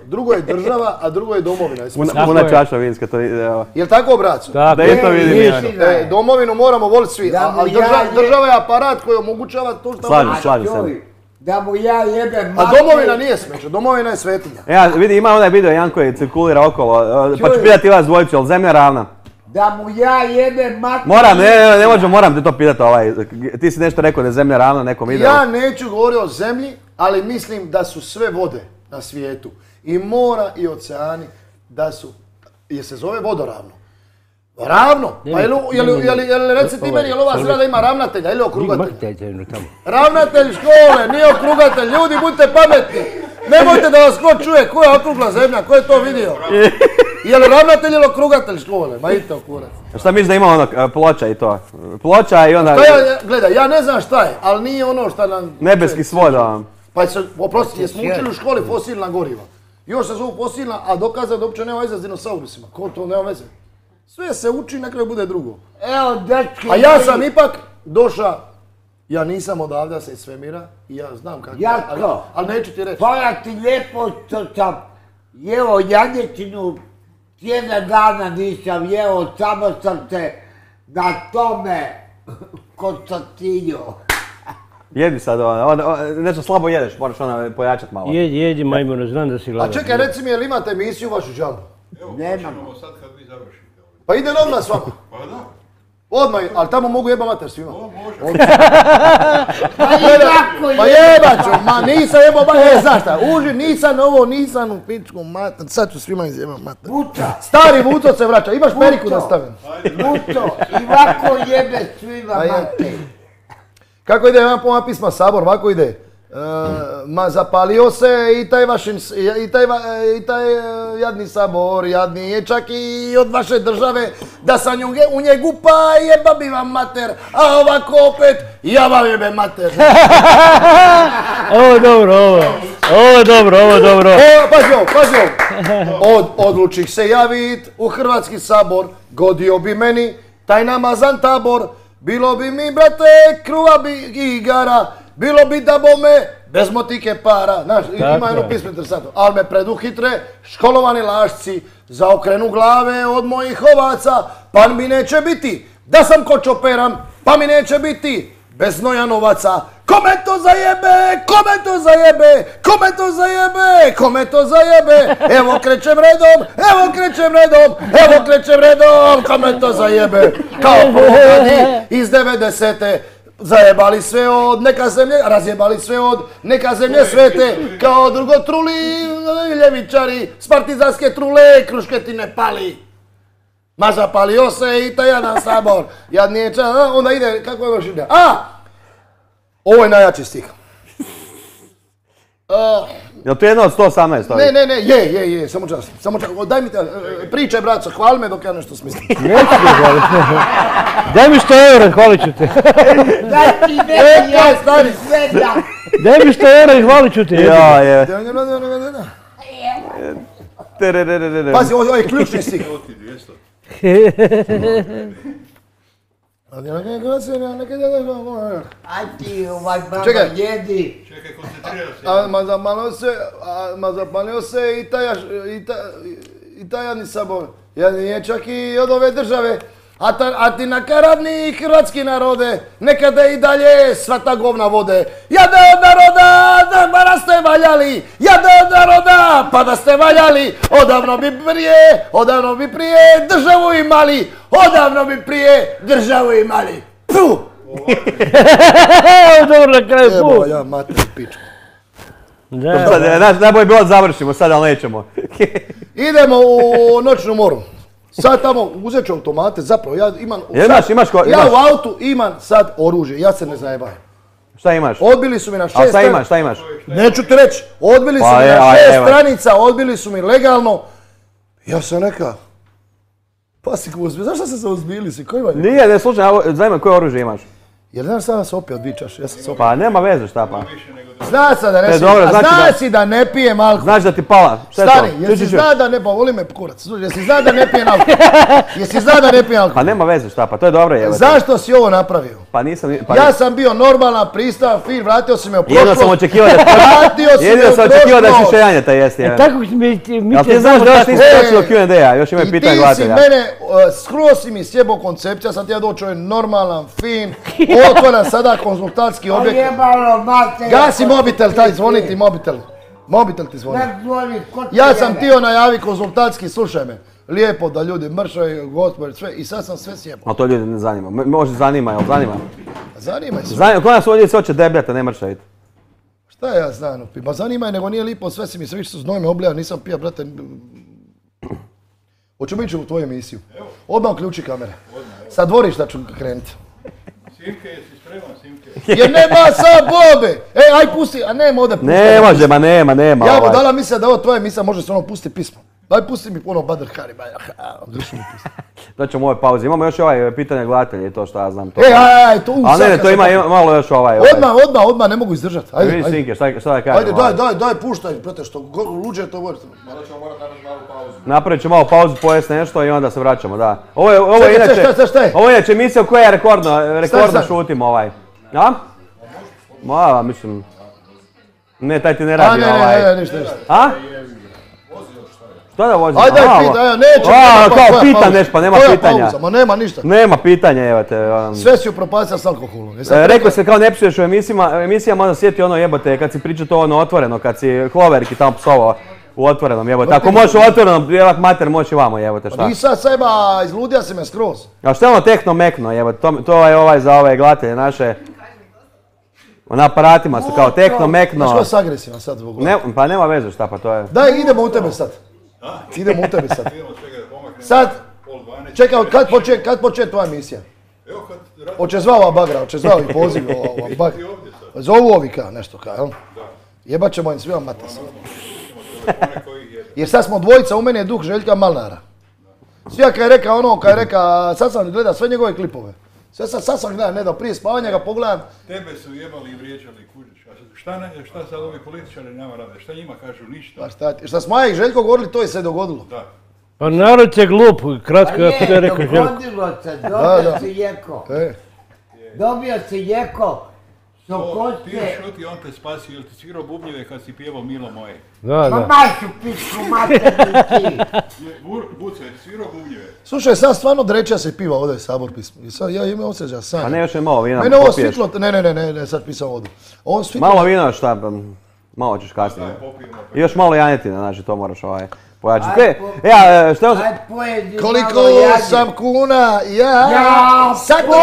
B: Drugo je država, a drugo je domovina.
F: Tako
A: Puna
F: je.
A: čaša vinska, to je...
B: Jel tako, braco?
F: Tako
A: Da i to vidim
F: je.
A: ja.
B: Domovinu moramo voliti svi,
E: Da mu
B: ali država je aparat koji omogućava to što...
A: Slažem se.
E: joj, da mu ja jebem
B: A domovina nije smeće, domovina je svetinja.
A: Ja, vidi, ima onaj video Jan koji cirkulira okolo, pa ću pitati vas dvojicu, jel zemlja ravna?
E: Da mu ja jebem mater.
A: Moram, ne možem, moram te to pitati ovaj, ti si nešto rekao da je zemlja ravna nekom videu.
B: Ja neću govoriti o zemlji, ali mislim da su sve vode na svijetu, i mora i oceani, da su, jer se zove vodoravno. Ravno? Pa jel reci ti meni, jel ova zgrada ima ravnatelja ili okrugatelja? Ravnatelj škole, nije okrugatelj, ljudi budite pametni. Nemojte da vas ko čuje, ko je okrugla zemlja, ko je to vidio? Je li ravnatelj ili okrugatelj škole? Ma idite okurac.
A: Šta misliš da ima ono, ploča i to? Ploča i onda...
B: Gledaj, ja ne znam šta je, ali nije ono šta nam...
A: Nebeski svod,
B: Pa oprosti, jesmo učili u školi fosilna goriva. Još se zovu fosilna, a dokazao da uopće nema veze s dinosaurusima. Ko to nema veze? Sve se uči, na kraju bude drugo.
E: Evo, dečki.
B: A ja sam ipak došao, ja nisam odavde sa iz svemira i ja znam kako.
E: Jarko.
B: Ali neću ti reći.
E: Hvala ti lijepo što sam jeo janjetinu, tjedan dana nisam jeo, samo sam te na tome konstatinio.
A: Jedi sad, nešto slabo jedeš, moraš ono pojačat malo.
F: Jedi majmune, znam da si
B: A
F: gladan.
B: čekaj, reci mi, jel imate emisiju vašu džambu?
C: Evo,
E: Nemam.
C: počinemo sad kad vi završite.
B: Pa idem odmah s vama.
C: Pa da,
B: Odmah, ali tamo mogu jeba mater svima.
C: to može.
E: Pa i tako
B: Pa jeba ću, ma nisam jebao mater, znaš šta, nisam ovo, nisam u pičku mater, sad ću svima izjebam mater.
E: Vuca,
B: Stari Vuco se vraća, imaš periku da stavim.
E: Vuco, i ovako jebe svima
B: A je.
E: mater.
B: Kako ide jedan pomak pisma Sabor, ovako ide. Ma zapalio se i taj jadni Sabor, jadni je čak i od vaše države, da sam u njegu pa jeba bi vam mater, a ovako opet ja vam jebem mater.
F: Ovo je dobro, ovo je dobro.
B: Pazi ovo. Odlučih se javit u Hrvatski sabor, godio bi meni taj namazan tabor, bilo bi mi, brate, kruva bi igara, bilo bi da bome bez motike para, znaš,
F: Tako
B: ima jedno
F: je.
B: pismo interesantno, ali me preduhitre školovani lašci, zaokrenu glave od mojih ovaca, pa mi neće biti, da sam ko čoperam, pa mi neće biti, bez znoja novaca. Kome to zajebe, kome to zajebe, kome to zajebe, kome to zajebe, evo krećem redom, evo krećem redom, evo krećem redom, kome to zajebe, kao polugadi iz 90-te. Zajebali sve od neka zemlje, razjebali sve od neka zemlje svete, kao drugotruli ljevičari, s partizanske trule, krušketine pali. Ma zapalio se i taj jadan sabor, jadniječa, onda ide, kako je još ide, ovo je najjači stih.
A: Jel to je jedno od 118 ovih?
B: Ne, je, samo čas, daj mi te, pričaj braco, hvali me dok ja nešto smislim.
F: Neću te hvaliti. Daj mi 100 eura, hvalit ću te.
E: Daj ti neki
B: Kaj, stani.
E: sveda.
F: Daj mi 100 eura i hvalit ću te.
A: Ja, je.
B: Pazi, ovo je ključni stih.
C: Evo ti 200.
E: Aj ti baba
B: Čekaj.
E: jedi.
C: Čekaj, koncentrira se.
B: Ma zapalio se i taj jadni sabor. Jadniječak i od ove države. A ti nakaradni hrvatski narode, nekada i dalje sva ta govna vode. Jade od naroda, pa da ste valjali, jade od naroda, pa da ste valjali, odavno bi prije državu imali, odavno bi prije državu imali. Puh!
F: Dobro, na kraju
B: Evo
F: put.
B: ja, mater, pičku.
A: Najbolje bilo da završimo sad, ali nećemo.
B: Idemo u noćnu moru. Sad tamo uzet ću automate, zapravo ja imam...
A: Jel imaš
B: Ja u autu imam sad oružje, ja se ne zajebajem.
A: Šta imaš?
B: Odbili su mi na 6
A: A šta imaš?
B: Neću ti reći, odbili su
A: Pa
B: mi
A: je,
B: na
A: a
B: 6
A: evo.
B: stranica, odbili su mi legalno. Ja sam neka... Pa si ko uzbili, zašto se uzbili si, koji vam je?
A: Nije, ne slušaj, zanima koje oružje imaš?
B: Jer znaš sam se opio 2 čaše, ja sam se opio.
A: Pa nema veze šta pa.
B: Zna se da ne
A: E,
B: smijem,
A: dobro,
B: a
A: znači
B: zna
A: da-
B: si da ne pijem alkohol.
A: Znaš da ti pala. Šta je to?
B: Stani, jesi
A: Čuj.
B: zna da ne, pa voli me kurac, jesi zna da ne pijem alkohol? Jesi zna da ne pijem
A: Pa
B: alkohol?
A: nema veze šta pa, to je dobro je.
B: Zašto si ovo napravio?
A: Pa nisam... Pa
B: Ja sam bio normalan, pristavan, fin, vratio si me u prošlost.
A: Jedino sam očekivao da...
B: Vratio si me
A: Jedino
B: u
A: sam očekivao da ćeš
B: prošlost.
A: šejanjeta jesti.
F: E tako mi
A: Jel ti
F: te
A: znaš da još nisi
B: E,
A: došli do Q&A-a, još imaju
B: I
A: pitanja
B: ti si
A: gledatelja.
B: mene, skroz si mi sjebao koncepcija, sam ti ja doći ovaj normalan, fin, otvoren sada konzultantski objekt.
E: Ojebalo mater.
B: Gasi mobitel, taj zvoni ti mobitel. Mobitel ti zvoni.
E: Ne zvoni, ko ti
B: Ja sam
E: jebe?
B: tio najavi konzultantski, slušaj me. Lijepo da ljudi mršaju, gospodin, sve, i sad sam sve sjebao.
A: Ali to ljudi ne zanima. Možda zanima, jel zanima?
B: Zanimaj se.
A: Zanima, kod nas ovdje se hoće debljati, a ne mršaviti.
B: Šta ja znam, ma zanimaj, nego nije lipo, sve si mi se više znoj me oblijao, nisam pija, brate. Hoćemo ići u tvoju emisiju. Odmah uključi kamere. Sa dvorišta ću krenuti.
C: Simke, jesi spreman, Simke?
B: Jer nema sa bobe! Aj pusti, a nema ovdje pusti.
A: Ne može, ma nema.
B: Ja
A: ovaj.
B: budala misle da ovo tvoja emisija može se ono pusti pismo. Daj pusti mi ono Badr Hari, dušu mi pusti.
A: Doćemo u ovoj pauzi. Imamo još ovaj pitanje gledatelja i to šta ja znam. To.
B: Aj, to
A: Ali ne, to ima malo još ovaj.
B: Odmah, ne mogu izdržati. Ajde,
A: Vidi
B: ajde.
A: Sinke, šta da kažem.
B: Ajde, daj, puštaj, brate, što luđe to govori.
C: Malo ćemo morati napraviti malu pauzu.
A: Napravit ćemo malo pauzu, pojesti nešto i onda se vraćamo, da. Ovo je
B: Čekaj,
A: inače...
B: šta je?
A: Ovo je inače emisija u kojoj ja rekordno
B: Stani.
A: šutim ovaj. A? Ma, mislim... Ne, taj ti ne radi ovaj.
B: Ne, ništa.
A: A? Šta da vozim?
B: Ajde,
A: Aha,
B: pita, neće.
A: kao pita nešto, pa nema
B: Koja
A: pitanja.
B: pauza? Ma nema ništa.
A: Nema pitanja, evo te.
B: Sve si upropastio s alkoholom.
A: Rekao se kao ne psuješ u emisijama, onda sjeti ono jebote, kad si pričao to ono otvoreno, kad si Hloverki tamo psovao u otvorenom jebote. Ako možeš u otvorenom, jelak mater, možeš i vamo jebote, šta?
B: Nisam seba, izludija si me skroz.
A: A šta je ono tehno mekno jebote, to je ovaj za ove gledatelje naše. Na aparatima su kao tehno
B: Znaš
A: mekno.
B: ko je agresivan sad zbog ovoga?
A: Pa nema veze šta pa to je.
B: Daj, idemo u tebe sad. Idemo u tebe sad.
C: Idemo čekaj da pomaknemo.
B: Sad,
C: Pol 12.
B: čekaj, kad počne tvoja emisija?
C: Evo kad radi
B: Hoće zvao ova bagra, hoće zvao i poziv ova bagra.
C: ti ovdje sad.
B: Zovu ovi kao nešto kao, jel?
C: Da.
B: Jebat ćemo im svima matas.
C: Telefone koji ih je.
B: Jer sad smo dvojica, u meni je duh Željka Malnara. Svija kad je rekao ono, kad je rekao, sad sam gledao sve njegove klipove. Sad sam gledao, ne da prije spavanja ga pogledam.
C: Tebe su jebali i vrijeđali, kužiš. Šta sad ovi političari nama rade? Šta njima kažu? Ništa.
B: Pa šta smo ja i Željko govorili, to je se dogodilo.
C: Da.
F: Pa narod je glup, kratko
E: Pa
F: kako je rekao Željko.
E: dogodilo se,
B: Da.
E: dobio si Jeko.
B: E,
E: Dobio si Jeko,
C: Ti je šuti, on te spasi, jel ti svirao bubnjeve kad si pjevao Milo moje?
F: Da,
E: Ma
F: da.
E: mašu pičku materni ti.
C: Buce, ti svirao bubnjeve?
B: Slušaj, sad stvarno dreća se piva ovdje sabor pismo. I sad ja imam osjećaj sam.
A: Pa ne, još je malo vina.
B: Mene ovo
A: popiješ.
B: svitlo, ne, sad pisam vodu. Ovo svitlo,
A: Malo vina, šta, malo ćeš kasnije. I još malo janjetine, znači to moraš pojačati. Ja, što je
E: Aj pojedi
B: koliko
E: malo jadnje.
B: sam kuna ja
E: Ja
B: sakupio,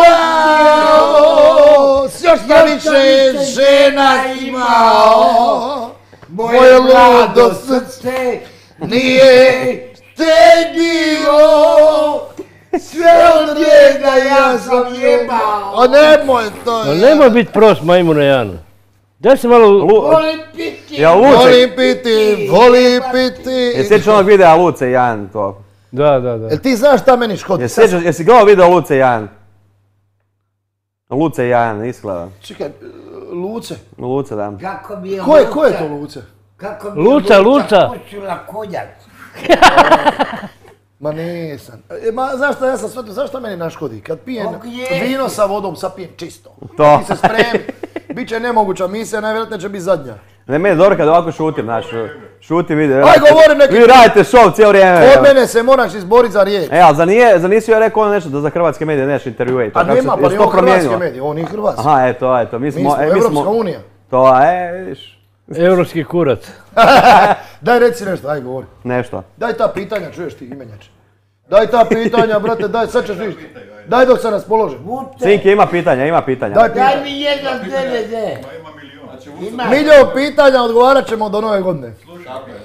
B: još sam više žena imao, moje ludo srce nije tegnio, sve od njega ja sam jebao. A nemoj to
F: Ma nemoj biti prost, majmune Jan. Daj se malo...
E: Volim piti.
A: Ja Luce,
B: volim piti.
A: je sjećaš onog videa Luce i Jan to?
F: Da.
B: Jel ti znaš šta meni škodi?
A: Jesi gledao video Luce i Jan? Luce i Jan, isklada.
B: Čekaj, Luce.
A: Luce, da.
E: Kako mi je
B: Ko je to Luce?
E: Kako mi je
F: Luca.
E: pušila konjak.
B: Ma nisam. Znaš šta, ja sam shvatio, znaš šta meni naškodi? Kad pijem
E: Ok, je.
B: vino sa vodom, sad pijem čisto.
A: To.
B: Ti se spremi, bit će nemoguća misija, najvjerojatnije će biti zadnja.
A: Ne, meni je dobro kad ovako šutim, znaš, šutim vidi.
B: Aj, govorim neki...
A: Vi radite show cijelo vrijeme.
B: Od mene se moraš izboriti za riječ.
A: E, ali zar nisi joj rekao ono nešto da za hrvatske medije nešto intervjuje i to?
B: A
A: kako
B: nema,
A: se-
B: pa
A: jesi
B: ni
A: to
B: on hrvatske
A: promijenilo?
B: medije, on nije hrvatski.
A: Aha, eto, mi
B: Mi
A: smo...
B: smo Evropska unija.
A: To, vidiš,
F: Europski kurac.
B: Daj reci nešto, aj govori.
A: nešto.
B: Daj ta pitanja, čuješ ti imenjače. Daj ta pitanja, brate, daj, sad ćeš vidjeti. Daj dok se raspoložim.
E: Vute,
A: Cinki, ima pitanja.
B: Daj
E: daj
B: pitanja.
E: mi jedan DVD.
C: Ma ima milion.
E: Ima.
B: Milion pitanja odgovarat ćemo do nove godine.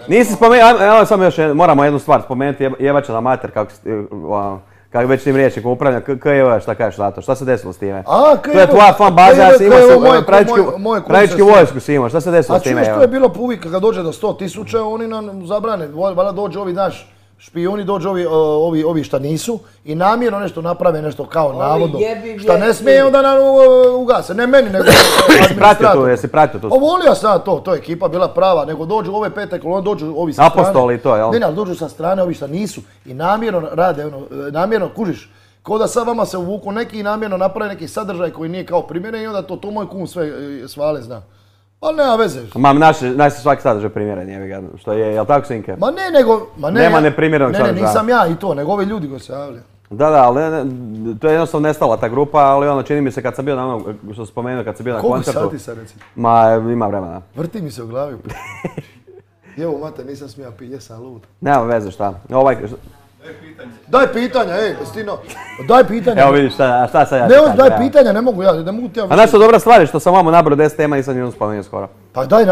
A: Nisi spomenuo, evo samo još, moramo jednu stvar spomenuti, jebača na mater, kako već tim riječnikom upravlja, KJV, šta kažeš za to, šta se desilo s time? To je tvoja fan baza, ja sam imao pravički vojsku si imao, šta se desilo
B: A
A: s time?
B: čuješ, to je bilo po uvijek kad dođe do 100.000, oni nam zabrane, valjda dođu ovi naš špijuni, dođu ovi šta nisu i namjerno nešto naprave, nešto kao navodno,
E: jebi
B: šta ne
E: vješti.
B: smije onda nam ugase, ne meni nego
A: Jesi pratio tu?
B: Volio sam to je ekipa bila prava, nego dođu ove pete kolone, dođu ovi sa strane.
A: Apostoli to, jel?
B: Ne, ali dođu sa strane ovi šta nisu i namjerno rade, namjerno kužiš. Ko da sad vama se uvuku neki i namjerno naprave neki sadržaj koji nije kao primjeren i onda to moj kum sve svale zna. Ali nema veze.
A: Naš je svaki sadržaj primjeren, jebi ga, što je, jel tako Sinke?
B: Ma ne, nego...
A: Nema neprimjerenog sadržaja.
B: Ne, nisam ja i to, nego ovi ljudi koji se javljaju.
A: Da, ali to je jednostavno nestala ta grupa, ali ono čini mi se kad sam bio na onom, što sam spomenuo, kad sam bio na
B: Koliko
A: koncertu.
B: sati sad reci?
A: Ma, ima vremena.
B: Vrti mi se u glavi. Evo, mate, nisam smija piti, jesam lud.
A: Nema veze šta.
B: Daj pitanja, Stino. Daj pitanja.
A: Evo vidiš šta sad ja
B: Ne,
A: ti kažem,
B: daj
A: evo.
B: pitanja, ne mogu ti ja...
A: A znaš što dobra stvar je što sam vamo nabrao 10 tema, nisam ni spomenuo skoro.
B: Pa daj,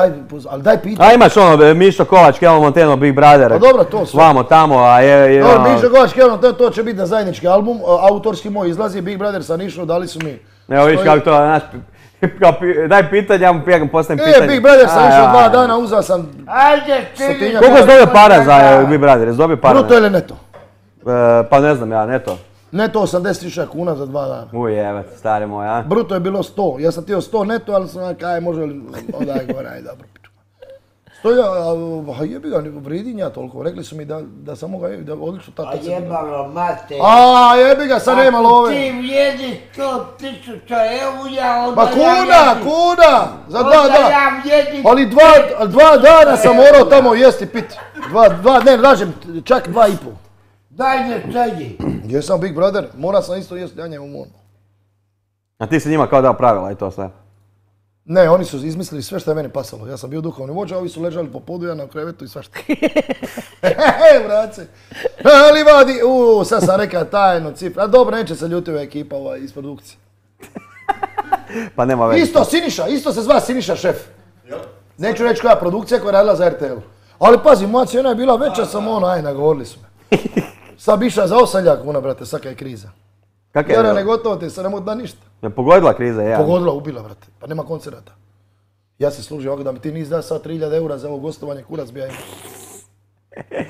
B: ali daj pitanja.
A: A imaš ono, Mišo Kovač, Kelmo Monteno, Big Brother.
B: Pa dobro, to sve.
A: Vamo, tamo, a je...
B: Dobro, Mišo Govač, to će biti na zajednički album, autorski moj izlazi, Big Brother sa Nišom, dali su mi...
A: Evo vidiš kako to, znaš, daj pitanja, ja mu postavim pitanje.
B: Big Brother sam išao 2 dana, uzao sam...
E: Ajde, ti.
A: Koliko si dobio para za Big Brother? Jesi dobio para?
B: Bruto ili neto?
A: Pa ne znam ja, neto.
B: Neto 80.000 kuna za 2 dana.
A: Jevet, stari moj, a?
B: Bruto je bilo 100, ja sam htio 100 neto, ali sam kaj može li, odaj gore, aj dobro. A jebi ga, ne vridim ja toliko, rekli su mi da sam mogao, da odlično
E: A
B: tako se...
E: jebalo mate.
B: A jebi ga, sad nema love.
E: Ti vrijedi 100.000 eura, onda
B: Pa kuna, za 2
E: Onda
B: dana.
E: ja vrijedim...
B: Ali 2 dana sam morao tamo jesti piti. Ne, lažem, čak 2,5.
E: Daj ne sedi.
B: Jesam Big Brother, morao sam isto jesti janje u monu.
A: A ti si njima kao dao pravila i to sve.
B: Ne, oni su izmislili sve što je meni pasalo. Ja sam bio duhovni vođa, ovi su ležali po podu, ja na krevetu i svašta. Brace. Ali vadi, sad sam rekao tajno cifra. A dobro, neće se ljuti ova ekipa iz produkcije.
A: Pa nema veze.
B: Isto se zva Siniša šef. Neću reći koja produkcija koja je radila za RTL. Ali pazi, moja cijena je bila veća, sam nagovorili su me. Sad bi išla za 8.000 kuna, brate, svaka je kriza.
A: Kak je?
B: Jer ne gotovo ti se ne mogu da ništa.
A: Je pogodila kriza, ja.
B: Pogodila, ubila, brate. Pa nema koncerata. Ja se služim ovako da mi ti nisi da sad 3.000 eura za ovo gostovanje, kurac bi ja imao.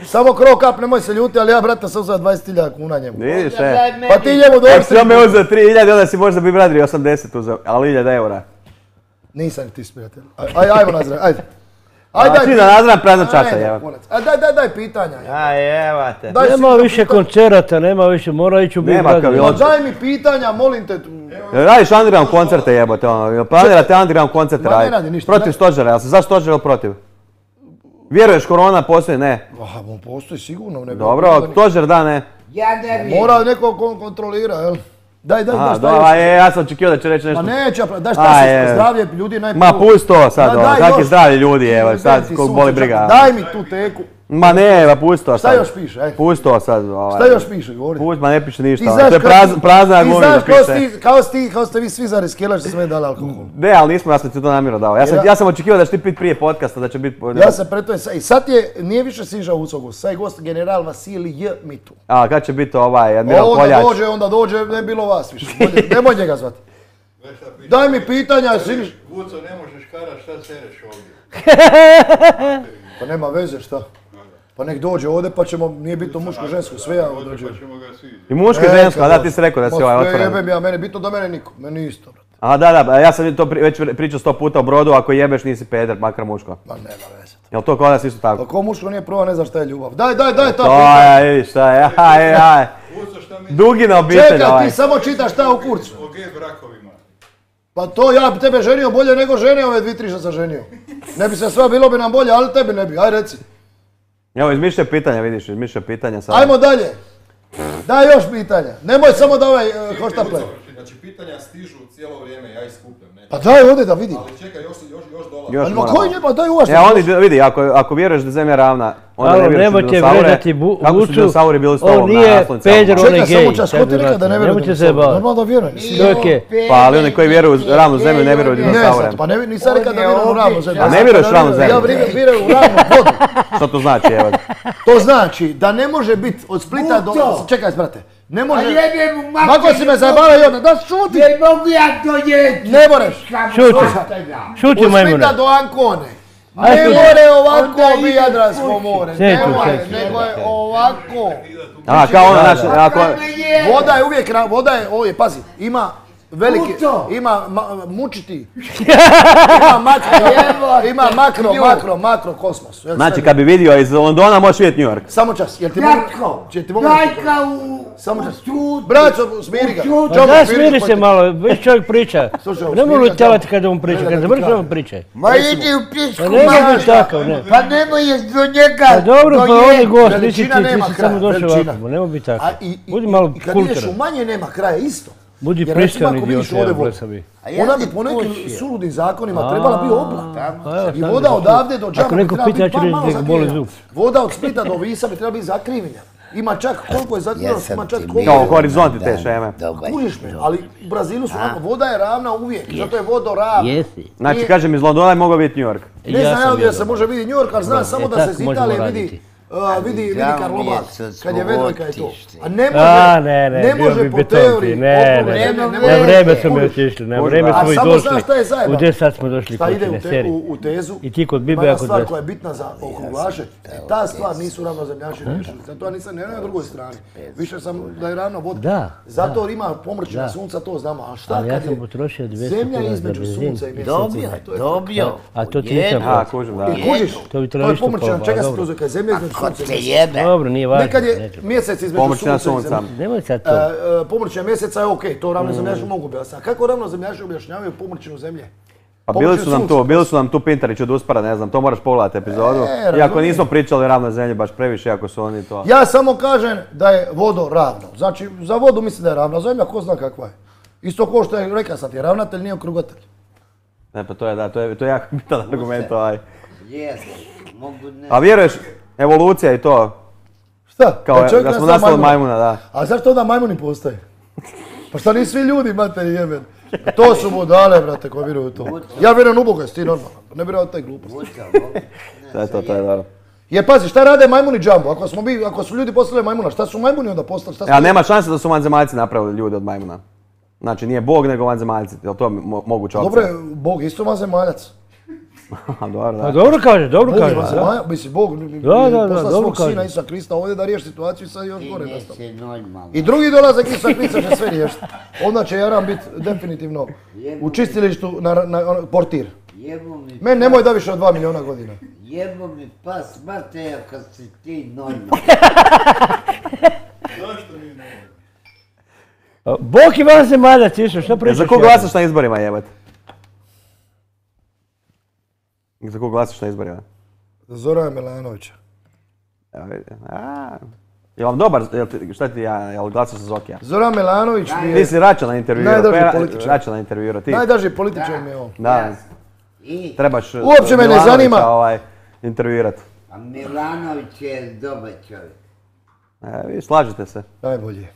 B: Samo krov kap, nemoj se ljuti, ali ja, brate, sam uzeo 20.000 kuna njemu.
A: Vidiš,
B: Pa ti njemu
A: Ako si on me
B: dođi.
A: uzeo 3.000, onda si možda Big Brother 80 uzeo, ali 1.000 eura.
B: Nisam ni ti sprijatelj. Ajmo nazraj, ajde.
A: Ti da nazram prazna čaša, jevo.
B: Daj pitanja.
A: Jevate.
B: Daj
F: Nema
B: sigurno
F: više
B: pitanja.
F: koncerata, nema više, mora ići u Big
A: Nema
F: Brother.
A: kaviloća.
B: Daj mi pitanja, molim te.
C: Evo
A: Radiš underground koncerte jebote, ono, planirate underground koncerte
B: Ma ne
A: raditi.
B: radi ništa,
A: Protiv
B: ne.
A: stožera, jel si za stožer ili protiv? Vjeruješ korona postoji? Ne.
B: On postoji sigurno. Ne bi
A: Dobro,
B: bilo da
A: stožer da, ne.
E: Ja ne
B: ni-
E: vidim.
B: Mora neko kontrolira, jel? Daj,
A: Aha,
B: šta
A: dobro,
B: još?
A: ja sam očekivao da će reći nešto.
B: Ma neće, daj
A: A,
B: šta
A: je.
B: se zdravlje ljudi najprije.
A: Ma pusti to sad,
B: Ma daj
A: kak je
B: još.
A: zdravlje ljudi, evo, sad
B: Ti
A: koliko
B: sunce
A: boli briga.
B: čak- Daj mi tu teku.
A: Ma ne, ma pusti to
B: Šta
A: sad.
B: još piše, ajde?
A: Pusti to sad,
B: Šta još piše, govori?
A: Pusti, ma ne piše
B: Ti
A: ništa, ono,
B: znaš
A: to je
B: kako-
A: prazna
B: ti
A: agonija
B: znaš
A: piše.
B: kao ste vi svi za riskela što sve dali alkohol.
A: Ne, ali nismo, ja sam ti to namjerno dao. Ja sam očekivao da će ti pit prije podcasta, da će biti...
B: Ja sam preto i sad nije više Siža Ucogu, sad je gost general Vasilij J. Mitu.
A: A, kad će biti ovaj, Admiral
B: Onda
A: Koljač?
B: dođe, ne bilo vas više. Nemoj njega zvati.
C: Znaš šta piše?
B: Daj mi pitanja, Siniš.
C: Vuco, ne možeš kara, šta sereš ovdje?
B: Pa nema veze, šta? Pa nek dođe ovdje pa ćemo, nije bitno muško, žensko, sve ja
C: Ovdje
B: dođe.
C: pa ćemo ga svi.
A: I muško i žensko, a da ti si rekao da si ovaj otvoren.
B: Jebem ja, mene bitno da mene niko, meni isto, brate.
A: A da, ja sam to već pričao 100 puta u Brodu, ako jebeš nisi peder, makar muško.
B: Ma nema veze.
A: Jel to kod nas isto tako?
B: Ako muško nije prvo, ne zna šta je ljubav. Daj ta
A: To
B: pitanja.
A: je, vidiš šta je, aj.
C: Vuco, šta misliš
A: Dugina obitelj
B: Čekaj,
A: ovaj.
B: ti samo čitaš šta u kurcu.
C: o gej brakovima?
B: Pa to ja bi tebe ženio bolje nego žene ove 2-3 što sam ženio. Ne bi se sva, bilo bi nam bolje, ali tebi ne bi, aj reci.
A: Evo, izmišljaj pitanja, vidiš, izmišljaj pitanja sad.
B: Ajmo dalje. Daj još pitanja. Nemoj samo da ovaj hoštaple.
G: Znači, pitanja stižu cijelo vrijeme, ja ih skupljam, ne?
B: Pa daj ovdje da vidim.
G: Ali čekaj, još dolazi.
A: Još
B: Ali
A: moramo.
B: koji njima, daj uvaš.
A: Oni, vidi, ako vjeruješ da je zemlja ravna, onda
F: Alo,
A: ne vjeruješ u
F: nemojte
A: dinosaure.
F: vređati
A: Kako su
F: Vucu,
A: dinosauri bili s
F: on
A: tobom na
F: nije
A: naslovnicama?
F: peder, on je
B: Čekaj,
F: gej.
B: samo čas, ko ti rekao da ne vjeruju
F: Nemojte se
B: dinosaure?
F: baviti.
B: Normalno da vjerujem.
F: Čovjek je,
A: Pa, ali oni koji vjeruju u ravnu zemlju ne vjeruju u
B: Ne,
A: dinosaure.
B: sad, pa nisam rekao da vjerujem u ravnu zemlju.
A: A ne vjeruješ u ravnu zemlju?
B: Ja vjerujem u ravnu vodu.
A: Što to znači, evo?
B: To znači da ne može biti od Splita do...
E: Vuco!
B: Čekaj, brate. Ne
E: A
B: može...
E: jebem mu mater.
B: Mako si me zabavio i onda, da šuti!
E: Ne mogu ja to jeti.
B: Ne moreš.
F: Šuti.
E: Šuti.
F: šuti
B: Od
F: majmune.
B: Splita do Ancone.
F: Ajde,
B: Ne
F: šuti.
B: more ovako
E: Onda
B: bi
E: ide
B: Jadransko more.
F: Sjeću,
B: Ne more,
F: sjeću.
B: nego je ovako.
A: A, kao ono naše, ako...
B: Voda je uvijek, voda je, ovdje, pazi, ima veliki,
E: Vuco!
B: ima mučiti, ima makro, kosmos. Jel
A: Znači,
B: sve?
A: kad bi vidio iz Londona, možeš vidjeti New York.
B: Samo čas, jel ti
E: Jatko,
B: mogu...
E: dajka u...
B: Samo čas.
E: Šuti.
B: Braco, smiri ga.
E: Šuti.
F: Pa da, smiri se malo, već čovjek priča.
B: Slušaj,
F: Ne mogu
B: smiri ga,
F: tjelati kada on priča,
B: ne,
F: kad
B: da ti
F: završi
B: kažem.
F: on priče.
E: Ma idi u pisku,
F: Pa ne može
E: mater.
F: biti takav, ne.
E: Pa nemoj je do njega.
F: Pa dobro, pa on je gost, nisi
B: Veličina
F: ti,
B: nema
F: ti si
B: kraja,
F: samo došao
B: veličina.
F: ovako, nemoj biti
B: A
F: takav.
B: i
F: Budi malo
B: kad ideš u
F: kulturan.
B: manje nema kraja isto.
F: Budi
B: Jer recimo
F: pristojan
B: ako vidiš
F: idiot,
B: ovdje
F: evo,
B: vodu,
F: blesavi.
E: A ja
B: ona
E: ti
B: bi po nekim
E: pušio.
B: suludim zakonima trebala biti oblak.
F: Pa evo,
B: I
F: sad
B: voda
F: bi-
B: odavde do Džaba
F: Ako
B: bi
F: neko
B: trebala
F: pita, ja
B: biti
F: ću reći
B: malo
F: da ga boli
B: zakrivljena.
F: zub.
B: Voda od Splita do Visa bi trebala biti zakrivljena. Ima čak koliko je zakrivljena, ima čak koliko
A: Kao
B: je...
A: horizonti te šeme.
B: Kužiš me, ali u Brazilu su onako, voda je ravna uvijek, zato je vodoravna.
F: Jesi.
A: Znači, kažem, iz Londona je mogao biti New York.
B: Ne znam ja
F: sam
B: gdje se
F: vjerovao.
B: može vidjeti New York, ali znam samo da se
F: tako
B: iz
F: možemo
B: Italije
F: raditi.
B: vidi
E: žao mi je
B: Karlovac,
E: što smo
B: kad je Vedvojka i to.
E: otišli.
B: A ne
F: A,
B: može,
F: ne, bio
B: može
F: bi
B: po
F: betonki,
B: teoriji.
F: ne,
B: potpuno
F: ne,
B: žene,
E: ne,
F: na
E: ne,
F: vreme smo mi
B: kužiš.
F: otišli, na
A: Kužiš,
F: vreme
B: a
F: smo i
B: samo
F: došli.
B: znaš šta je zajebano?
F: U 10 sad smo došli
B: Šta ide
F: kući, na seriji.
B: u tezu,
F: I ti kod Bibe,
B: ima
F: ja kod
B: stvar
F: Vesne.
B: koja je bitna za okruglaše, ta stvar nisu ravnozemljaši riješili. Zato ja nisam ne na drugoj strani. Više sam da je ravna voda.
F: Da,
B: Zato ima pomrčina sunca, to znamo. A šta
F: Ali ja
B: kad
F: sam
B: je
F: potrošio 200
B: zemlja
F: kuna za
B: između
F: benzin.
B: sunca i mjeseca?
E: Dobio.
F: A to ti nisam
A: A, kužim, da.
B: I kužiš,
F: To bi
B: to
F: trebalo
B: je
F: isto
B: pomrčina,
F: pa,
B: čega se
F: dobro.
B: to zove, kad je zemlja između
E: Ko
B: sunca i
E: te
B: mjeseca.
E: jebe?
F: Dobro, nije važno.
B: Nekad je
F: neću.
B: mjesec između
A: Pomrčina
B: sunca i
A: sunca.
B: zemlje.
F: Nemoj sad to.
B: Pomrčina mjeseca je okej, to ravnozemljaši mogu objasniti. A kako ravnozemljaši objašnjavaju pomrčinu zemlje?
A: Pa bili su nam tu Pintarić od Uspara, ne znam, to moraš pogledati epizodu. Iako
B: razumijem.
A: nismo pričali o ravnoj zemlji baš previše, iako su oni to...
B: Ja samo kažem da je vodo ravno. Znači, za vodu mislim da je ravna zemlja, ko zna kakva je. Isto ko što je, rekao sam ti, ravnatelj nije okrugatelj.
A: Ne, pa to je, da, to je jako bitan argument ovaj.
E: Jesu. Mogu ne.
A: A vjeruješ, evolucija i to,
B: Šta?
A: kao
B: čovjek
A: da smo
B: nastao
A: nastali od majmuna, da.
B: A zašto onda majmuni postoje? Pa šta nisu svi ljudi, materi jemen? To su budale, brate, koji vjeruju u to. Ja vjerujem u Boga, jesi ti normalan. Ne vjerujem u taj glupost.
A: To je dobro.
B: Jer pazi, šta rade majmuni džambo? Ako su ljudi postavili majmuna, šta su majmuni onda postali? Šta su...
A: A nema šanse da su vanzemaljci napravili ljude od majmuna. Znači nije Bog nego vanzemaljci, je li to moguća opcija?
B: Dobro je, Bog isto vanzemaljac.
A: Dobro,
F: Pa
A: da.
F: dobro kaže, dobro
B: Bog je
F: kaže. da.
B: vanzemaljac, mislim, Bog
F: Da,
B: poslao
F: dobro
B: svog sina
F: kaže.
B: Isusa Krista ovdje da riješi situaciju i sad još gore nastao.
E: Nisi normalno.
B: I drugi dolazak Isusa Krista će sve riješiti. Onda će Jaran biti definitivno u čistilištu portir.
E: Jebo mi,
B: Meni nemoj da više od 2 milijuna godina.
E: jebo mi pas Mateja kad si ti normalno.
C: Zašto nije normalno?
F: Bog i van zemaljac, išao, šta pričaš?
A: Za kog glasaš na izborima, jebate? Za kog glasaš na izborima?
B: Za Zorana Milanovića.
A: Evo vidi. Je vam dobar, šta ti jel glasaš za Zokija?
B: Zoran Milanović mi
A: Ti
B: je
A: si Račana intervjuirao.
B: Najdraži političar.
A: Račana intervjuirao, ti.
B: najdraži političar mi je on.
A: Da,
E: I
A: trebaš
B: Uopće me ne
A: Milanovića,
B: zanima.
A: Intervjuirati.
E: a Milanović je dobar čovjek.
A: Vi slažete se.
B: Najbolji.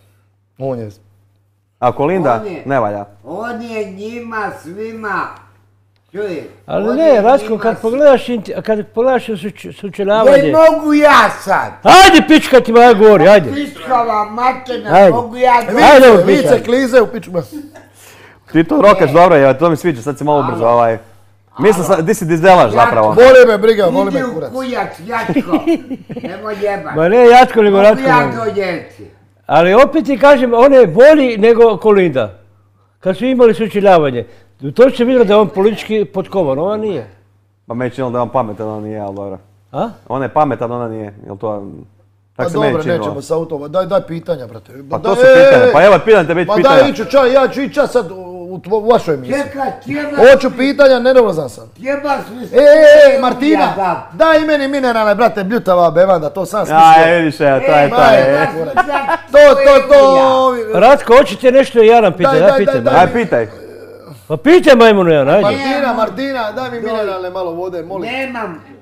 B: On je.
A: A Kolinda
E: On je-
A: ne valja.
E: On je njima svima, čuje.
F: Ali
E: on
F: ne,
E: je
F: Ratko,
E: njima
F: kad pogledaš sučeljavanje...
E: Je, mogu ja sad.
F: Ajde, pička ti moja govori, ajde.
E: Piskava materna,
F: Ajde.
E: mogu ja
F: Ajde,
E: sad.
F: evo,
B: Vice
F: pitaj.
B: klize u piču.
A: Ti to rokaš dobro, je, to mi sviđa, sad si malo ubrzo Mislim, di si dizdelaš zapravo.
B: Voli me briga, voli
E: Idi
B: me
E: u
B: kurac.
E: kujac, Jatko. Nemoj jebat.
F: Ma ne Jatko, nego
E: Mogu
F: Ratko.
E: ja dođeti.
F: Ali opet ti kažem, on je bolji nego Kolinda. Kad su imali sučeljavanje. To se vidjelo da je on politički potkovan, ona nije.
A: Pa meni činilo da je on pametan, ona nije, ali dobro.
F: A?
A: On je pametan, ona nije, jel to...
B: Pa
A: Tak se meni
B: dobro,
A: činilo.
B: nećemo sa automa. Daj pitanja, brate.
A: Pa
B: Daj,
A: to su pitanja, pa evo pitam te biti
B: Ma
A: pitanja.
B: daj iću čaj, ja ću ići čas sad u vašoj emisiji.
E: Čekaj, tjeba.
B: Hoću pitanja, nervozan sam.
E: Tjeba su
B: Martina, daj meni mineralne, brate, bljutava bevanda, to sam smislio.
A: Aj, vidiš, evo, to je to.
B: To.
F: Ratko, hoćete nešto i ja nam pitaj,
B: Daj,
F: ja pitam.
B: daj.
A: Aj, pitaj.
F: Pa pitaj majmunu jedan, ajde.
B: Martina, daj mi mineralne malo vode, molim.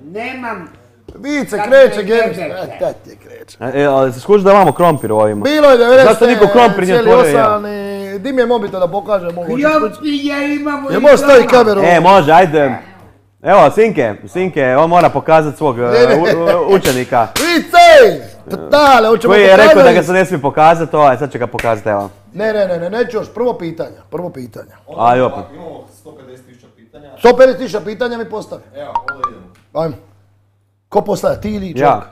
E: Nemam.
B: Vice,
E: Kad
B: kreće,
E: me
B: Gems.
E: jebete.
B: Daj ti kreće.
A: Ali se skuži da imamo krompir u ovima.
B: Bilo je 90,
A: Zašto niko krompir nije otvorio, ja?
B: Di mi je mobitel da pokažem ovo?
E: Jopinje imamo i
B: Je možeš staviti
E: doma.
B: kameru?
A: Može, ajde. Evo, Sinke, on mora pokazati svog učenika.
B: Vice! Dale, hoćemo
A: Koji je
B: pokazati.
A: rekao da ga se ne smije pokazati, sad će ga pokazati, evo.
B: Ne, neću još, prvo pitanja.
A: Aj, opet.
G: Imamo 150.000 pitanja.
B: 150.000 pitanja mi postavi.
G: Evo, ovdje idemo.
B: Ajmo. Ko postavlja, ti ili čovjek?
A: Ja.